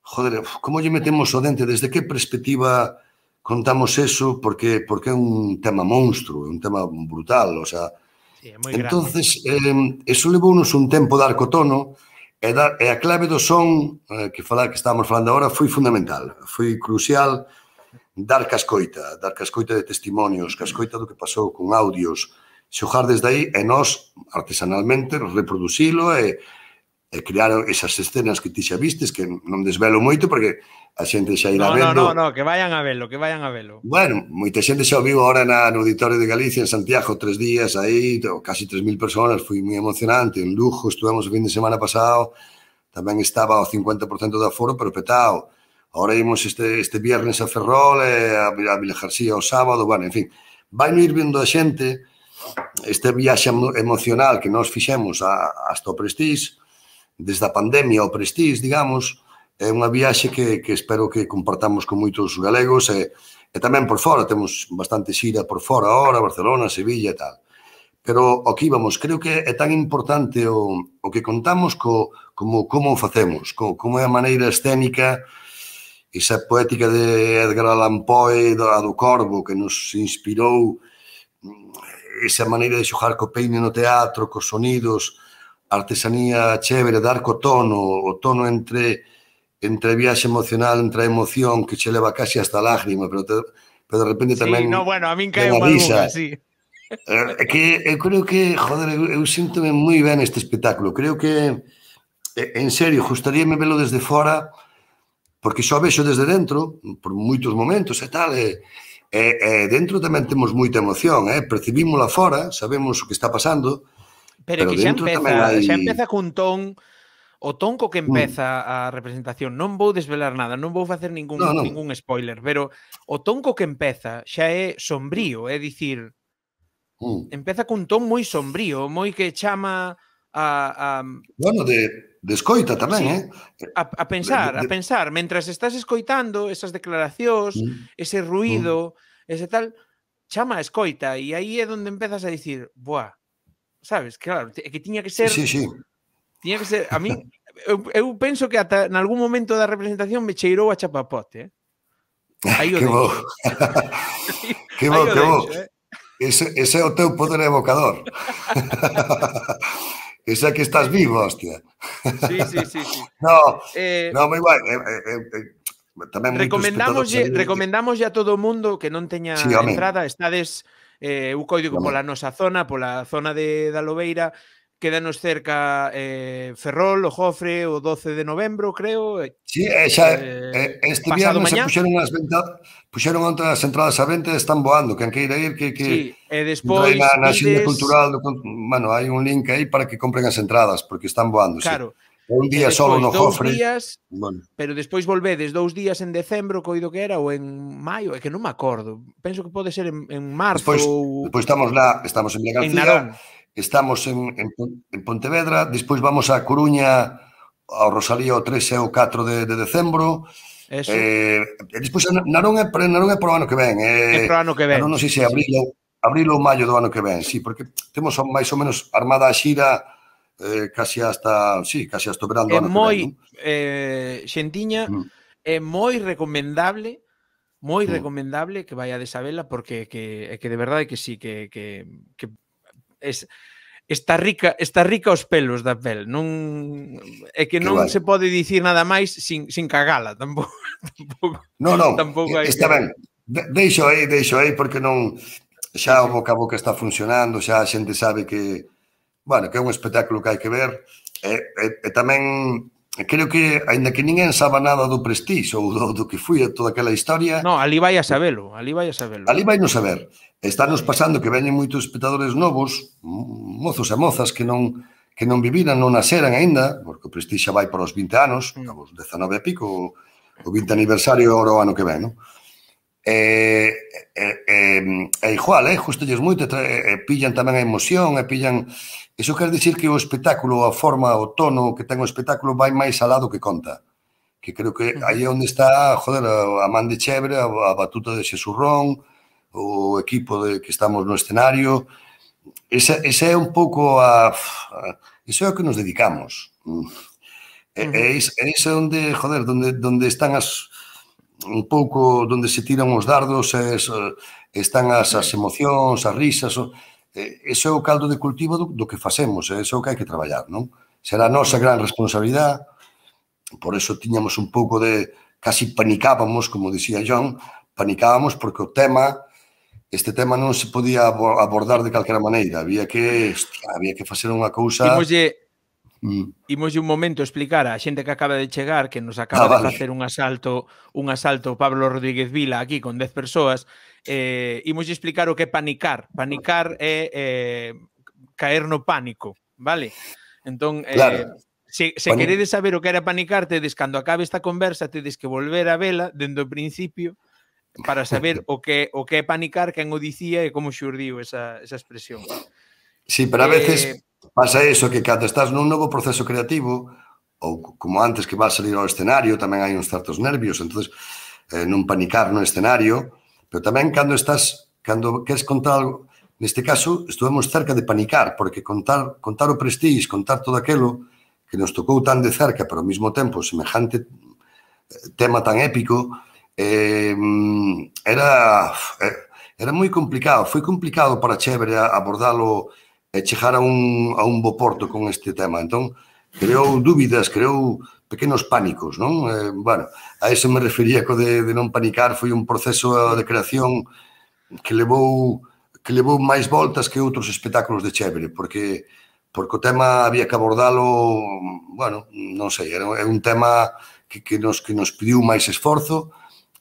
[SPEAKER 2] Joder, como lle metemos o dente? Desde que perspectiva contamos eso? Porque, porque é un tema monstruo, é un tema brutal, o sea...
[SPEAKER 1] Sí, é moi grande.
[SPEAKER 2] Entonces, eh, eso levounos un tempo dar co tono, e, dar, e a clave do son, eh, que, falar, que estábamos falando agora, foi fundamental, foi crucial dar cascoita, dar cascoita de testimonios, cascoita do que pasou con audios, xogar desde aí e nós, artesanalmente, reproducilo e, e crear esas escenas que ti xa vistes, que non desvelo moito porque a xente xa irá
[SPEAKER 1] no,
[SPEAKER 2] vendo.
[SPEAKER 1] No, no, no, que vayan a velo, que vayan a velo.
[SPEAKER 2] Bueno, moita xente xa o viu agora na, no Auditorio de Galicia, en Santiago, tres días aí, casi tres mil personas, foi moi emocionante. En Lugo, estuvemos o fin de semana pasado, tamén estaba o cincuenta por cento de aforo, pero petao. Ahora imos este, este viernes a Ferrol, e a, a Vila García o sábado, bueno, en fin. Vai no ir vendo a xente este viaxe emocional que nós fixemos a, hasta o Prestige, desde a pandemia ao Prestige, digamos, é unha viaxe que, que espero que compartamos con moitos galegos e, e tamén por fora, temos bastante xira por fora ahora, Barcelona, Sevilla e tal. Pero o que íbamos, creo que é tan importante o, o que contamos co, como, como o facemos, co, como é a maneira escénica, esa poética de Edgar Allan Poe, a do Corvo, que nos inspirou, esa maneira de xogar co peine no teatro, cos sonidos, a artesanía chévere, dar co tono, o tono entre... entre viaxe emocional, entre a emoción que che leva casi hasta a lágrima, pero, te, pero de repente tamén...
[SPEAKER 1] Sí, no, bueno, a min cae unha risa, sí.
[SPEAKER 2] É que eu creo que, joder, eu, eu síntome moi ben este espectáculo. Creo que, en serio, gustaríame velo desde fora, porque só vexo desde dentro, por moitos momentos e tal, e, e, e dentro tamén temos moita emoción, eh? Percibímola fora, sabemos o que está pasando,
[SPEAKER 1] pero, pero que xa empeza, hai... xa empeza cun ton... O tonco que empeza a representación, non vou desvelar nada, non vou facer ningún, no, no. ningún spoiler, pero o tonco que empeza xa é sombrío, é dicir, mm. empeza cun ton moi sombrío, moi que chama a... a...
[SPEAKER 2] Bueno, de, de escoita tamén, sí, eh?
[SPEAKER 1] A, a pensar, de, de... a pensar, mentras estás escoitando esas declaracións, mm. ese ruido, mm. ese tal, chama a escoita, e aí é onde empezas a dicir, buah, sabes, claro, que tiña que ser...
[SPEAKER 2] Sí, sí, sí.
[SPEAKER 1] Tiña que ser, a mí, eu, eu penso que ata en algún momento da representación me cheirou a chapapote, eh? Aí o
[SPEAKER 2] que bo. que bo, que bo. Eh? Ese, ese é o teu poder evocador. Ese é que estás vivo, hostia.
[SPEAKER 1] Sí, sí, sí, sí.
[SPEAKER 2] No,
[SPEAKER 1] eh,
[SPEAKER 2] no, moi guai. Eh, eh, eh, tamén
[SPEAKER 1] recomendamoslle, recomendamoslle a todo o mundo que non teña sí, entrada, estades eh, eu código pola nosa zona, pola zona de da Lobeira. Quédanos cerca eh, Ferrol, o Jofre, o doce de novembro, creo.
[SPEAKER 2] Sí, eh, xa, eh, este viernes se puxeron as ventas, puxeron outras entradas a venta e están voando. Quen queira ir, que, que
[SPEAKER 1] sí, e despois
[SPEAKER 2] na, na xenda cultural, do, bueno, hai un link aí para que compren as entradas, porque están voando,
[SPEAKER 1] claro.
[SPEAKER 2] Sí. Un día solo no Jofre.
[SPEAKER 1] Días, bueno. Pero despois volvedes dous días en decembro, coido que era, ou en maio, é que non me acordo. Penso que pode ser en, en marzo.
[SPEAKER 2] Despois,
[SPEAKER 1] ou...
[SPEAKER 2] despois estamos lá, estamos en Vila García.
[SPEAKER 1] En Narón.
[SPEAKER 2] Estamos en, en, en Pontevedra, despois vamos a Coruña, ao Rosalía o tres e o catro de, de decembro.
[SPEAKER 1] Eso.
[SPEAKER 2] Eh, e despois Narón é, Narón é pro ano que ven.
[SPEAKER 1] É
[SPEAKER 2] Eh,
[SPEAKER 1] pro ano que ven.
[SPEAKER 2] Non sei se é abril, abril ou maio do ano que ven, sí, porque temos máis ou menos armada a xira eh, casi hasta, sí, casi hasta o verán do ano
[SPEAKER 1] moi,
[SPEAKER 2] que ven. ¿No?
[SPEAKER 1] Eh, xentiña, mm. é moi recomendable, moi mm. recomendable que vaiades a vela, porque que, que de verdade que sí, que, que, que es, está rica, está rica os pelos da pel, non é que non que se pode dicir nada máis sin, sin cagala, tampouco. tampouco
[SPEAKER 2] non, non,
[SPEAKER 1] tampouco
[SPEAKER 2] está que... ben. De, deixo aí, deixo aí, porque non xa o boca a boca está funcionando, xa a xente sabe que, bueno, que é un espectáculo que hai que ver, e, e, e tamén creo que, aínda que ninguén sabe nada do Prestige ou do, do que foi toda aquela historia...
[SPEAKER 1] No, ali vai a sabelo, ali vai a sabelo.
[SPEAKER 2] Ali vai non saber. Estános pasando que veñen moitos espectadores novos, mozos e mozas que non que non viviran, non naceran aínda, porque o Prestige xa vai para os vinte anos, mm. os dezanove e pico, o vinte aniversario o ano que ven, non? E, e, e, e igual, eh, gustolles moito, e, e pillan tamén a emoción, e pillan... Iso quer dicir que o espectáculo, a forma, o tono que ten o espectáculo vai máis alá do que conta. Que creo que aí é onde está, joder, a man de Chebre, a, a batuta de Xesurrón, o equipo de que estamos no escenario. Esa, esa é un pouco a, a... Iso é o que nos dedicamos. E, uh-huh. e iso é onde, joder, donde, donde están as... un pouco donde se tiran os dardos, es, están as, as emocións, as risas, o, eso é o caldo de cultivo do, do que facemos, eso é o que hai que traballar, non? Será a nosa gran responsabilidade, por eso tiñamos un pouco de, casi panicábamos, como dicía John, panicábamos porque o tema, este tema non se podía abordar de calquera maneira, había que, hostia, había que facer unha cousa...
[SPEAKER 1] Imoslle... Mm. Imos un momento explicar a xente que acaba de chegar que nos acaba ah, vale. de facer un asalto un asalto Pablo Rodríguez Vila aquí con dez persoas, eh, imos explicar o que é panicar. Panicar é eh, caer no pánico, vale? Entón, eh, claro. se, se Pani... queredes saber o que era panicar, tedes, cando acabe esta conversa, tedes que volver a vela dende o principio para saber o que, o que é panicar, quen o dicía e como xurdiu esa, esa expresión.
[SPEAKER 2] Sí, pero a veces... Eh, pasa eso, que cando estás nun novo proceso creativo, ou como antes que vas a salir ao escenario, tamén hai uns certos nervios, entonces eh, non panicar no escenario, pero tamén cando estás, cando queres contar algo, neste caso, estuvemos cerca de panicar, porque contar, contar o Prestige, contar todo aquilo que nos tocou tan de cerca, pero ao mesmo tempo semejante tema tan épico, eh, era, era moi complicado, foi complicado para Chévere abordalo e chegar a un, a un bo porto con este tema. Entón, creou dúbidas, creou pequenos pánicos, non? Eh, bueno, a eso me refería co de, de non panicar, foi un proceso de creación que levou que levou máis voltas que outros espectáculos de Chévere, porque porque o tema había que abordalo, bueno, non sei, era un tema que, que, nos, que nos pediu máis esforzo,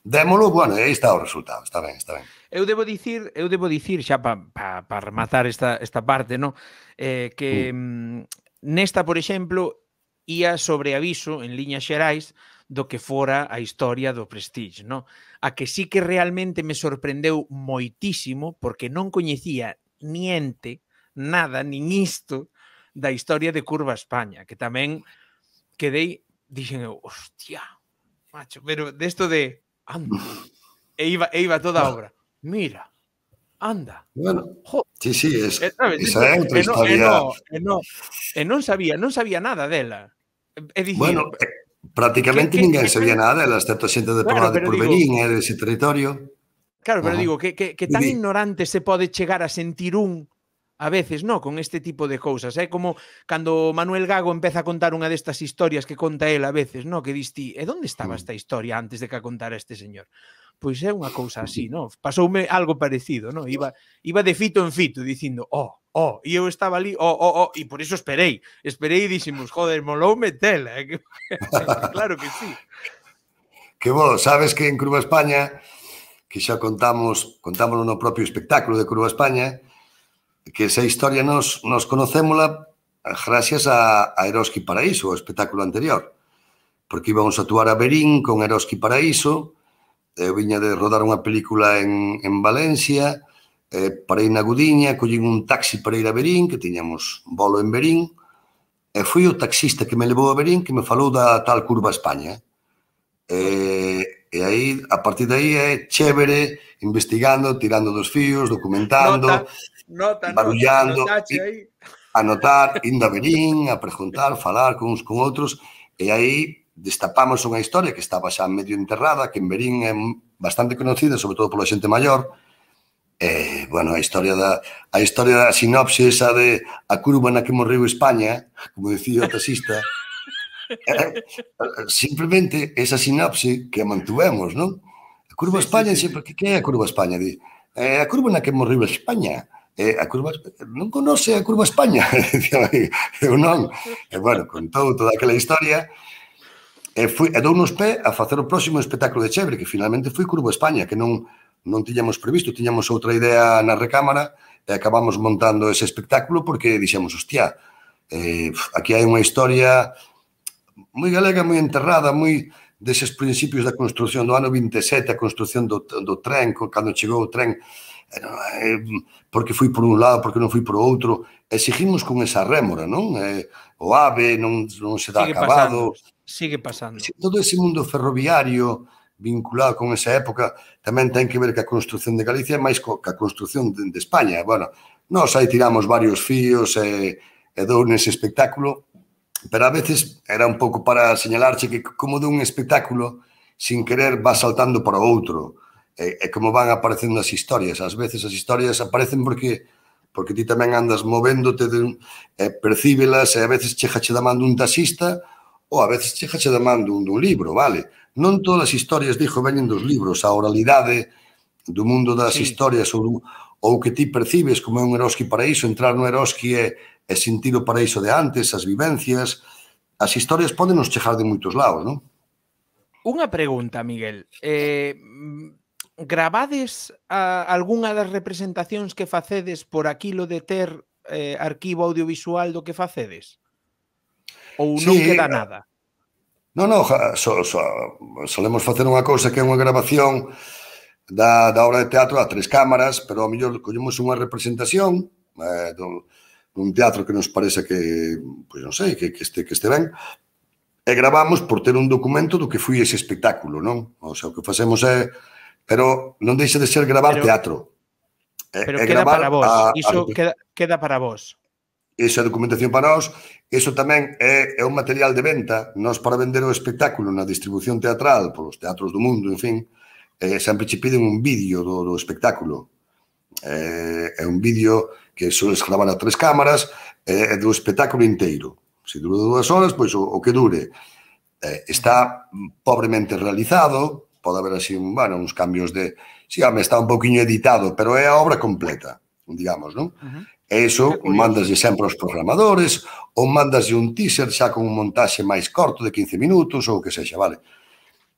[SPEAKER 2] démolo, bueno, aí está o resultado, está ben, está ben.
[SPEAKER 1] Eu debo dicir, eu debo dicir xa para pa, pa rematar esta, esta parte, no? eh, que mm. nesta, por exemplo, ía sobre aviso en liñas xerais do que fora a historia do Prestige, no? A que sí que realmente me sorprendeu moitísimo porque non coñecía niente, nada, nin isto da historia de Curva España, que tamén quedei, dixen eu, hostia, macho, pero desto de anda, e iba, e iba toda a obra. Mira, anda.
[SPEAKER 2] Bueno, sí, sí, es, esa é outra historia.
[SPEAKER 1] E non, e non, e non sabía, non sabía nada dela. É dicir,
[SPEAKER 2] bueno, eh, prácticamente que, ninguén que, sabía que, nada dela, excepto a xente de claro, de Porverín e dese territorio.
[SPEAKER 1] Claro, pero uh-huh. digo, que, que, que tan ignorante se pode chegar a sentir un a veces, no, con este tipo de cousas. É como cando Manuel Gago empeza a contar unha destas historias que conta él a veces, no, que dis ti, e onde estaba esta historia antes de que a contara este señor? Pois é unha cousa así, no? Pasoume algo parecido, no? Iba, iba de fito en fito dicindo, oh, oh, e eu estaba ali, oh, oh, oh, e por iso esperei. Esperei e dixemos, joder, moloume tela. Eh? Claro que sí.
[SPEAKER 2] Que bo, sabes que en Curva España, que xa contamos, contámoslo no propio espectáculo de Curva España, que esa historia nos, nos conocémola gracias a, a Eroski Paraíso, o espectáculo anterior. Porque íbamos a actuar a Verín con Eroski Paraíso, eu viña de rodar unha película en, en Valencia, eh, parei na Gudiña, collín un taxi para ir a Verín, que tiñamos bolo en Verín, e foi o taxista que me levou a Verín que me falou da tal Curva España. E, e aí, a partir de aí, é Chévere, investigando, tirando dos fíos, documentando, nota, nota, barullando, nota, aí. Anotar, indo a Verín, a preguntar, falar con uns con outros, e aí destapamos unha historia que estaba xa medio enterrada, que en Verín é bastante conocida, sobre todo pola xente maior. E, bueno, a historia da a historia da sinopse esa de a curva na que morreu España, como dicía o taxista, eh, simplemente esa sinopse que mantuvemos, non? A curva sí, España, sí, sí. Sempre, que é a curva España? Di, eh, a curva na que morreu España. Eh, a curva, non conoce a curva España? Eu non. E, bueno, contou toda aquela historia. E, fui, e dounos pé a facer o próximo espectáculo de Chévere, que finalmente foi Curva España, que non, non tiñamos previsto, tiñamos outra idea na recámara e acabamos montando ese espectáculo porque dixemos, hostia, eh, aquí hai unha historia moi galega, moi enterrada, moi deses principios da construción do ano vinte e sete, a construción do, do tren, cando chegou o tren, eh, porque foi por un lado, porque non foi por outro, e seguimos con esa rémora, non? Eh, o AVE non, non se dá
[SPEAKER 1] sigue
[SPEAKER 2] acabado.
[SPEAKER 1] Pasando, sigue pasando.
[SPEAKER 2] Todo ese mundo ferroviario vinculado con esa época, tamén ten que ver que a construción de Galicia é máis co, que a construción de, de España. Bueno, nós aí tiramos varios fíos e, e dou nese espectáculo, pero a veces era un pouco para señalarche que como de un espectáculo, sin querer, va saltando para outro, e, e como van aparecendo as historias. Ás veces as historias aparecen porque porque ti tamén andas movéndote, de, e percíbelas, e a veces chegache da man dun taxista, ou a veces chegache da man dun, dun libro, vale? Non todas as historias, dixo, veñen dos libros, a oralidade do mundo das
[SPEAKER 1] Sí.
[SPEAKER 2] historias, ou, ou que ti percibes como é un Eroski Paraíso, entrar no Eroski e, e sentir o paraíso de antes, as vivencias, as historias poden nos chegar de moitos lados, non?
[SPEAKER 1] Unha pregunta, Miguel. Eh, gravades a, algunha das representacións que facedes por aquilo de ter eh, arquivo audiovisual do que facedes? Ou non
[SPEAKER 2] Sí,
[SPEAKER 1] queda nada?
[SPEAKER 2] non, non, so, so, solemos facer unha cousa que é unha grabación da, da obra de teatro a tres cámaras, pero ao mellor collemos unha representación eh, dun, dun teatro que nos parece que, pois non sei, que, que, este, que este ben, e gravamos por ter un documento do que foi ese espectáculo, non? O sea, o que facemos é... Pero non deixa de ser gravar
[SPEAKER 1] Pero,
[SPEAKER 2] teatro. É,
[SPEAKER 1] pero
[SPEAKER 2] é
[SPEAKER 1] queda
[SPEAKER 2] gravar
[SPEAKER 1] para vos.
[SPEAKER 2] a,
[SPEAKER 1] Iso
[SPEAKER 2] a,
[SPEAKER 1] queda, queda para vos.
[SPEAKER 2] Esa documentación para nós, eso tamén é, é un material de venta. Nós, para vender o espectáculo na distribución teatral polos teatros do mundo, en fin, eh, sempre che piden un vídeo do, do espectáculo. Eh, é un vídeo que soles gravar a tres cámaras, é eh, do espectáculo inteiro. Se dura dúas horas, pois o, o que dure. Eh, está pobremente realizado, pode haber así, bueno, uns cambios de... Sí, home, está un poquinho editado, pero é a obra completa, digamos, non? Uh-huh. E iso mandaslle sempre aos programadores, ou mandaslle un teaser xa con un montaxe máis corto de quince minutos, ou o que sexa, vale?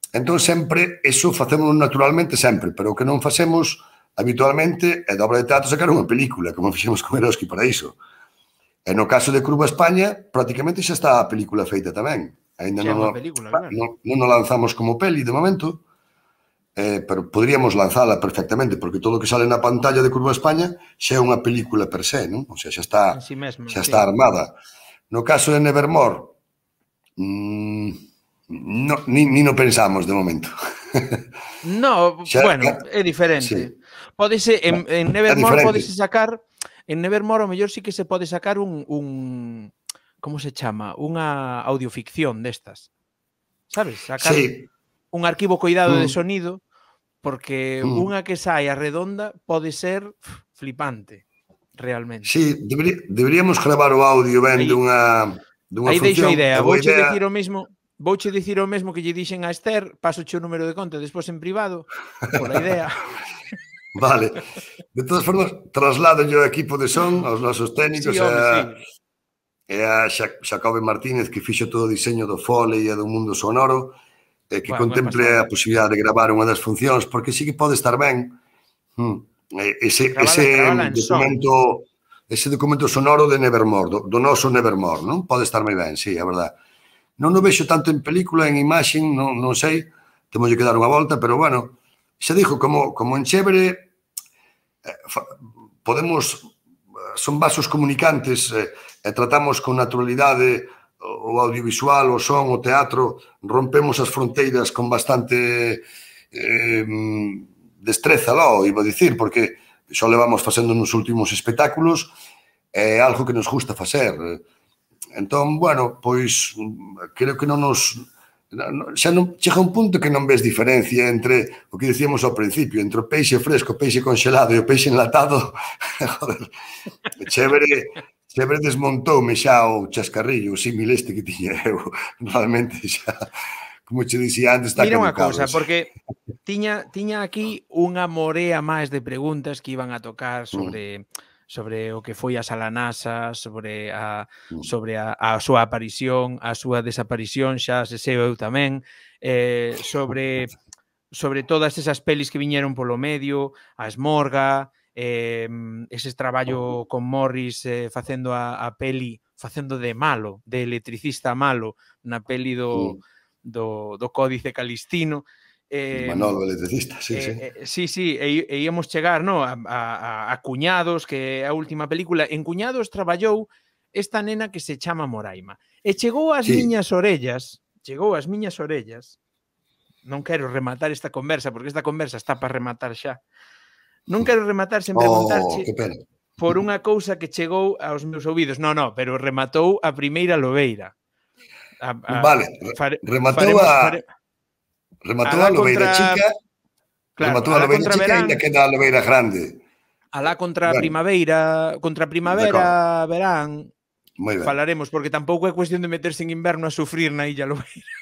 [SPEAKER 2] Entón, sempre, iso facemos naturalmente sempre, pero o que non facemos habitualmente é da obra de teatro sacar unha película, como fixemos con Eroski Paraíso. E no caso de Curva España, prácticamente xa está a película feita tamén. Ainda non,
[SPEAKER 1] película, claro.
[SPEAKER 2] non, non o lanzamos como peli de momento, eh, pero podríamos lanzala perfectamente, porque todo o que sale na pantalla de Curva España xa é unha película per se, non? O sea, xa está,
[SPEAKER 1] sí mesmo,
[SPEAKER 2] xa
[SPEAKER 1] sí.
[SPEAKER 2] está armada. No caso de Nevermore, mmm, no, ni, ni no pensamos de momento.
[SPEAKER 1] No, xa, bueno, é diferente. Sí. Pódese, en, en Nevermore pódese sacar, en Nevermore o mellor sí que se pode sacar un, un como se chama? Unha audioficción destas. Sabes? Sacar
[SPEAKER 2] sí.
[SPEAKER 1] un arquivo coidado mm. de sonido, porque
[SPEAKER 2] mm.
[SPEAKER 1] unha que saia redonda pode ser flipante, realmente.
[SPEAKER 2] Sí, deberí, deberíamos gravar o audio ben dunha, dunha
[SPEAKER 1] aí
[SPEAKER 2] función.
[SPEAKER 1] Aí deixo a idea. Vouche idea... dicir o mesmo, vouche dicir o mesmo que lle dixen a Esther, paso o número de conta despois en privado, pola idea.
[SPEAKER 2] Vale. De todas formas, traslado yo ao equipo de son, aos nosos técnicos, sí,
[SPEAKER 1] home,
[SPEAKER 2] a,
[SPEAKER 1] sí.
[SPEAKER 2] e a Xacobe Martínez, que fixo todo o diseño do Foley e do mundo sonoro, e que bueno, contemple a posibilidade de gravar unha das funcións, porque sí que pode estar ben ese, gravala, ese gravala documento son. ese documento sonoro de Nevermore, do, do noso Nevermore, non? Pode estar moi ben, sí, é verdade. Non o vexo tanto en película, en imaxen, non, non sei, temos que dar unha volta, pero bueno, xa dixo, como, como en Chévere, eh, podemos, son vasos comunicantes, eh, e tratamos con naturalidade o audiovisual, o son, o teatro, rompemos as fronteiras con bastante eh, destreza, lo iba a dicir, porque xo levamos facendo nos últimos espectáculos, é algo que nos gusta facer. Entón, bueno, pois, creo que non nos... xa non, chega un punto que non ves diferencia entre o que dicíamos ao principio, entre o peixe fresco, o peixe congelado e o peixe enlatado. Joder, chévere... Sempre desmontoume xa o chascarrillo, o símil este que tiña eu. Realmente xa, como che dixía antes, está
[SPEAKER 1] Mira unha cousa, porque tiña, tiña aquí unha morea máis de preguntas que iban a tocar sobre, mm. sobre o que foi a Salanasa, sobre a, mm. sobre a, a súa aparición, a súa desaparición, xa se sei eu tamén, eh, sobre, sobre todas esas pelis que viñeron polo medio, a Esmorga... Eh, ese traballo con Morris eh, facendo a, a peli, facendo de malo, de electricista malo, na peli do, do, do Códice Calistino.
[SPEAKER 2] Eh, Manolo, electricista, sí, eh, sí.
[SPEAKER 1] Eh, sí, sí, e, e íamos chegar, no, a, a, a Cuñados, que é a última película. En Cuñados traballou esta nena que se chama Moraima. E chegou ás sí. miñas orellas, chegou ás miñas orellas, non quero rematar esta conversa, porque esta conversa está para rematar xa. Non quero rematar sen
[SPEAKER 2] Oh,
[SPEAKER 1] preguntarche
[SPEAKER 2] que pena.
[SPEAKER 1] por unha cousa que chegou aos meus ouvidos. Non, non, pero rematou a primeira lobeira. A, a,
[SPEAKER 2] Vale,
[SPEAKER 1] fare,
[SPEAKER 2] rematou
[SPEAKER 1] faremos,
[SPEAKER 2] a
[SPEAKER 1] fare...
[SPEAKER 2] rematou
[SPEAKER 1] alá
[SPEAKER 2] a lobeira
[SPEAKER 1] contra...
[SPEAKER 2] chica,
[SPEAKER 1] Claro,
[SPEAKER 2] rematou a
[SPEAKER 1] alá
[SPEAKER 2] lobeira
[SPEAKER 1] contra
[SPEAKER 2] chica e
[SPEAKER 1] verán,
[SPEAKER 2] ainda queda a lobeira grande.
[SPEAKER 1] alá contra a
[SPEAKER 2] Bueno,
[SPEAKER 1] primavera, contra a
[SPEAKER 2] de acordo,
[SPEAKER 1] primavera, verán,
[SPEAKER 2] moi ben.
[SPEAKER 1] falaremos, porque tampouco é cuestión de meterse en inverno a sufrir na Illa Lobeira.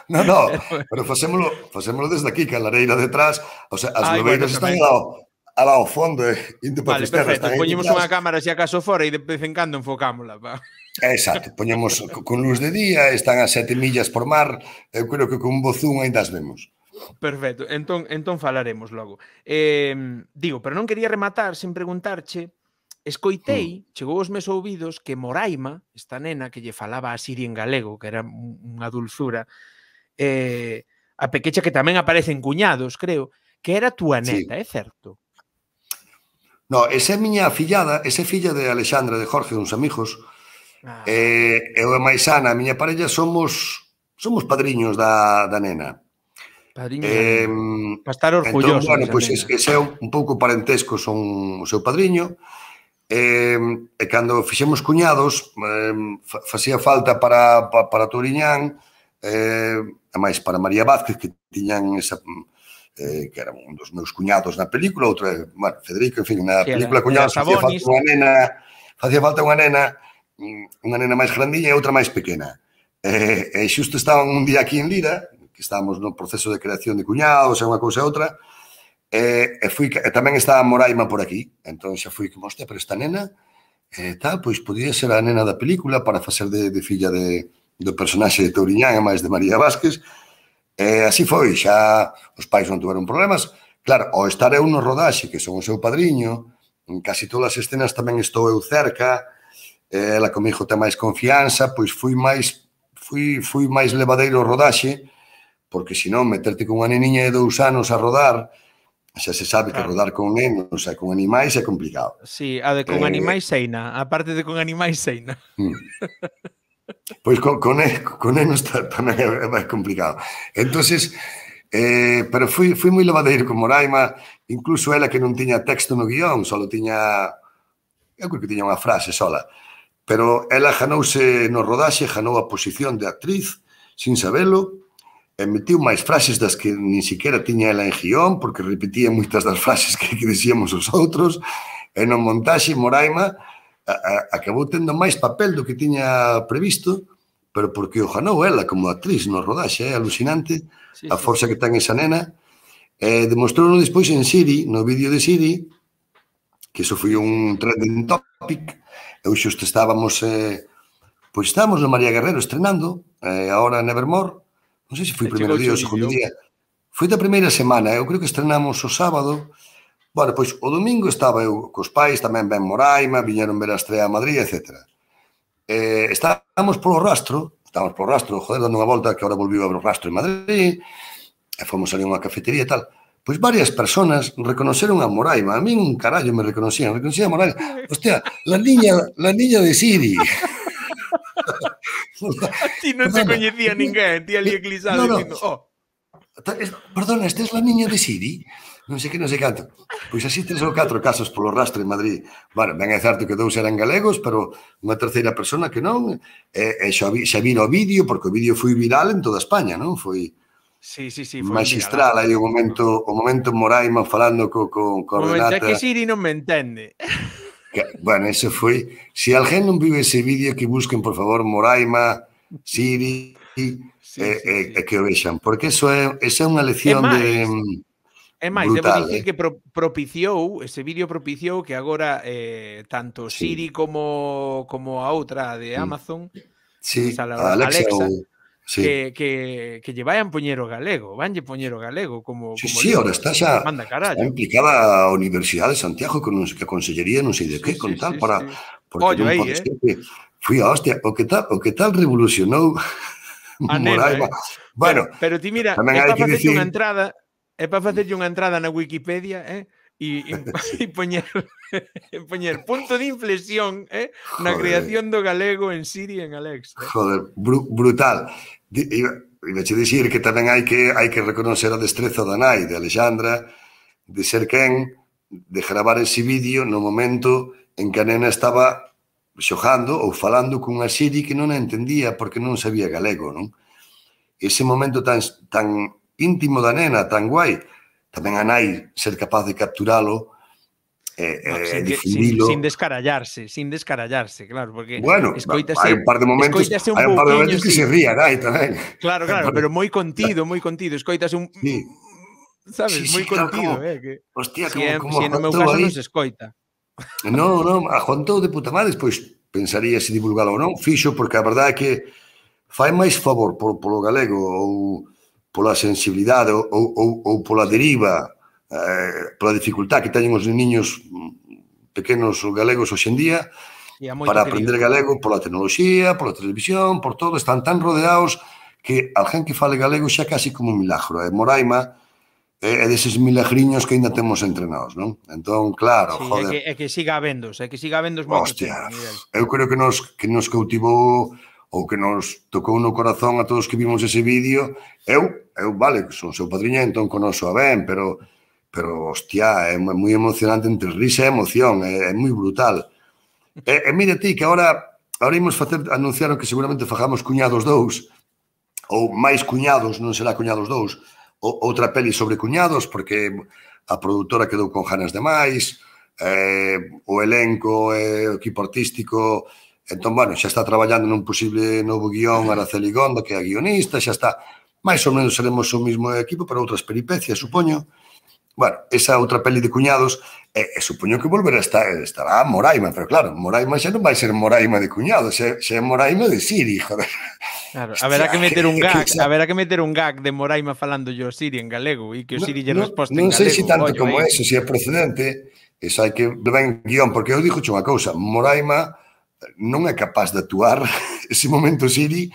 [SPEAKER 2] No, no, pero facémolo, facémolo desde aquí, que a lareira detrás, o sea, as
[SPEAKER 1] Ai, bueno,
[SPEAKER 2] lobeiras están
[SPEAKER 1] tamén.
[SPEAKER 2] ao, ao fondo, eh, indo para
[SPEAKER 1] Vale,
[SPEAKER 2] Fisterra,
[SPEAKER 1] perfecto,
[SPEAKER 2] están aí
[SPEAKER 1] poñemos
[SPEAKER 2] detrás.
[SPEAKER 1] unha cámara se acaso fora e de vez en cando enfocámola, pa.
[SPEAKER 2] Exacto, poñemos con luz de día, están a sete millas por mar, eu creo que con un bo zoom ainda as vemos.
[SPEAKER 1] Perfecto, entón, entón falaremos logo. Eh, digo, pero non quería rematar sen preguntarche, escoitei, mm. chegou aos meus ouvidos que Moraima, esta nena que lle falaba a Siri en galego, que era unha dulzura, eh, a pequecha que tamén aparece en Cuñados, creo, que era túa neta, sí. É certo?
[SPEAKER 2] No, esa é miña fillada, esa é filla de Alexandra, de Jorge, uns amigos. Ah. Eh, eu e máis Ana, a miña parella, somos somos padriños da, da nena.
[SPEAKER 1] Padriños eh, da nena. Para estar orgulloso.
[SPEAKER 2] Entón, bueno, pois pues, ese é un pouco parentesco, son o seu padriño. Eh, e cando fixemos Cuñados, eh, facía falta para, para, para Touriñán, eh, e máis para María Vázquez, que tiñan esa... Eh, que era un dos meus cuñados na película, outro, bueno, Federico, en fin, na sí, película Cuñados facía falta unha nena, facía falta unha nena, unha nena máis grandiña e outra máis pequena. E, e xusto estaban un día aquí en Lira, que estábamos no proceso de creación de Cuñados, e unha cousa e outra, e, e, fui, e tamén estaba Moraima por aquí, entón xa fui como, hostia, pero esta nena, e tal, pois podía ser a nena da película para facer de, de filla de, do personaxe de Touriñán e máis de María Vázquez. E así foi, xa os pais non tuveron problemas. Claro, ao estar eu no rodaxe, que son o seu padriño, en casi todas as escenas tamén estou eu cerca, ela comigo ten máis confianza, pois fui máis fui, fui máis levadeiro ao rodaxe, porque senón meterte con unha neniña de dous anos a rodar, xa se sabe claro. Que rodar con nenos e con animais é complicado.
[SPEAKER 1] Sí, a de con eh... animais seina, a parte de con animais seina.
[SPEAKER 2] Mm. Pois con, con, con nenos tamén é máis complicado. Entonces, eh, pero fui, fui moi levadeiro con Moraima, incluso ela que non tiña texto no guión, só tiña, eu creo que tiña unha frase sola, pero ela janouse no rodaxe, janou a posición de actriz, sin sabelo, e metiu máis frases das que nin siquiera tiña ela en guión, porque repetía moitas das frases que, que decíamos os outros, e no montaxe Moraima acabou tendo máis papel do que tiña previsto, pero porque o janou ela como actriz no rodaxe, é alucinante sí, a forza sí, sí. que ten esa nena. Eh, demostrou despois en Siri, no vídeo de Siri, que iso foi un trending topic, eu xusto estábamos, eh, pois estábamos no María Guerrero estrenando, eh, agora Nevermore, non sei se foi o primeiro día ou o segundo día, foi da primeira semana, eu creo que estrenamos o sábado. Bueno, pois o domingo estaba eu cos pais, tamén ben Moraima, viñeron ver a estrea a Madrid, etcétera. Eh, estábamos polo rastro, estábamos polo rastro, joder, dando unha volta, que agora volviu a ver o rastro en Madrid, e fomos ali a unha cafetería e tal. Pois varias personas reconoceron a Moraima, a min un carallo me reconocían, reconocían a Moraima. Hostia, la niña, la niña de Siri.
[SPEAKER 1] A ti non te coñecía ninguén, ti ali eclisado no, no. dicindo, oh.
[SPEAKER 2] Perdona, esta es la niña de Siri? Non sei que, non sei canto. Pois así tres ou catro casos polo rastro en Madrid. Bueno, ben é certo que dous eran galegos, pero unha terceira persona que non, e, e xa, vi, xa vira o vídeo, porque o vídeo foi viral en toda España, non? Foi
[SPEAKER 1] sí, sí, sí, foi
[SPEAKER 2] magistral, aí o momento, o momento Moraima falando co, co, co
[SPEAKER 1] Renata. É que Siri non me entende.
[SPEAKER 2] Que, bueno, eso foi... Si alguén non vive ese vídeo, que busquen, por favor, Moraima, Siri, sí, sí, e, sí, sí. e que o vexan, porque eso é, esa é unha lección de...
[SPEAKER 1] É máis, brutal, debo dicir eh? que pro, propiciou, ese vídeo propiciou que agora eh, tanto sí. Siri como, como a outra de Amazon,
[SPEAKER 2] sí, a Alexa,
[SPEAKER 1] Alexa
[SPEAKER 2] o... sí.
[SPEAKER 1] que, que, que lle vayan poñer o galego, vanlle poñer o galego como,
[SPEAKER 2] sí,
[SPEAKER 1] como
[SPEAKER 2] sí, ahora está xa
[SPEAKER 1] manda
[SPEAKER 2] está implicada a Universidade de Santiago con que a Consellería non sei de que, sí, con sí, tal, sí, para... Sí.
[SPEAKER 1] Porque non pode
[SPEAKER 2] eh? ser que... Fui a hostia, o que tal, o que tal revolucionou a
[SPEAKER 1] Moraima.
[SPEAKER 2] Eh? Bueno,
[SPEAKER 1] pero, pero ti mira, é para facer decir... unha entrada... É para facerlle unha entrada na Wikipedia, eh? E, e, e poñer, poñer punto de inflexión eh? na Joder. creación do galego en Siri e en Alexa. Eh?
[SPEAKER 2] Joder, br brutal. iba a dicir que tamén hai que hai que reconocer a destreza da nai, de Alexandra, de ser quen, de gravar ese vídeo no momento en que a nena estaba xogando ou falando cunha Siri que non a entendía porque non sabía galego, non? Ese momento tan, tan íntimo da nena, tan guai, tamén a nai ser capaz de capturalo e
[SPEAKER 1] no,
[SPEAKER 2] eh,
[SPEAKER 1] sin,
[SPEAKER 2] difundilo.
[SPEAKER 1] Sin, sin descarallarse, sin descarallarse, claro, porque
[SPEAKER 2] bueno,
[SPEAKER 1] escoítase,
[SPEAKER 2] hai un par de momentos,
[SPEAKER 1] un
[SPEAKER 2] hai un par de momentos que
[SPEAKER 1] sí.
[SPEAKER 2] se ría, nai, tamén.
[SPEAKER 1] Claro, claro, pero moi contido, moi contido, escoítase un...
[SPEAKER 2] Sí.
[SPEAKER 1] Sabes,
[SPEAKER 2] sí,
[SPEAKER 1] moi
[SPEAKER 2] sí, claro,
[SPEAKER 1] contido,
[SPEAKER 2] como,
[SPEAKER 1] eh, que
[SPEAKER 2] hostia,
[SPEAKER 1] si,
[SPEAKER 2] como,
[SPEAKER 1] é,
[SPEAKER 2] como
[SPEAKER 1] si no meu caso non se escoita.
[SPEAKER 2] Non, non, aguantou de puta madre, despois pensaría se divulgalo ou non, fixo, porque a verdade é que fai máis favor polo, polo galego ou pola sensibilidade ou, ou, ou pola deriva, eh, pola dificultad que teñen os niños pequenos galegos hoxendía para aprender querido. Galego, pola tecnoloxía, pola televisión, por todo, están tan rodeados que alguén que fale galego xa casi como un milagro. E Moraima é deses milagriños que ainda temos entrenados, non? Entón, claro,
[SPEAKER 1] sí,
[SPEAKER 2] joder.
[SPEAKER 1] É que, é que siga habéndose, é que siga habéndose moito
[SPEAKER 2] Hostia,
[SPEAKER 1] tempo, Miguel.
[SPEAKER 2] Eu creo que nos, que nos cautivou ou que nos tocou no corazón a todos que vimos ese vídeo. Eu, eu vale, son seu padriña, entón conozo a ben, pero, pero hostia, é moi emocionante entre risa e emoción, é, é moi brutal. E, e mira ti, que agora, agora imos facer, anunciaron que seguramente fagamos Cuñados dous, ou máis Cuñados, non será Cuñados dous, ou, outra peli sobre cuñados, porque a produtora quedou con ganas de máis, eh, o elenco, eh, o equipo artístico, entón, bueno, xa está traballando nun posible novo guión Araceli Gondo, que é a guionista, xa está, máis ou menos seremos o mismo equipo, pero outras peripecias, supoño. Bueno, esa outra peli de cuñados, e, e supoño que volverá a estar, estará Moraima, pero claro, Moraima xa non vai ser Moraima de cuñados, xa, xa é Moraima de Siri, joder.
[SPEAKER 1] Claro, haberá que meter un gag, haberá que meter un gag de Moraima falando yo Siri en galego e que o Siri lle resposta en galego.
[SPEAKER 2] Non sei se tanto como eso, se é procedente, eso hai que levar en guión, porque eu dixo unha cousa, Moraima non é capaz de actuar, ese momento Siri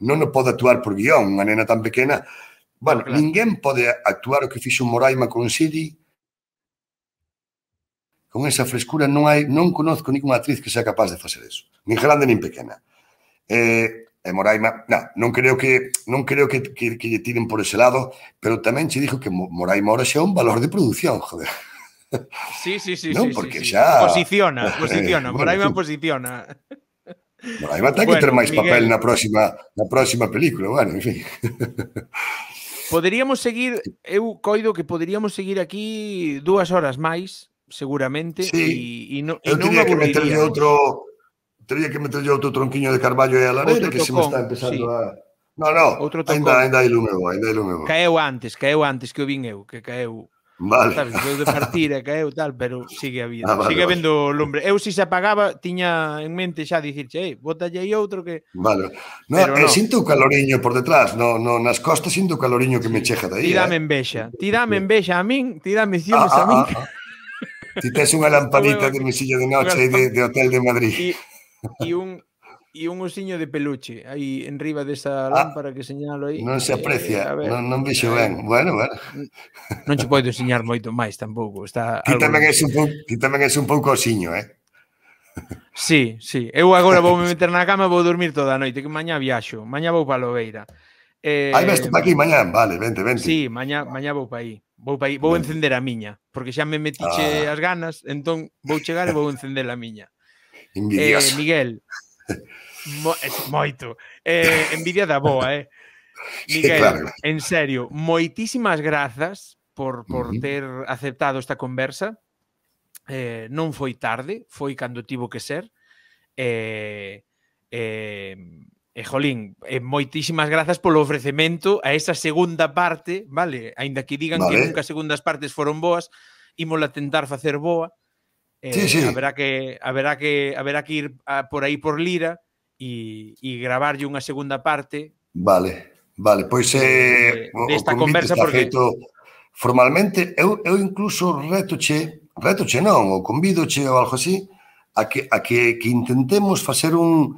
[SPEAKER 2] non o pode actuar por guión, unha nena tan pequena. Bueno, claro, ninguén pode actuar o que fixo Moraima con Siri con esa frescura. Non hai, non conozco ninguna actriz que sea capaz de facer eso, nin grande nin pequena. Eh, e Moraima, non, non creo que non creo que, que, que lle tiren por ese lado, pero tamén che dixo que Moraima ahora xa é un valor de produción, joder.
[SPEAKER 1] Sí, sí, sí,
[SPEAKER 2] non,
[SPEAKER 1] sí,
[SPEAKER 2] porque
[SPEAKER 1] sí,
[SPEAKER 2] xa...
[SPEAKER 1] posiciona, posiciona, bueno, Moraima tú... posiciona.
[SPEAKER 2] Moraima ten bueno, que ter máis Miguel... papel na próxima, na próxima película, bueno, en fin.
[SPEAKER 1] Poderíamos seguir, eu coido que poderíamos seguir aquí dúas horas máis, seguramente,
[SPEAKER 2] sí.
[SPEAKER 1] e, e, no,
[SPEAKER 2] eu
[SPEAKER 1] e non
[SPEAKER 2] teria que meterlle
[SPEAKER 1] outro,
[SPEAKER 2] teria que meterlle outro tronquiño de carballo e a lareira, que se me está empezando sí. a... No, no, ainda, ainda hai lume bo, ainda hai lume bo.
[SPEAKER 1] Caeu antes, caeu antes que o vin eu, que caeu...
[SPEAKER 2] Vale.
[SPEAKER 1] Sabes, veu de partir e caeu tal, pero sigue a vida.
[SPEAKER 2] Ah, vale,
[SPEAKER 1] sigue
[SPEAKER 2] vale.
[SPEAKER 1] vendo lumbre. Eu, se se apagaba, tiña en mente xa dicirche, ei, bótalle aí outro que...
[SPEAKER 2] Vale. No, pero eh, no. Sinto o caloriño por detrás, no, no, nas costas sinto o caloriño que sí. me cheja de aí.
[SPEAKER 1] Ti dame
[SPEAKER 2] eh?
[SPEAKER 1] envexa, ti dame envexa a min, ti dame ciúmes
[SPEAKER 2] ah,
[SPEAKER 1] a min.
[SPEAKER 2] Ah, ah. Ti tes unha lamparita de mesilla de noche de, de hotel de Madrid.
[SPEAKER 1] E, e un... e un osiño de peluche aí enriba desa lámpara que señalo aí.
[SPEAKER 2] Non se aprecia, eh, ver, non, non vexo ben. Bueno, bueno.
[SPEAKER 1] Non che podo enseñar moito máis tampouco. Está
[SPEAKER 2] ti tamén és un pouco, ti tamén és un pouco osiño, eh?
[SPEAKER 1] Sí, sí. Eu agora vou me meter na cama e vou dormir toda a noite, que mañá viaxo. Mañá vou para Lobeira.
[SPEAKER 2] Eh, Aí veste para aquí mañá, vale, vente, vente.
[SPEAKER 1] Sí, mañá, mañá vou para aí. Vou para aí, vou vente. encender a miña, porque xa me metiche ah. as ganas, entón vou chegar e vou encender a miña.
[SPEAKER 2] Envidioso.
[SPEAKER 1] Eh, Miguel, Mo, moito. Eh, envidia da boa, eh. Miguel, claro. En serio, moitísimas grazas por, por uh -huh. ter aceptado esta conversa. Eh, non foi tarde, foi cando tivo que ser. Eh, eh, e, jolín, eh, moitísimas grazas polo ofrecemento a esa segunda parte, vale? Ainda que digan vale. que nunca as segundas partes foron boas, ímola tentar facer boa. Eh,
[SPEAKER 2] sí, sí.
[SPEAKER 1] Haberá que, haberá que, haberá que ir a, por aí por Lira e, e gravarlle unha segunda parte.
[SPEAKER 2] Vale, vale, pois eh,
[SPEAKER 1] de, desta conversa porque
[SPEAKER 2] feito formalmente, eu, eu incluso retoche, retoche non, ou convídoche ou algo así, a que, a que, que intentemos facer un...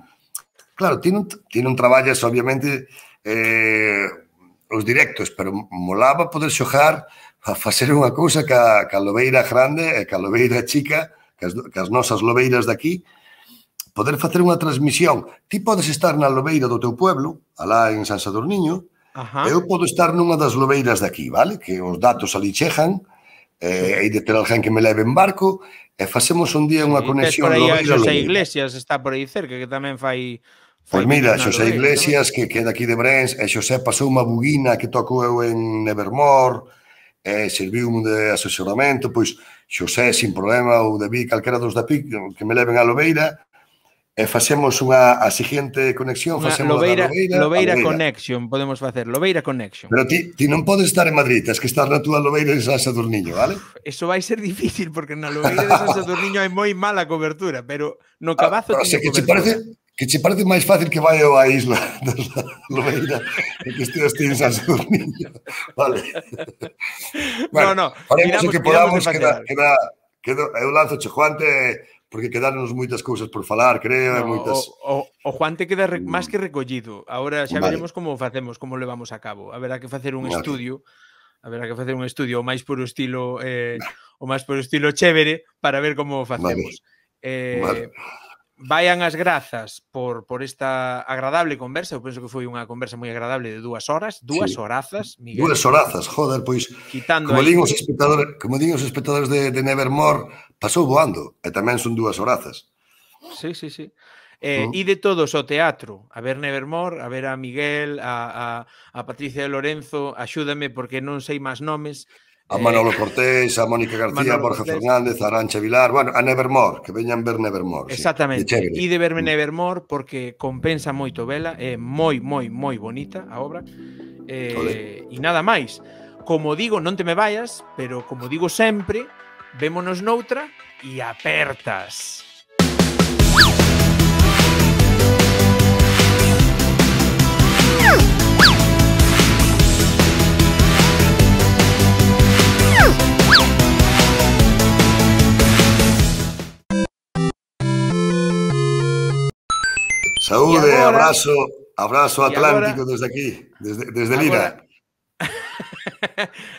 [SPEAKER 2] Claro, ti non, ti non traballas, obviamente, eh, os directos, pero molaba poder xogar a facer unha cousa que a, que a lobeira grande e que a lobeira chica, que as, que as nosas lobeiras daqui, poder facer unha transmisión. Ti podes estar na lobeira do teu pueblo, alá en San Sadurniño, e eu podo estar nunha das lobeiras de aquí, vale? Que os datos ali chejan, e hai de ter alguén que me leve en barco, e facemos un día unha conexión
[SPEAKER 1] lobeira-lobeira. Xosé Iglesias está por aí cerca, que tamén fai...
[SPEAKER 2] Pois mira, Xosé Iglesias, que queda aquí de Brens, e Xosé pasou unha buguina que tocou eu en Nevermore, e serviu de asesoramento, pois Xosé, sin problema, ou de Vic, calquera dos da Pic, que me leven a lobeira, e facemos unha, a seguinte conexión, facemos
[SPEAKER 1] lobeira,
[SPEAKER 2] da lobeira,
[SPEAKER 1] lobeira connection, podemos facer, lobeira connection.
[SPEAKER 2] Pero ti, ti non podes estar en Madrid, tens que estar na túa lobeira en San Sadurniño, vale?
[SPEAKER 1] Uf, eso vai ser difícil, porque na lobeira de San Sadurniño hai moi mala cobertura, pero no Cabazo
[SPEAKER 2] ah,
[SPEAKER 1] teño
[SPEAKER 2] que
[SPEAKER 1] cobertura.
[SPEAKER 2] Che parece, que che parece máis fácil que vai a isla da lobeira e que esteas ti en San Sadurniño, vale?
[SPEAKER 1] Bueno, no, no,
[SPEAKER 2] faremos o que podamos, queda, queda, queda, eu lanzo che Juante, porque quedarnos moitas cousas por falar, creo,
[SPEAKER 1] no,
[SPEAKER 2] moitas...
[SPEAKER 1] O, o, o Juan te queda re, máis que recollido. Agora xa
[SPEAKER 2] vale.
[SPEAKER 1] veremos como facemos, como levamos a cabo. Haberá que facer un
[SPEAKER 2] vale.
[SPEAKER 1] estudio, haberá que facer un estudio o máis puro estilo eh, o máis puro estilo chévere para ver como o facemos. Vale. Eh, vale. Vayan as grazas por, por esta agradable conversa. Eu penso que foi unha conversa moi agradable de dúas horas, dúas sí. horazas, Miguel.
[SPEAKER 2] Dúas horazas, joder, pois
[SPEAKER 1] quitando
[SPEAKER 2] como din os espectadores, como din os espectadores de, de Nevermore, pasou voando, e tamén son dúas horazas.
[SPEAKER 1] Sí, sí, sí. Eh, mm. E de todos o teatro, a ver Nevermore, a ver a Miguel, a, a, a Patricia de Lorenzo, axúdame porque non sei máis nomes.
[SPEAKER 2] A Manolo Cortés, a Mónica García, a Borja Cortés. Fernández, a Arancha Vilar, bueno, a Nevermore, que veñan ver Nevermore.
[SPEAKER 1] Exactamente, sí, e de verme Nevermore porque compensa moito vela, é moi, moi, moi bonita a obra, eh, e nada máis. Como digo, non te me vayas, pero como digo sempre, vémonos noutra e apertas.
[SPEAKER 2] Saúde, agora, abrazo, abrazo Atlántico agora, desde aquí, desde, desde Lira.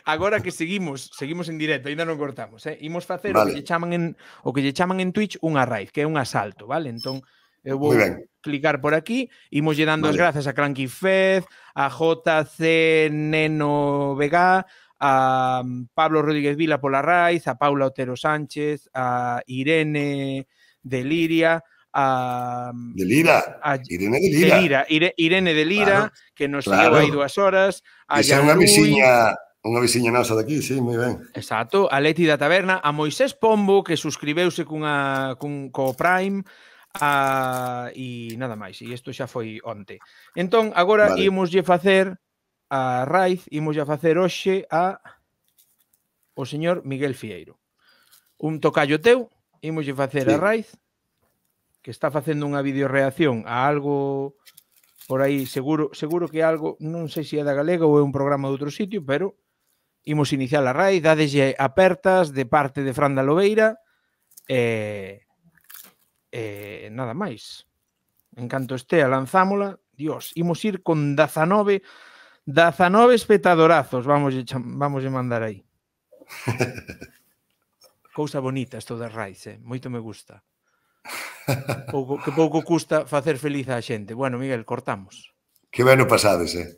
[SPEAKER 1] Agora que seguimos, seguimos en directo, ainda non cortamos, eh? Imos facer vale. o que lle chaman en o que lle chaman en Twitch unha raid, que é un asalto, vale? Entón, eu vou clicar por aquí, imos lle dando vale. as grazas a Cranky Fez, a J C Neno Vega, a Pablo Rodríguez Vila pola raid, a Paula Otero Sánchez, a Irene de Liria, a
[SPEAKER 2] de Lira,
[SPEAKER 1] a,
[SPEAKER 2] Irene de Lira,
[SPEAKER 1] de Lira Ire, Irene de Lira, claro, que nos claro. seguiu aí dúas horas, a
[SPEAKER 2] Esa é unha veciña, unha veciña nosa daqui, sí, moi ben.
[SPEAKER 1] Exacto, a Leti da Taberna, a Moisés Pombo, que suscribeuse cunha cun co Prime, a e nada máis, e isto xa foi onte. Entón, agora vale. ímoslle facer a raíz, ímoslle facer hoxe a o señor Miguel Fieiro. Un tocallo teu, ímoslle facer sí. a raíz, que está facendo unha videoreacción a algo por aí, seguro seguro que algo, non sei se é da Galega ou é un programa de outro sitio, pero imos iniciar a raíz, dadeslle apertas de parte de Fran da Lobeira e, e nada máis. En canto estea, lanzámola. Dios, imos ir con dezanove espectadorazos, vamos vamos a mandar aí. Cousa bonita isto da raíz, eh? Moito me gusta. Pouco, que pouco custa facer feliz a xente. Bueno, Miguel, cortamos.
[SPEAKER 2] Que ben o pasades, eh?